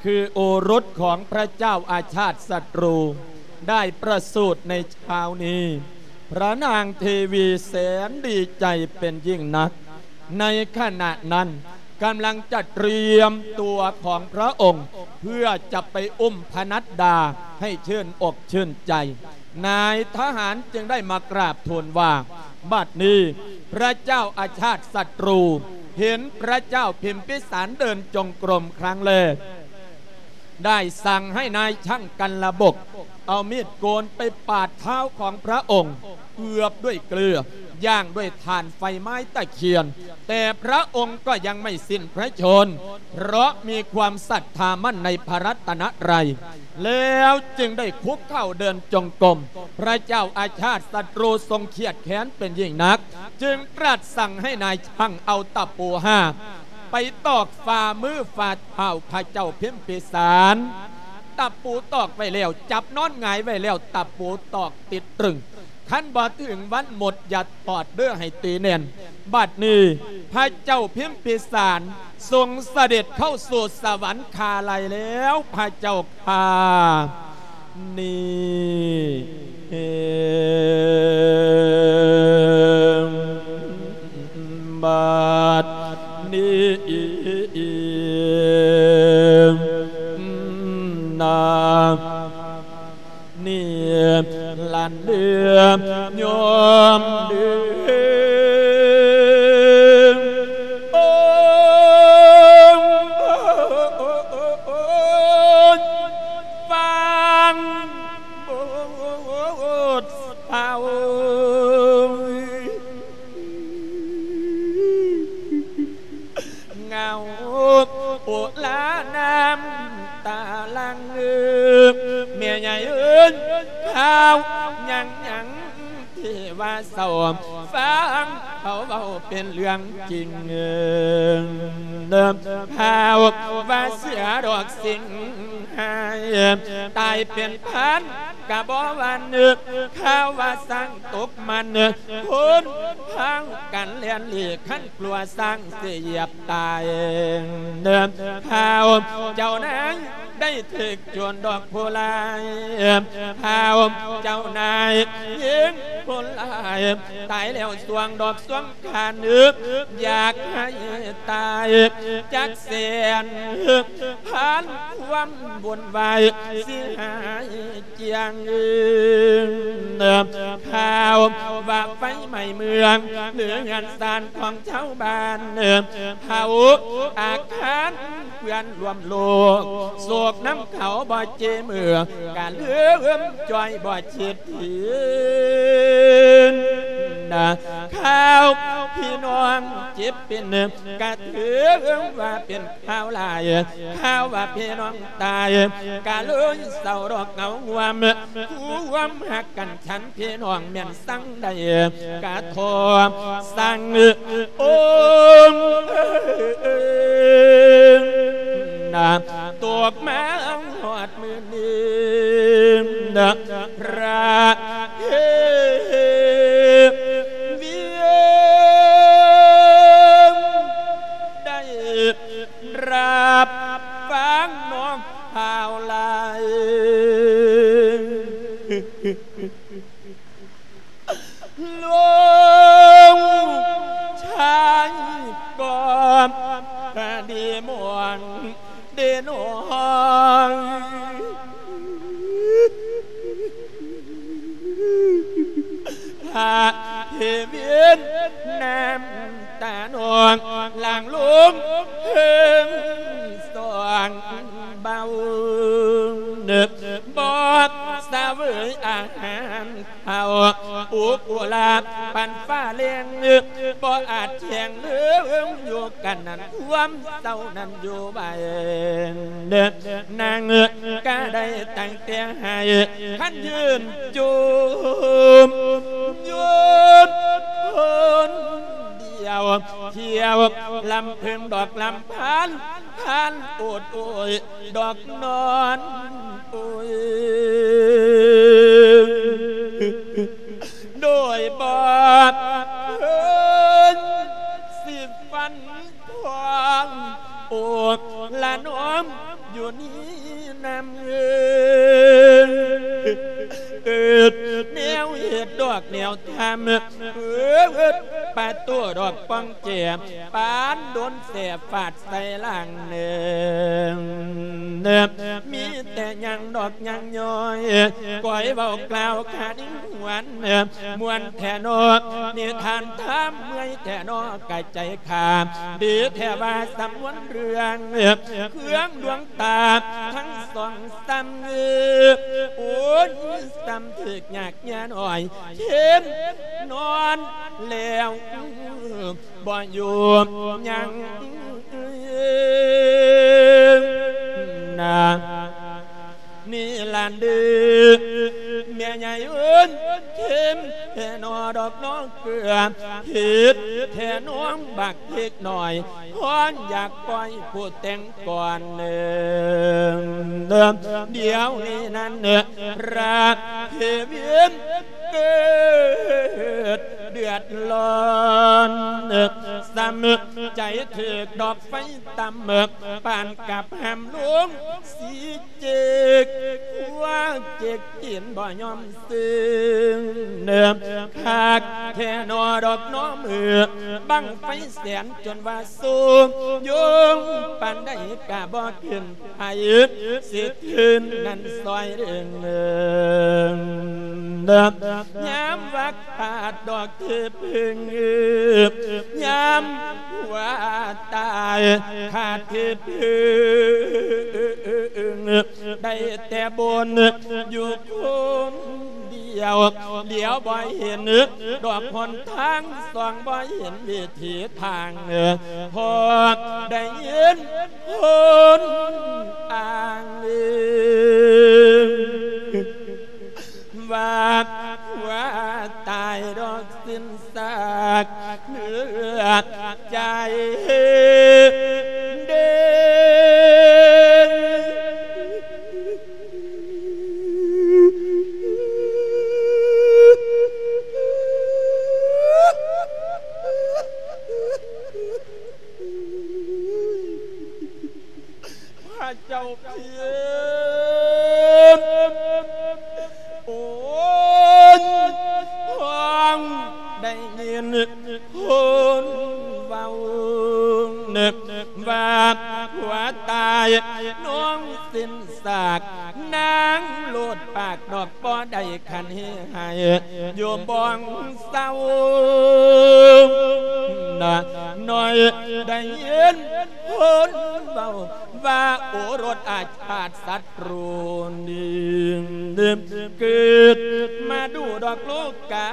ຄືໂອລົດຂອງພະເຈົ້າອາຊາດສັດຕູ ໄດ້ປະສູດໃນເຊົ້ານີ້. ພະນາງເທວີແສນດີໃຈເປັນຍິ່ງນັກ. ໃນຂະນະນັ້ນກຳລັງຈະຕຽມຕົວຂອງພະອົງ ເພື່ອຈະໄປອຸ້ມພະນັດດາໃຫ້ຊື່ນອົກຊື່ນໃຈ. ນາຍທະຫານຈຶ່ງໄດ້ມາກາບທູນວ່າ ບັດນີ້ພະເຈົ້າອາຊາດສັດຕູເຫັນພະເຈົ້າພິມພິສານເດີນຈົງກົມຄັ້ງແລກ ໄດ້ສັ່ງໃຫ້ນາຍຊ່າງກັນລະບົກເອົາມີດໂກນໄປປາດເທ້າຂອງພະອົງ ເອືອບດ້ວຍເກືອ ຍ່າງດ້ວຍຖ່ານໄຟໄມ້ຕະຄຽນ, ແຕ່ພະອົງກໍຍັງໄມ່ສິ້ນພະຊົນ ເພາະມີຄວາມສັດທາໝັ້ນໃນພະລັດຕະນະໄຕ ແລ້ວຈຶ່ງໄດ້ຄຸກເຂົ່າເດີນຈົງກົມ. ພະເຈົ້າອາຊາດສັດຕູຊົງຄຽດແຄ້ນເປັນຍິ່ງນັກ ຈຶ່ງຕລັດສັ່ງໃຫ້ນາຍຊ່າງເອົາຕະປູຫ້າ ໄປຕອກຝ່າມືຝ່າເທົ້າພະເຈົ້າພິມພິສານ. ຕະປູຕອກໄວ້ແລ້ວ ຈັບນອນຫງາຍໄວ້ແລ້ວ ຕະປູຕອກຕິດຕຶງ. ຄັນບໍ່ເຖິງວັນໝົດ ຢ່າຖອດເດີ້ ໃຫ້ຕີແໜ້ນ. ບັດນີ້ພະເຈົ້າພິມພິສານຊົງສະເດັດເຂົ້າສູ່ສະຫວັນຄາໄລແລ້ວ ພະເຈົ້າຂ້າ. ນີ້ບັດນີ້ນາ ນີ້ລັນເດີຍອມເດີ ໂອ້ ຟັງ ໂອ້ ເຖົ້າ ເຫງົາໂອລານ້ຳຕາຫຼັ່ງ ແມ່ໃຫຍ່ເອີຍ ຂ່າວຫຍັງຫຍັງທີ່ວ່າເສົ້າ ຟັງເຂົາເວົ້າເປັນເລື່ອງຈິງ. ຂ່າວວ່າເສືອດອກສິງຫາຍ ຕາຍເປັນພັນກະບໍ່ຫວັ່ນ ຂ່າວວ່າຊ້າງຕົກມັນ ຄົນພາກັນແລ່ນຫຼີກ ຄັນ ກົວຊ້າງຊິຢຽບຕາຍ. ຂ່າວເຈົ້ານາຍໄດ້ຖືກໂຈນດອກຜູ້ຮ້າຍ ຂ່າວເຈົ້ານາຍຍິງຜູ້ຮ້າຍ ຕາຍແລ້ວຊ່ວງດອກຊ່ວງຄານ ຢາກໃຫ້ຕາຍຈັກແສນພັນ ຄວາມວຸ່ນວາຍຊິຫາຍ ຈຽງ ຂ່າວວ່າໄຟໄໝ້ເມືອງ ຫຼືເຮືອນຊານຂອງຊາວບ້ານ ເຜົາອາຄານເພື່ອນຮ່ວມໂລກ ໂສກນຳເຂົາບໍ່ເຈເມືອ ກະລືມຈ່ອຍບໍ່ຄິດຖິງ. ຂ່າວພີ່ນ້ອງເຈັບເປັນ ກະຖືວ່າເປັນ ຂ່າວຫຼາຍ ຂ່າວວ່າພີ່ນ້ອງຕາຍ ກະເລີຍເສົ້າດອກເຫງົາງວມ ຄວາມຮັກກັນ ສັນພີ່ນ້ອງແມ່ນສັງໃດ ກະທອບສັງ ໂອ້ ນາ ຕົກມາຮອດມື້ນີ້ ນາ ພະເທວຽງ ໄດ້ ຮັບຟັງນ້ອງຂ່າວຫຼາຍ ລູກຊາຍກໍດີມ່ວນເດນ້ອງ ພະເທວຽນນ້ຳ ຕານ້ອງຫຼັ່ງລົງເທິງສອງເບົາ ບໍ່ສະເຫວີຍອາຫານເຂົ້າ ອຸກອຸລາປັນຟ້າແລງ ບໍ່ອາດແຂງເລີງຢູ່ກັນນັ້ນ ຄວາມເສົ້ານັ້ນຢູ່ໄວ ນາງກະໄດ້ຕັ້ງແຕ່ໃຫ້ ຄັນຢືນຈູມ ຢູ່ຄົນດຽວ ທ່ຽວລຳເພິ່ງດອກລຳພັນ ພັນໂອດໂອຍ ດອກນອນໂອຍ ໂດຍບໍ່ເຄີຍຊິຝັນທອງ ໂອລະນ້ອງ ຢູ່ນີ້ນຳ ເອີ ເອີ ແນວເຮັດດອກແນວທຳ ເອີ ປະຕູດອກປ່ອງແຈ ປານໂດນແສຟາດໃສ່ຫຼັງເນີ ມີແຕ່ຍັງດອກຍັງຍ້ອຍ ກອຍເວົ້າກ່າວຄານິງຫວນ ມ່ວນແທ້ນໍ ນິທານທຳເມື່ອຍແທ້ນໍ ກະໃຈຂ້າ ດີແທ້ວ່າສຳນວນເລື່ອງ ເຄື່ອງດວງຕາທັງສອງຊ້ຳ ໂອ້ຍ ຊ້ຳຖືກຍາກຍາໜ້ອຍ ເຂັມນອນແລ້ວ ບໍ່ຢູ່ຍັງນາ ນີ້ລະເດີ ແມ່ໃຫຍ່ເອີຍ ເຂັມແທ້ນໍດອກນ້ອງເກືອ ເຮັດແທ້ນ້ອງບັກເລັກນ້ອຍ ຮ້ອນຢາກປ່ອຍຜູ້ແຕ່ງກ່ອນເນີ ດຽວນີ້ນັ້ນ ລະເພວຽນເກີດເດືອດຮ້ອນ ຊ້ຳໃຈຖືກດອກໄຟຕ່ຳ ປານກັບຫ້າມລົງສີເຈັກ ຫົວເຈັກຕີນບໍ່ຍອມເຊິ່ງ ຄັກແທ້ນໍດອກນ້ອງເອີຍ ບັ້ງໄຟແສນຈົນວ່າສູງ ໂຍງປານໃດກະບໍ່ຂຶ້ນ ໃຜຊິທຶນນັ້ນຊ່ອຍເດີ ຍາມວັກຂາດດອກທີ່ເພິ່ງ ຍາມຜົວຕາຍຂາດທີ່ເພິ່ງ ໄດ້ແຕ່ບົ່ນຢູ່ຄົນດຽວ ຫຼຽວບໍ່ເຫັນດອກຫົນທາງ ສ່ອງບໍ່ເຫັນວິ ທີທາງ ເອີ ພໍໄດ້ຍິນຄົນອ້າງ ວ່າຜົວຕາຍດອກສິ້ນຊາກເນື້ອໃຈເດີ. ພະເຈົ້າເພິ່ນ ໂອ້ຍ ຟັງໄດ້ຍິນຄົນເວົ້າ ນຶກວ່າຜົວຕາຍນ້ອງສິ້ນ ສາກນາງໂລດປາກດອກບໍ່ໄດ້ຄັນເຮໃຫ້ຢູ່ບ່ອນເຊົາ ນະນ້ອຍໄດ້ຍິນຄົນເວົ້າວ່າ ໂອລົດອາຊາດສັດ ຮູ້ນີ້ເກີດມາດູດອກໂລກາ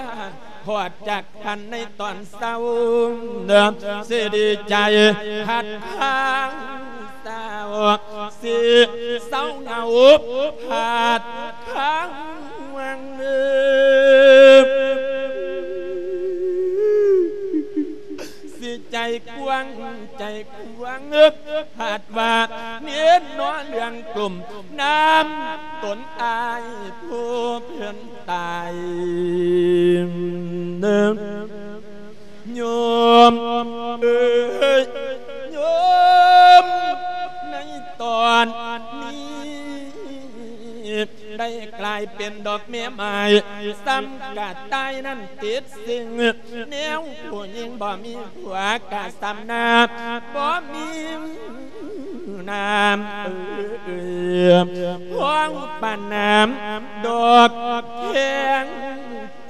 ຮອດຈັກພັນໃນຕອນເຊົ້າ ເດີ ຊິດີໃຈພັດພາງສາວ ຊິເສົ້າເຫງົາພັດຄາງວັງ ຊິໃຈກວ້າງໃຈ ຫວັງເອີ ຫາກວ່າເນ້ນເນາະເລື່ອງກຸ່ມນ້ຳຕົນອ້າຍຜູ້ເພິ່ນຕາຍ ໂຍມເອີຍ ໂຍມ ໃນຕອນນີ້ ໄດ້ກາຍເປັນດອກແມ່ໄມ້ ສ່ຳກະຕ່າຍນັ້ນຕິດສິງ ແນວຜູ້ຍິງບໍ່ມີຜົວກະສ່ຳນາ ບໍ່ມີນ້ຳ ເອີ ພ້ອງປານນ້ຳດອກແຂງ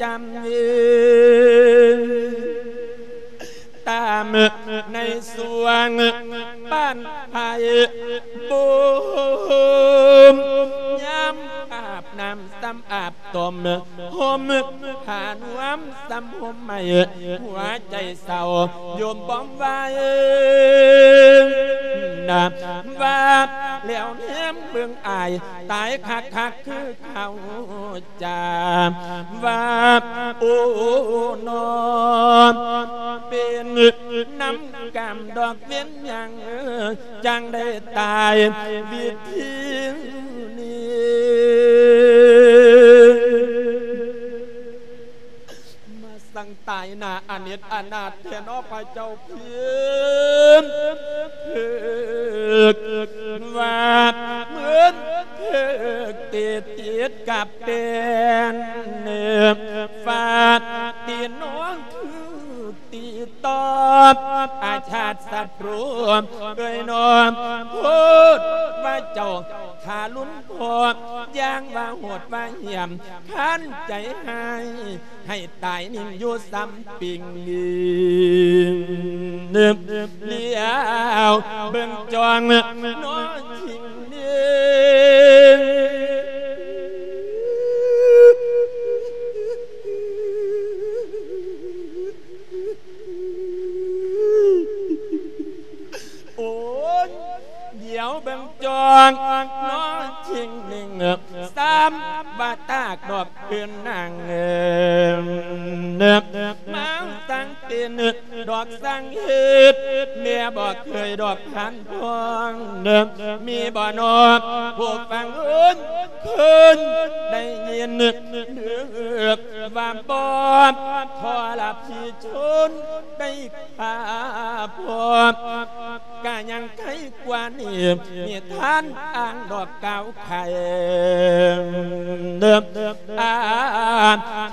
ຈຳເອີ ຕາມໃນຊ່ວງປານໄພບູມ ຍາມອາບນ້ຳຊ້ຳອາບຕົ້ມ ຫົ່ມຜ້ານວມຊ້ຳຫົ່ມໃໝ່ ຫົວໃຈເສົ້າໂຍມບອມໄວ້ນະ ວ່າແລ້ວແນມເບິ່ງອ້າຍ ຕາຍຄັກໆຄືເຂົາ ຈາວ່າ ໂອ້ ນ້ອງ ເປັນນຳກຳດອກເວນຫຍັງ ຈັ່ງໄດ້ຕາຍວິທີນີ້ ມາສັ່ງຕາຍໜ້າ ອະເນດອະນາດແທ້ເນາະພະເຈົ້າເພິ່ນ ເພິ່ນວ່າເໝືອນເພິ່ນຕິດຕິດກັບແປ້ນ ຝາກຕີນ້ອງຖືກຕີຕອບ ອາຊາດສັດຮູເອີຍນ້ອງ ໂພດວ່າເຈົ້າທາລຸນພໍ່ ຢ່າງວ່າໂຫດວ່າຫຽມ ຄັນໃຈຮ້າຍ ໃຫ້ຕາຍນິ່ງຢູ່ສ່ຳປິງ ລຽວເບິ່ງຈ້ອງນ້ອງຈິງນີ້ ໂອ້ຍ ດຽວເບິ່ງຈ້ອງນ້ອງຈິງນີ້ ຊ້ຳວ່າຕາກດອກເພິ່ນນາງເອີຍ ມາສັ່ງເປັນດອກສັ່ງເຮັດ ແມ່ບໍ່ເຄີຍດອກຜ່ານຜ່ອງ ມີບໍ່ນ້ອງຜູ້ຟັງເອີຍ ເຄີຍໄດ້ຍິນ ເດີວ່າບໍ່ ທໍລະພີຊົນໄດ້ຂ້າພອງ ກະຍັງໄຄກວ່ານີ້ ມີທ່ານອ່າງດອກກ່າວໄຂ ອາ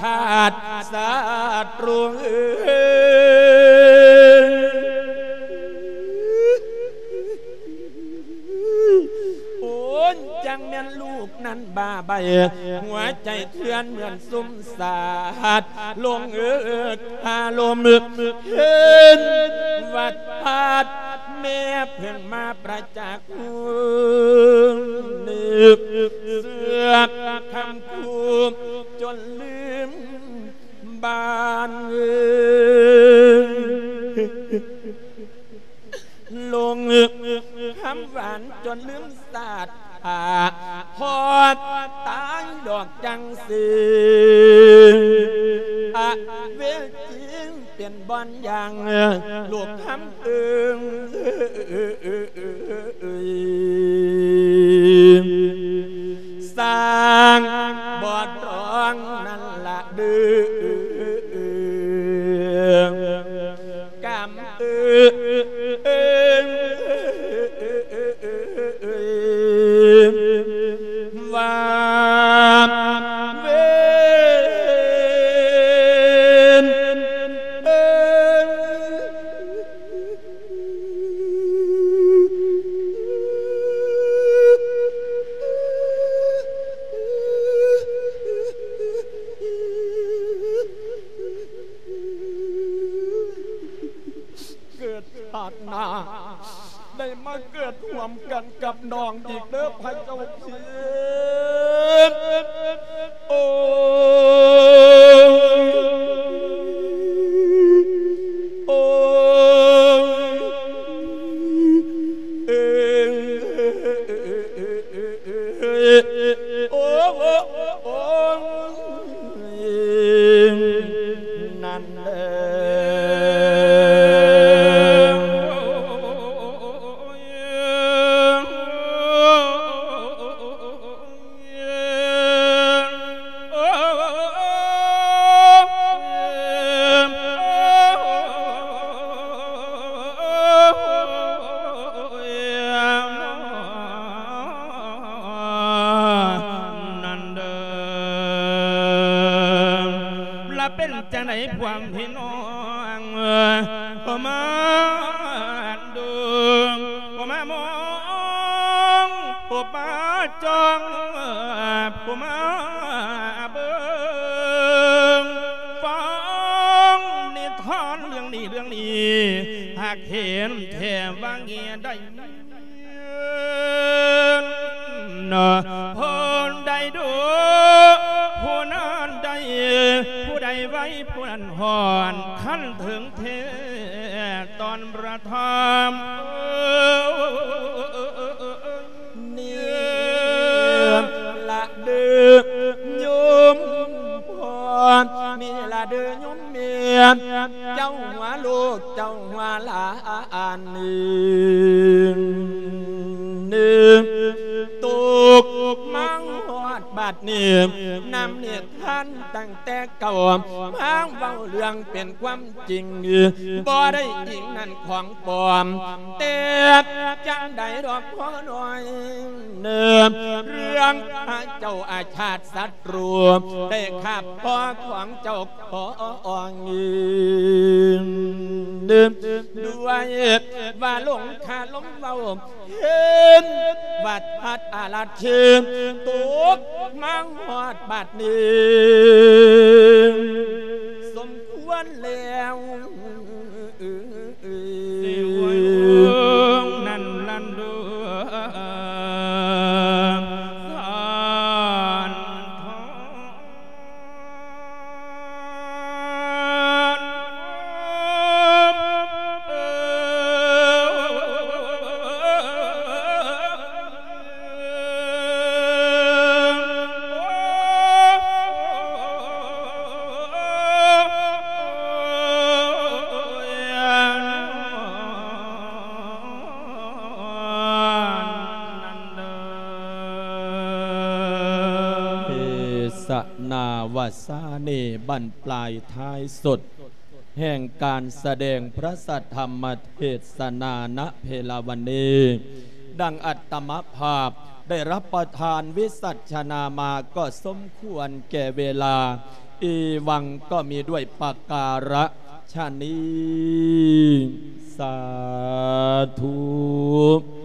ທາດສັດຮູເອີຍ ໂອ້ຍ ຈັ່ງແມ່ນລູກນັ້ນບ້າໃບ ຫົວໃຈເຖື່ອນເໝືອນ ຊຸມສາດ ລົງເອີກອາລົມ ເຫັນວັດພາດ ແມ່ເພິ່ນມາປະຈັກ ເຊື່ອຄຳຄູຈົນລືມບ້ານ ລົງຄຳຫວານຈົນລືມຊາດ ອາ ຮອດຕາຍດອກຈັ່ງຊີ້ ອະເວຈີເປັນບ່ອນຢ່າງ ລູກຄຳເອີງ ສ້າງບໍ່ຕອງນັ້ນລະເດີ ກຳເອີງ ວ່າເວນ ເກີດຊາດໜ້າ ໄດ້ມາເກີດຮ່ວມກັນກັບນ້ອງອີກເດີພະເຈົ້າເພິ່ນ ໂອ້ຍ ໂອ້ຍ ເອີ ໂອ້ ໂອ້ ໂອ້ ນັ້ນເດີ ນັ້ນເດີ ລະເປັນຈັ່ງໃດພວກພີ່ນ້ອງ ຜູ້ມາເບິ່ງ ຜູ້ມາມອງ ຜູ້ມາຈ້ອງ ຜູ້ມາເບິ່ງ ຟັງນິທານເລື່ອງນີ້ ເລື່ອງນີ້ ຫາກເຫັນແທ້ວ່າເງຍໄດ້ ເນາະ ຜູ້ໃດດຸ ຜູ້ນັ້ນໄດ້ ຜູ້ໃດໄວ ຜູ້ນັ້ນຮອດ ຄັນເຖິງແທ້ຕອນປະທຳ ນີ້ລະເດີໂຍມພໍ່ ນີ້ລະເດີໂຍມແມ່ ເຈົ້າຫົວລູກ ເຈົ້າຫົວຫຼານ ນີ້ຕົກມາຮອດ ດນີ້ ນຳນິທານຕັ້ງແຕ່ເກົ່າ ມາເວົ້າເລື່ອງເປັນຄວາມຈິງ ບໍ່ໄດ້ອີງນັ້ນຂອງປອມ ແຕ່ຈັ່ງໃດດອກພໍນ້ອຍ ເລື່ອງພະເຈົ້າອາຊາດສັດ ຮູ້ໄດ້ຄາບພໍຂອງເຈົ້າຂອງ ດ້ວຍວ່າຫຼົງຄາລົມເວົ້າ ເຫັນວ່າທາດອາລາດເທ ຕົກມາຮອດບາດນີ້ ສົມຄວນແລ້ວ ສິໂອ້ຍ ນັ້ນລັນດູ ສານທອນ ເທສະນາວາສາເນ ບັ້ນປາຍທ້າຍສຸດ ແຫ່ງການສະແດງພະສັດທຳມະເທດສະນານະເພລາວັນນີ້ ດັ່ງອັດຕະມະພາບໄດ້ຮັບປະທານວິສັດຊະນາມາ ກໍສົມຄວນແກ່ເວລາ ອີວັງກໍມີດ້ວຍປະກາລະຊະນີ້ ສາທຸ.